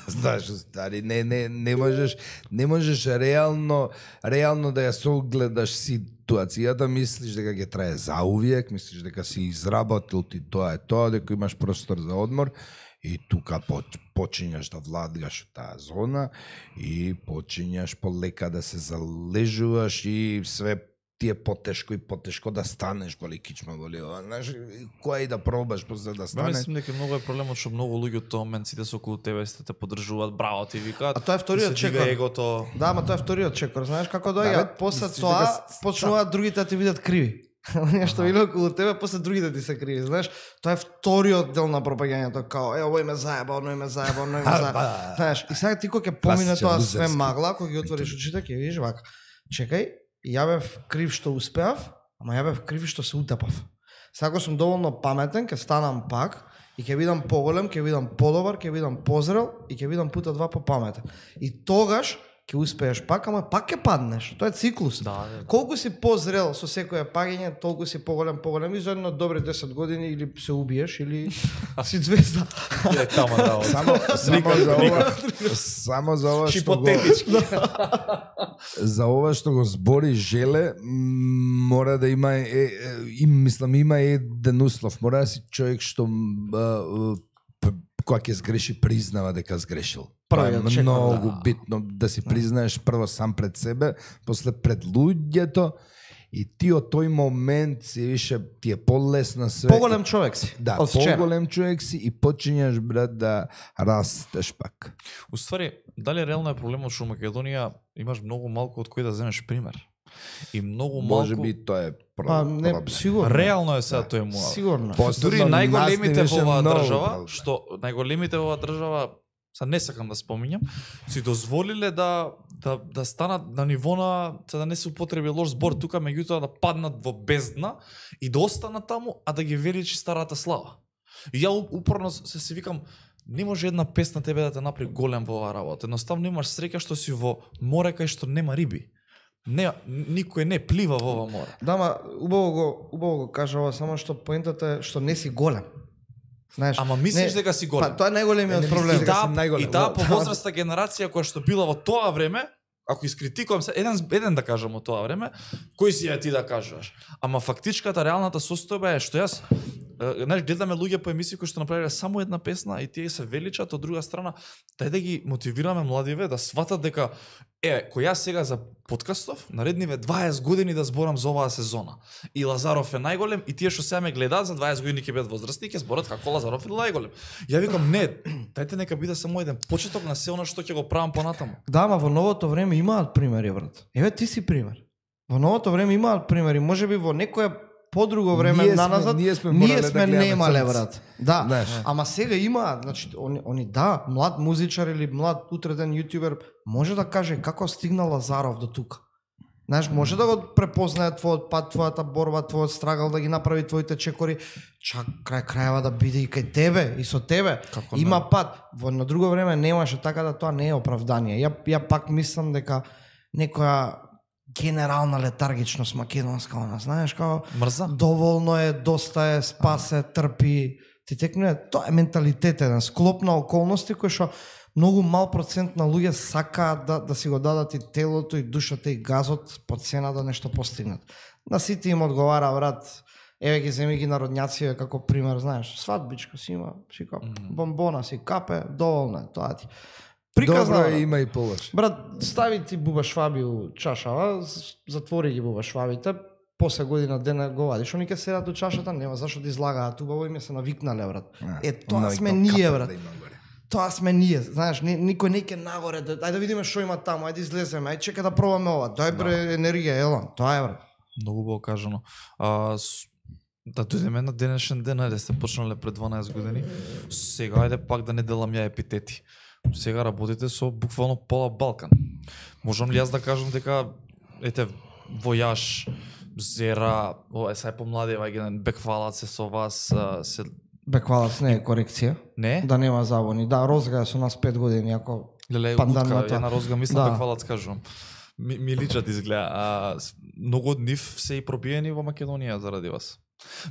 Знаеш, стари, не, не, не можеш, не можеш реално, реално да ја согледаш ситуацијата, мислиш дека ќе трае заувиек, мислиш дека си изработил ти тоа е тоа, дека имаш простор за одмор. И тука почињаш да владгаш од таа зона и почињаш полека да се залежуваш и све ти е потешко и потешко да станеш, боли кичма, боли ова, знаеш, која и да пробаш после да станеш. Мислам дека многу е проблемот што многу луѓе од тоа момент сите со околу тебе сите те поддржуваат, браво ти викаат. А тоа е вториот чекор. Егото. Да, ама тоа е вториот чекор, знаеш како доаѓа, да, после тоа почнуваат другите да ти видат криви. Оние што било околу тебе, после другите ти се криви, знаеш. Тоа е вториот дел на пропагањето, као, е, овој ме заеба, оној ме заеба, оној ме заеба. Знаеш, и сега ти кога ќе помине тоа све магла, кога ги отвориш очите, ќе видиш вака. Чекај, ја бев крив што успеав, ама ја бев крив што се утепав. Сега кога сум доволно паметен, ќе станам пак и ќе видам поголем, ќе видам подобар, ќе видам позрел и ќе видам пута два попаметен. И тогаш ќе успееш пак, ама пак ќе паднеш. Тоа е циклус. Да, да. Колку си позрел со секоја паѓање, толку си поголем, поголем и за едно добри десет години или се убиеш или си звезда. Е тама да. Само само за ова, само за ова што го за ова што го збори Желе, мора да има е, и мислам има еден услов, мора да си човек што кога ќе сгреши признава дека сгрешил. Тоа е многу да. Битно да си признаеш прво сам пред себе, после пред луѓето и ти од тој момент си више ти е полесно све. Поголем човек си. Да, поголем човек си и почињаш брат да растеш пак. Уствари, дали реално е проблемот што во Македонија имаш многу малку од кој да земеш пример? И многу малку... Може би тоа е Па, не, сигурно. Реално е сега да. Тој му. Сигурно. Дури најголемите во оваа држава, што најголемите во оваа држава, са не сакам да споминјам, си дозволиле да да да станат на ниво на, за да не се употреби лош збор тука, меѓутоа да паднат во бездна и да останат таму, а да ги величи старата слава. И ја у- упорно се се викам, не може една песна тебе да те направи голем во оваа работа. Едноставно имаш среќа што си во море кај што нема риби. Не, никој не плива во ова море. Да, ма убаво го, убаво го кажа ова, само што поентата е што не си голем. Знаеш, Ама мислиш не, дека си голем. Па тоа е најголемиот Не, не проблем. мислиш И дека таа, си најголем. и таа Да. повозрастна генерација која што била во тоа време, ако искритикувам се, еден, еден да кажам од тоа време, кој си ја ти да кажуваш? Ама фактичката, реалната состојба е што јас, е, знаеш, гледаме луѓе по емисии кои што направиле само една песна и тие се величат, од друга страна, тај да ги мотивираме младиве да сватат дека е, кој јас сега за подкастов, наредниве дваесет години да зборам за оваа сезона. И Лазаров е најголем и тие што сега ме гледаат за дваесет години ќе бидат возрастни, ќе зборат како Лазаров е најголем. Ја викам не, дајте нека биде само еден почеток на се она што ќе го правам понатаму. Да, ама во новото време имаат примери, брат. Еве ти си пример. Во новото време имаат примери, можеби во некоја подруго време Ние сме- наназад ние сме ние морале да сме гледаме немале, црнци. брат. Да, Знаеш. ама сега има, значи они, они да, млад музичар или млад утреден јутубер може да каже како стигна Лазаров до тука. Знаеш, може да го препознае твојот пат, твојата борба, твојот страгал, да ги направи твоите чекори, чак крај крајава да биде и кај тебе, и со тебе. Како Има не? пат. Во на друго време немаше, така да тоа не е оправдание. Ја, ја пак мислам дека некоја генерална летаргичност македонска, она, знаеш, као Мрза? доволно е, доста е, спасе, трпи. Ти текне, тоа е менталитет, еден склоп на околности кој што многу мал процент на луѓе сакаат да, да си го дадат и телото, и душата, и газот по цена да нешто постигнат. На сите им одговара, брат, еве ги земи ги народњаци како пример, знаеш, свадбичка си има, си капе, бомбона си капе, доволно е, тоа ти. Приказна, Добро е, брат. има и полош. Брат, стави ти буба шваби у чашава, з- затвори ги буба швабите, после година дена го вадиш, они ке седат у чашата, нема зашто да излагаат, убаво им е се навикнале, брат. Е, тоа Но и сме то ние, капе брат. да има горе. Тоа сме ние, знаеш, ни, никој не ке нагоре, да, ајде да видиме што има таму, ајде излеземе, ајде чека да пробаме ова, дај бре енергија, елам, тоа е, брат. Многу убаво кажано. А, с... Да дојдеме на денешен ден, ајде сте почнале пред дванаесет години. Сега ајде пак да не делам ја епитети. Сега работите со буквално пола Балкан. Можам ли јас да кажам дека ете Војаш, Зера, о, е сај помлади ваѓа Беквалац се со вас, а, се Беквалац не е корекција, не? да нема забуни. Да, Розга е со нас пет години, ако Леле, панданната. утка, ја на Розга мислам Да. да. Беквалац кажувам. Ми, ми личат изгледа. А, с- многу од нив се и пробиени во Македонија заради вас.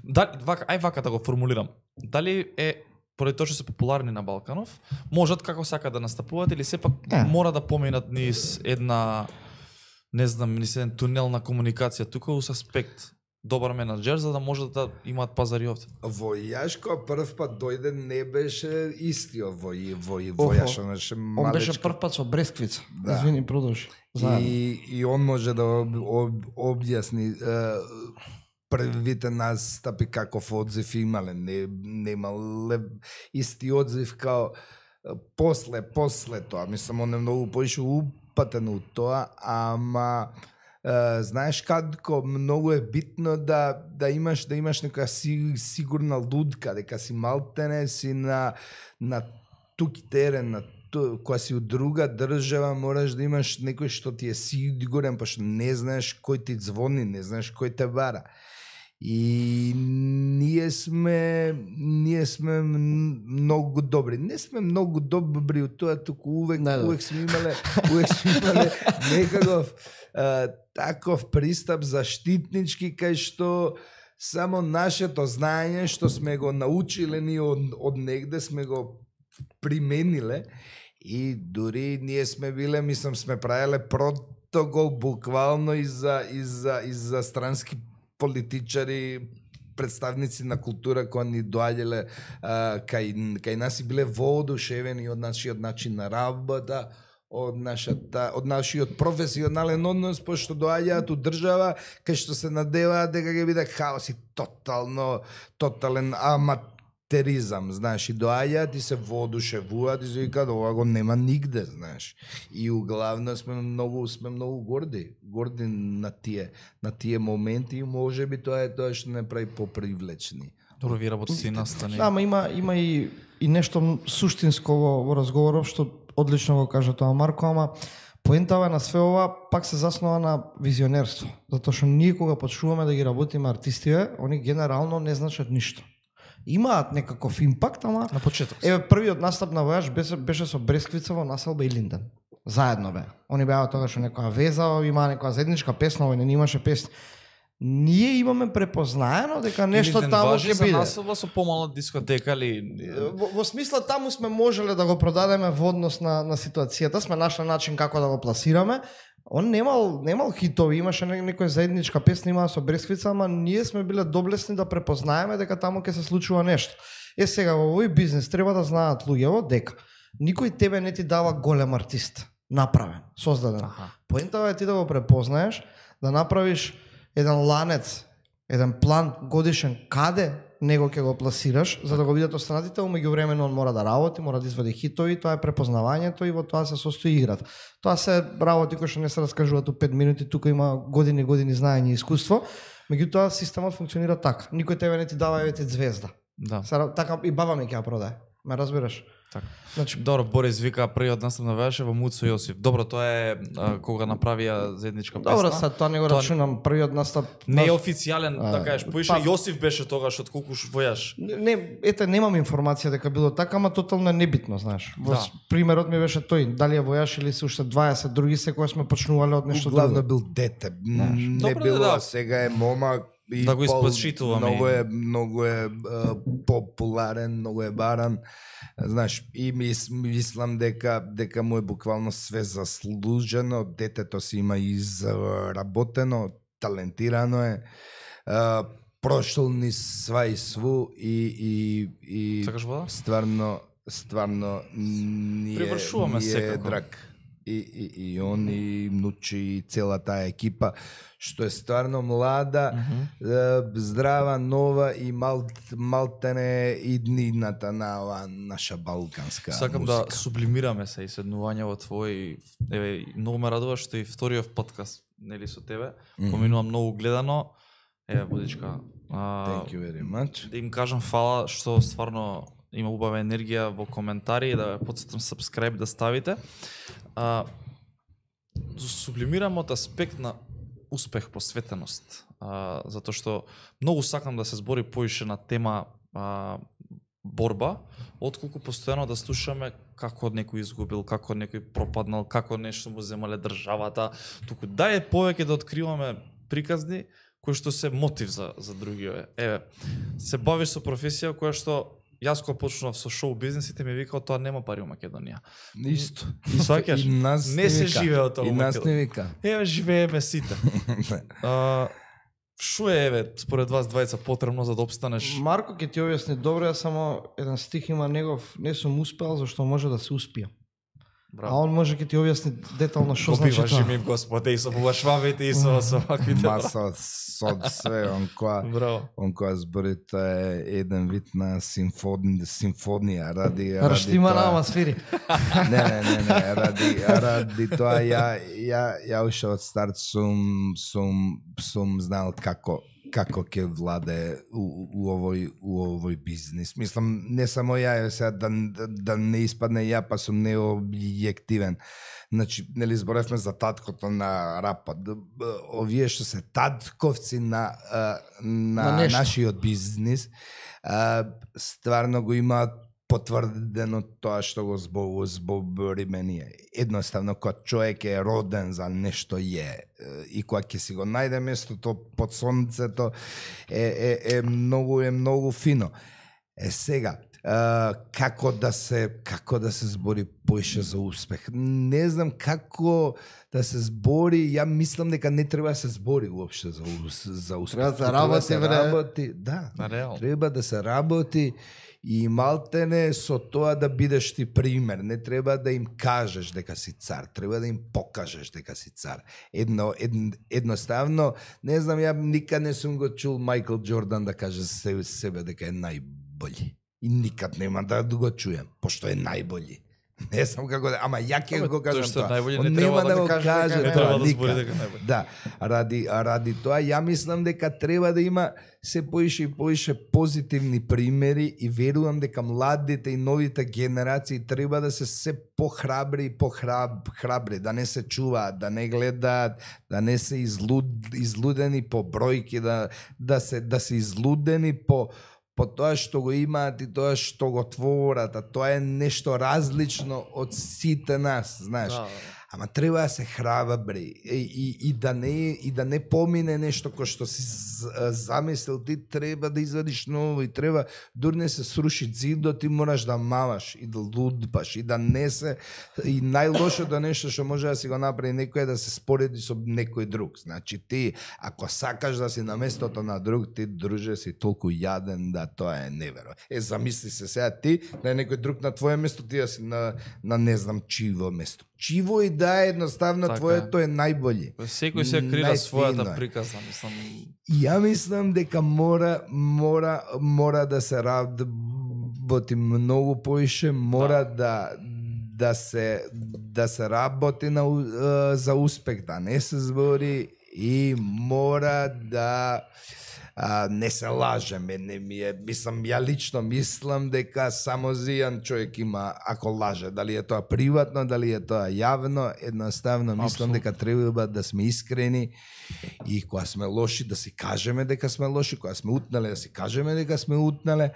Да, вака, ај вака да го формулирам. Дали е поради тоа што се популарни на Балканов, можат како сакат да настапуваат или сепак Е. мора да поминат низ една не знам, низ еден тунел на комуникација тука ус аспект добар менаџер за да можат да имаат пазари овде. Војаш кога прв пат дојде не беше истиот вој вој Охо. војаш, он беше он беше малечко. прв пат со Бресквица. Да. Извини, продолжи. Заедно. И, и он може да об, об, објасни е, првите настапи каков одзив имале, не немале исти одзив као е, после после тоа, мислам он е многу поише упатен у тоа, ама е, знаеш како многу е битно да да имаш да имаш нека си, сигурна лудка, дека си малтене си на на туки терен, на ту- кога си од друга држава, мораш да имаш некој што ти е сигурен, па што не знаеш кој ти звони, не знаеш кој те бара. И ние сме ние сме м- многу добри. Не сме многу добри од тоа, туку увек Не, да. увек сме имале увек сме имале некаков а, таков пристап заштитнички кај што само нашето знаење што сме го научиле ние од, од негде сме го примениле и дури ние сме биле, мислам, сме правеле протокол буквално и за, и за, и за странски политичари, представници на култура кои ни доаѓале а, кај, кај нас и биле воодушевени од нашиот начин на работа, од нашата од нашиот професионален однос, пошто доаѓаат у држава кај што се надеваат дека ќе биде хаос и тотално тотален аматеризам, знаеш, и доаѓаат и се воодушевуваат и се викаат ова го нема нигде, знаеш. И углавно сме многу сме многу горди, горди на тие на тие моменти и можеби тоа е тоа што не прави попривлечни. Добро, ви работите и настани. Да, ама има има и и нешто м- суштинско во, во разговорот што одлично го кажа тоа Марко, ама поентава на све ова пак се заснова на визионерство, затоа што ние кога почнуваме да ги работиме артистиве, они генерално не значат ништо. имаат некаков импакт, ама На почеток. еве првиот настап на Војаж беше, беше со Бресквица во Населба и Линден. Заедно бе. Они беа тогаш во некоја веза, имаа некоја заедничка песна, овој не имаше песни. Ние имаме препознаено дека нешто Илинден таму важи ќе за биде. Населба со помала дискотека или Во, во смисла таму сме можеле да го продадеме во однос на, на ситуацијата, сме нашли начин како да го пласираме. Он немал, немал хитови, имаше не, некоја заедничка песна, имаа со Бресквица, ама ние сме биле доблесни да препознаеме дека таму ќе се случува нешто. Е сега во овој бизнес треба да знаат луѓето дека никој тебе не ти дава голем артист, направен, создаден. Аха. Поентава е ти да го препознаеш, да направиш еден ланец, еден план годишен каде него ќе го пласираш, за да го видат останатите, а меѓувремено он мора да работи, мора да извади хитови, тоа е препознавањето и во тоа се состои играта. Тоа се работи кои што не се раскажуваат у пет минути, тука има години и години знаење и искуство, меѓутоа системот функционира така. Никој тебе не ти дава еве ти звезда. да. Сара, така и баба ми ќе ја продае. Ме разбираш? Така. Значи, Добро, Борис вика првиот настап на Војаж во Муцо Јосиф. Добро, тоа е а, кога направија заедничка песна. добро, сад тоа не го Тоа- рачунам, првиот настап. Не е наш- официјален, А, да кажеш, поише па- Јосиф беше тогаш од Кукуш Војаж. Не, не, ете, немам информација дека било така, ама тотално е небитно, знаеш. Во Да. с- примерот ми беше тој, дали е Војаж или се уште дваесет други секој сме почнувале од нешто Главно друго. бил дете. М, Не Добро, било, да. сега е момак и Да го пол- испочитуваме. Многу е, многу е а, популарен, многу е баран. Знаеш, и мис, мислам дека дека му е буквално све заслужено. Детето си има изработено, талентирано е. А, прошол ни сва и сву и и и Сакаш вода? стварно стварно ни е, Привршуваме ни е секако. драг. И, и, и он и Нучи и цела таа екипа што е стварно млада, е, здрава, нова и мал, малтене иднината на ова наша балканска Сакам музика. да сублимираме се и седнување во твој, еве, многу ме радува што и вториот подкаст, нели со тебе, поминува многу гледано. Еве, Будичка, а, Thank you very much. да им кажам фала што стварно има убава енергија во коментари и да ве потсетам subscribe да ставите. А, сублимирам од аспект на успех, посветеност. А, затоа што многу сакам да се збори поише на тема а, борба, отколку постојано да слушаме како некој изгубил, како некој пропаднал, како нешто му земале државата. Туку дај повеќе да откриваме приказни кои што се мотив за за другиот. Еве, се бавиш со професија која што јас кога почнав со шоу бизнесите ми викао тоа нема пари во Македонија. Исто. Сваќаш? И нас Не се вика. живее од тоа И во нас Македонија. не вика. Еве живееме сите. А, шо е еве според вас двајца потребно за да обстанеш? Марко ќе ти објасни добро, ја само еден стих има негов, не сум успеал зашто може да се успија. А Браво. он може ќе ти објасни детално што Го значи биваш тоа. ми Господе и со бувашвавите и со со ваквите. Маса со све, он која Браво. он која збори тоа е еден вид на симфони, симфонија ради ради Раштима тоа- нама свири. Не, не, не, не, ради, ради тоа ја, ја, ја уште од старт сум, сум, сум знал како, како ќе владе у, у, овој, у овој бизнис. Мислам, не само ја, сега да, да, да не испадне ја, па сум необјективен. Значи, нели зборевме за таткото на рапот. Д- б- Овие што се татковци на, а, на, На нешто. нашиот бизнис, а, стварно го имаат потврдено тоа што го збо- збориме ние. Едноставно, кога човек е роден за нешто е, е, и кога ќе си го најде местото под сонцето, е, е, е многу е многу фино. Е сега, а, како да се како да се збори поише за успех. Не знам како да се збори, ја мислам дека не треба да се збори уопште за ус- за успех. Треба да се Треба работи, се бре. работи, да. На реално. Треба да се работи и малтене со тоа да бидеш ти пример. Не треба да им кажеш дека си цар, треба да им покажеш дека си цар. Едно, ед, едноставно, не знам, ја никад не сум го чул Майкл Џордан да каже себе, себе дека е најбољи. И никад нема да го чуем, пошто е најбољи. Не знам како да, ама ја ќе Ама го тој кажам што е тоа. најбољи Он не треба нема да да го го каже дека каже е Не тоа треба да никад. збори дека е најбољи. Да, ради, ради тоа ја мислам дека треба да има се поише и поише позитивни примери и верувам дека младите и новите генерации треба да се се похрабри и похраб, храбри, да не се чуваат, да не гледаат, да не се излуд, излудени по бројки, да, да се да се излудени по по тоа што го имаат и тоа што го творат, а тоа е нешто различно од сите нас, знаеш. Да. Ама треба да се храбри и, и, и да не и да не помине нешто кој што си замислил, ти треба да извадиш ново и треба дури не се сруши зидот, ти мораш да маваш и да лудбаш и да не се и најлошото нешто што може да си го направи некој е да се спореди со некој друг. Значи ти ако сакаш да си на местото на друг, ти друже си толку јаден да тоа е неверо. Е замисли се сега ти да е некој друг на твое место, ти да си на на не знам чиво место. Чиво и да е едноставно Така твоето е најбоље. Секој се крира Најфино својата е. приказна, мислам. И ја мислам дека мора мора мора да се работи многу поише, мора да да се да се работи на у- е, за успех, да не се збори и мора да а, не се лажеме, не ми е, мислам, ја лично мислам дека само зијан човек има ако лаже, дали е тоа приватно, дали е тоа јавно, едноставно мислам Апсолутно. дека треба да сме искрени и кога сме лоши да си кажеме дека сме лоши, кога сме утнале да си кажеме дека сме утнале,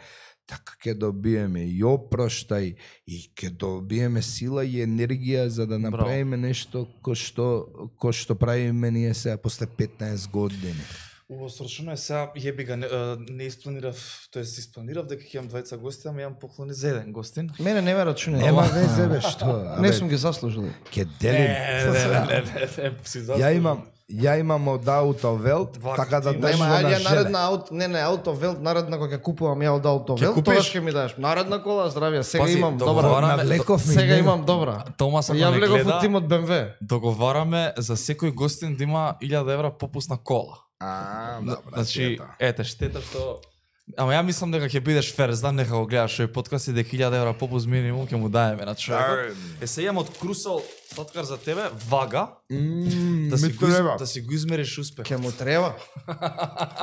така ќе добиеме и опроштај и ќе добиеме сила и енергија за да направиме нешто кој што кој што правиме ние сега после петнаесет години. Убаво срочно е сега, јеби га, не, е, не испланирав, тоест испланирав дека ќе имам двајца гости, ама имам поклони за еден гостин. Мене не ме рачуне. Нема везе бе што. Не абе, сум ги заслужил. ќе делим. Не, не, не, не, не, не, си заслужил. Ја имам ја имам од Аутовелт, Вака така да ти дадеш Нема, на ајде жене. наредна ауто, не не Аутовелт, наредна кога ќе купувам ја од Аутовелт, купиш? тогаш ќе ми дадеш. Наредна кола, здравје, сега Пази, имам добра. договараме- Навлеков ми Сега него. имам добра. Томас, ако Ја не влегов гледа, од тимот Б М В. договараме за секој гостин да има илјада евра попуст на кола. А, добра. Значи, сета. ете, штета што... Ама ја мислам дека ќе бидеш фер, знам нека го гледаш овој подкаст и дека илјада евра попуст минимум ќе му даеме на човекот. Е, се имам од Крусал сладкар за тебе, вага, Мм, да си, ми го, из- треба. да си го измериш успех. Ќе му треба.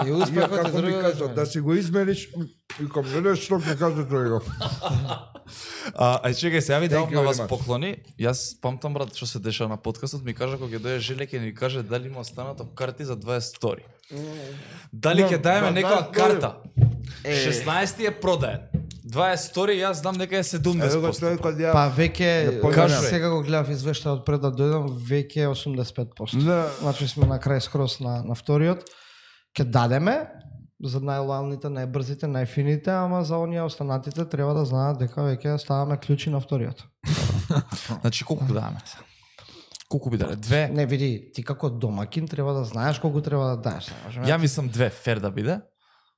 И Ја успехот е како ми друго. кажа, да си го измериш, и ком гледаш што ќе каже тој. А, ај чекај, сега ви давам Thank you на very вас much. поклони. Јас памтам брат што се деша на подкастот, ми кажа кога ќе дојде Желе ќе ни каже дали има останато карти за дваесет стори. Дали ќе даеме да, некоја да, карта? Е. шеснаесет е продаен. дваесет стори јас знам дека е седумдесет Ево го проценти. тој кога ја Па веќе, Ја кажувам. сега го гледав извештајот пред да дојдам, веќе е осумдесет и пет проценти. Да. Значи сме на крај скрос на, на вториот. Ке дадеме за најлојалните, најбрзите, најфините, ама за оние останатите треба да знаат дека веќе ставаме клучи на вториот. Значи колку даваме сега? Колку би дале? Две? Не види, ти како домакин треба да знаеш колку треба да дадеш. Ја мислам две, фер да биде.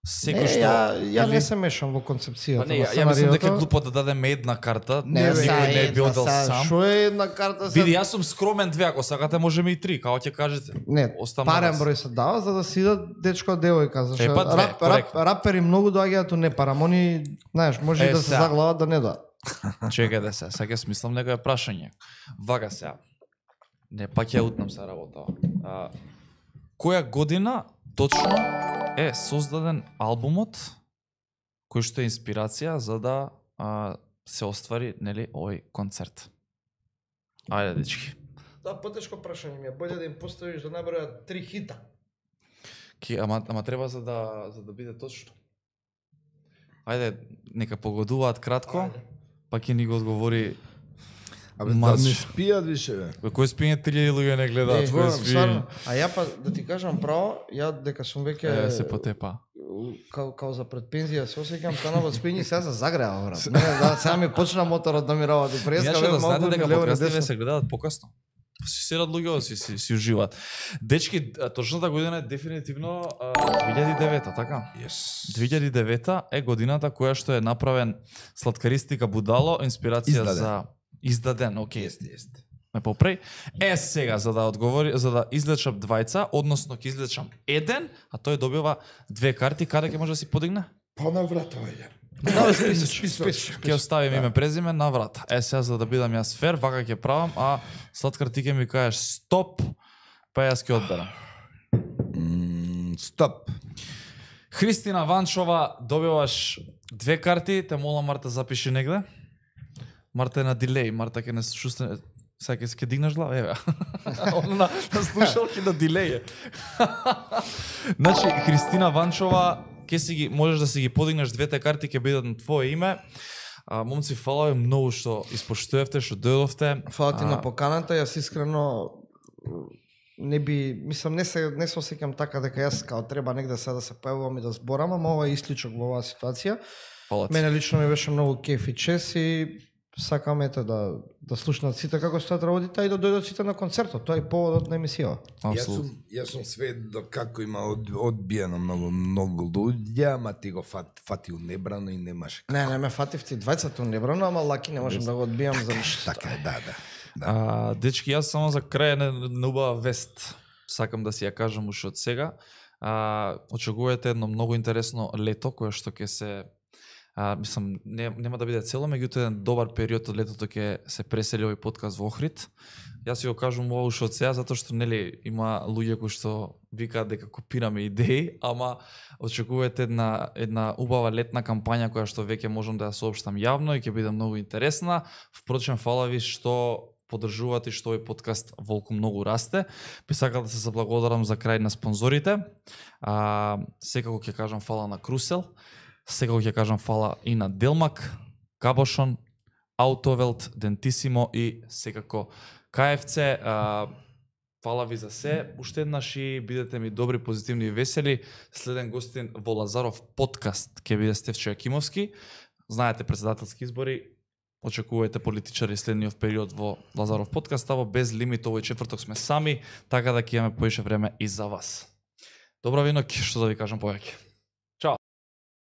не, Секој што... ја, ја или- не се мешам во концепцијата. Па не, на ја, ја мислам дека е сценариото. глупо да дадеме една карта, Не, некој сега не е би одел сам. Шо е една карта? Види, јас сум скромен две, ако сакате можеме и три, како ќе кажете. Не, Оставам на парен вас. број се дава за да си идат дечко девојка, зашто Е, па две, рап, рап, коректно. рапери многу доаѓаат у непарамони, знаеш, може Е, и да се сега. заглават да не да. Чекај да се, сега ќе смислам некоја прашање. Вага сега. Не, пак ја утнам се работа. А, која година точно е создаден албумот кој што е инспирација за да а, се оствари, нели, овој концерт? Ајде, дечки. Да, потешко прашање ми е, боле да им поставиш да набројат три хита. Ки, ама, ама треба за да, за да биде точно. Ајде, нека погодуваат кратко, Ајде. па ќе ни го одговори. Абе, да Маз. не спијат више, бе. Кој кој спиње три илјади луѓе не гледаат, Е, кој спи. стварно, а ја па да ти кажам право, ја дека сум веќе Е, се потепа. као, као за пред пензија се осеќам, станав од спиње сега се загреа, брат. Не, да, сега ми почна моторот да ми работи. Преска Иначе бе да малку знаете ми дека лево на подкастите десно. се гледаат покасно. Па си седат луѓе, си, си, си уживаат. Дечки, а, точната година е дефинитивно а, две илјади и девета, така? Yes. две илјади и девета е годината која што е направен Сладкаристика Будало, инспирација Издаден. за издаден, окей. Јесте, јесте. Ме попреј. Е сега за да одговори, за да излечам двајца, односно ќе излечам еден, а тој добива две карти, каде ќе може да си подигне? Па на врата ојде. Да, списоч, списоч. Ќе оставим име презиме на врата. Е сега за да бидам јас фер, вака ќе правам, а Сладкар ти ќе ми кажеш стоп, па јас ќе одберам. М, Стоп. Христина Ванчова, добиваш две карти, те молам Марта запиши негде. Марта е на дилеј, Марта ќе не слушне. Сега ќе ќе дигнеш глава, еве. Она на, на слушалки на дилеј е. Значи, Христина Ванчова ке си ги можеш да си ги подигнеш двете карти, ќе бидат на твое име. А, момци, фала ви многу што испоштувавте, што дојдовте. Фала ти А, на поканата, јас искрено не би, мислам, не се не се осеќам така дека јас као треба негде сега да се појавувам и да зборам, ама ова е исклучок во оваа ситуација. Фала ти. Мене лично ми беше многу кеф и чест и сакам ете да да слушнат сите како стојат работите и да дојдат сите на концертот. Тоа е поводот на емисија. Јас Апсолутно. сум, јас сум сведок како има од, одбиено многу многу луѓе, ама ти го фат, фатил небрано и немаше. Не, не ме фатив ти двајцата небрано, ама лаки не можам да го одбијам за ништо. Така е, да, да. да. А, дечки, јас само за крај на, на убава вест сакам да си ја кажам уште од сега. А, очекувате едно многу интересно лето кое што ќе се а, мислам не, нема да биде цело, меѓутоа еден добар период од летото ќе се пресели овој подкаст во Охрид. Јас си го кажувам ова уште од сега затоа што нели има луѓе кои што викаат дека копираме идеи, ама очекувате една една убава летна кампања која што веќе можам да ја соопштам јавно и ќе биде многу интересна. Впрочем, фала ви што поддржувате што овој подкаст волку многу расте. Би сакал да се заблагодарам за крај на спонзорите. А, секако ќе кажам фала на Крусел, секако ќе кажам фала и на Делмак, Кабошон, Аутовелт, Дентисимо и секако КФЦ. А, фала ви за се. Уште еднаш и бидете ми добри, позитивни и весели. Следен гостин во Лазаров подкаст ќе биде Стефчо Јакимовски. Знаете, председателски избори. Очекувате политичари следниот период во Лазаров подкаст, а во Без лимит овој четврток сме сами, така да ќе имаме поише време и за вас. Добра ви ноќ, што да ви кажам повеќе.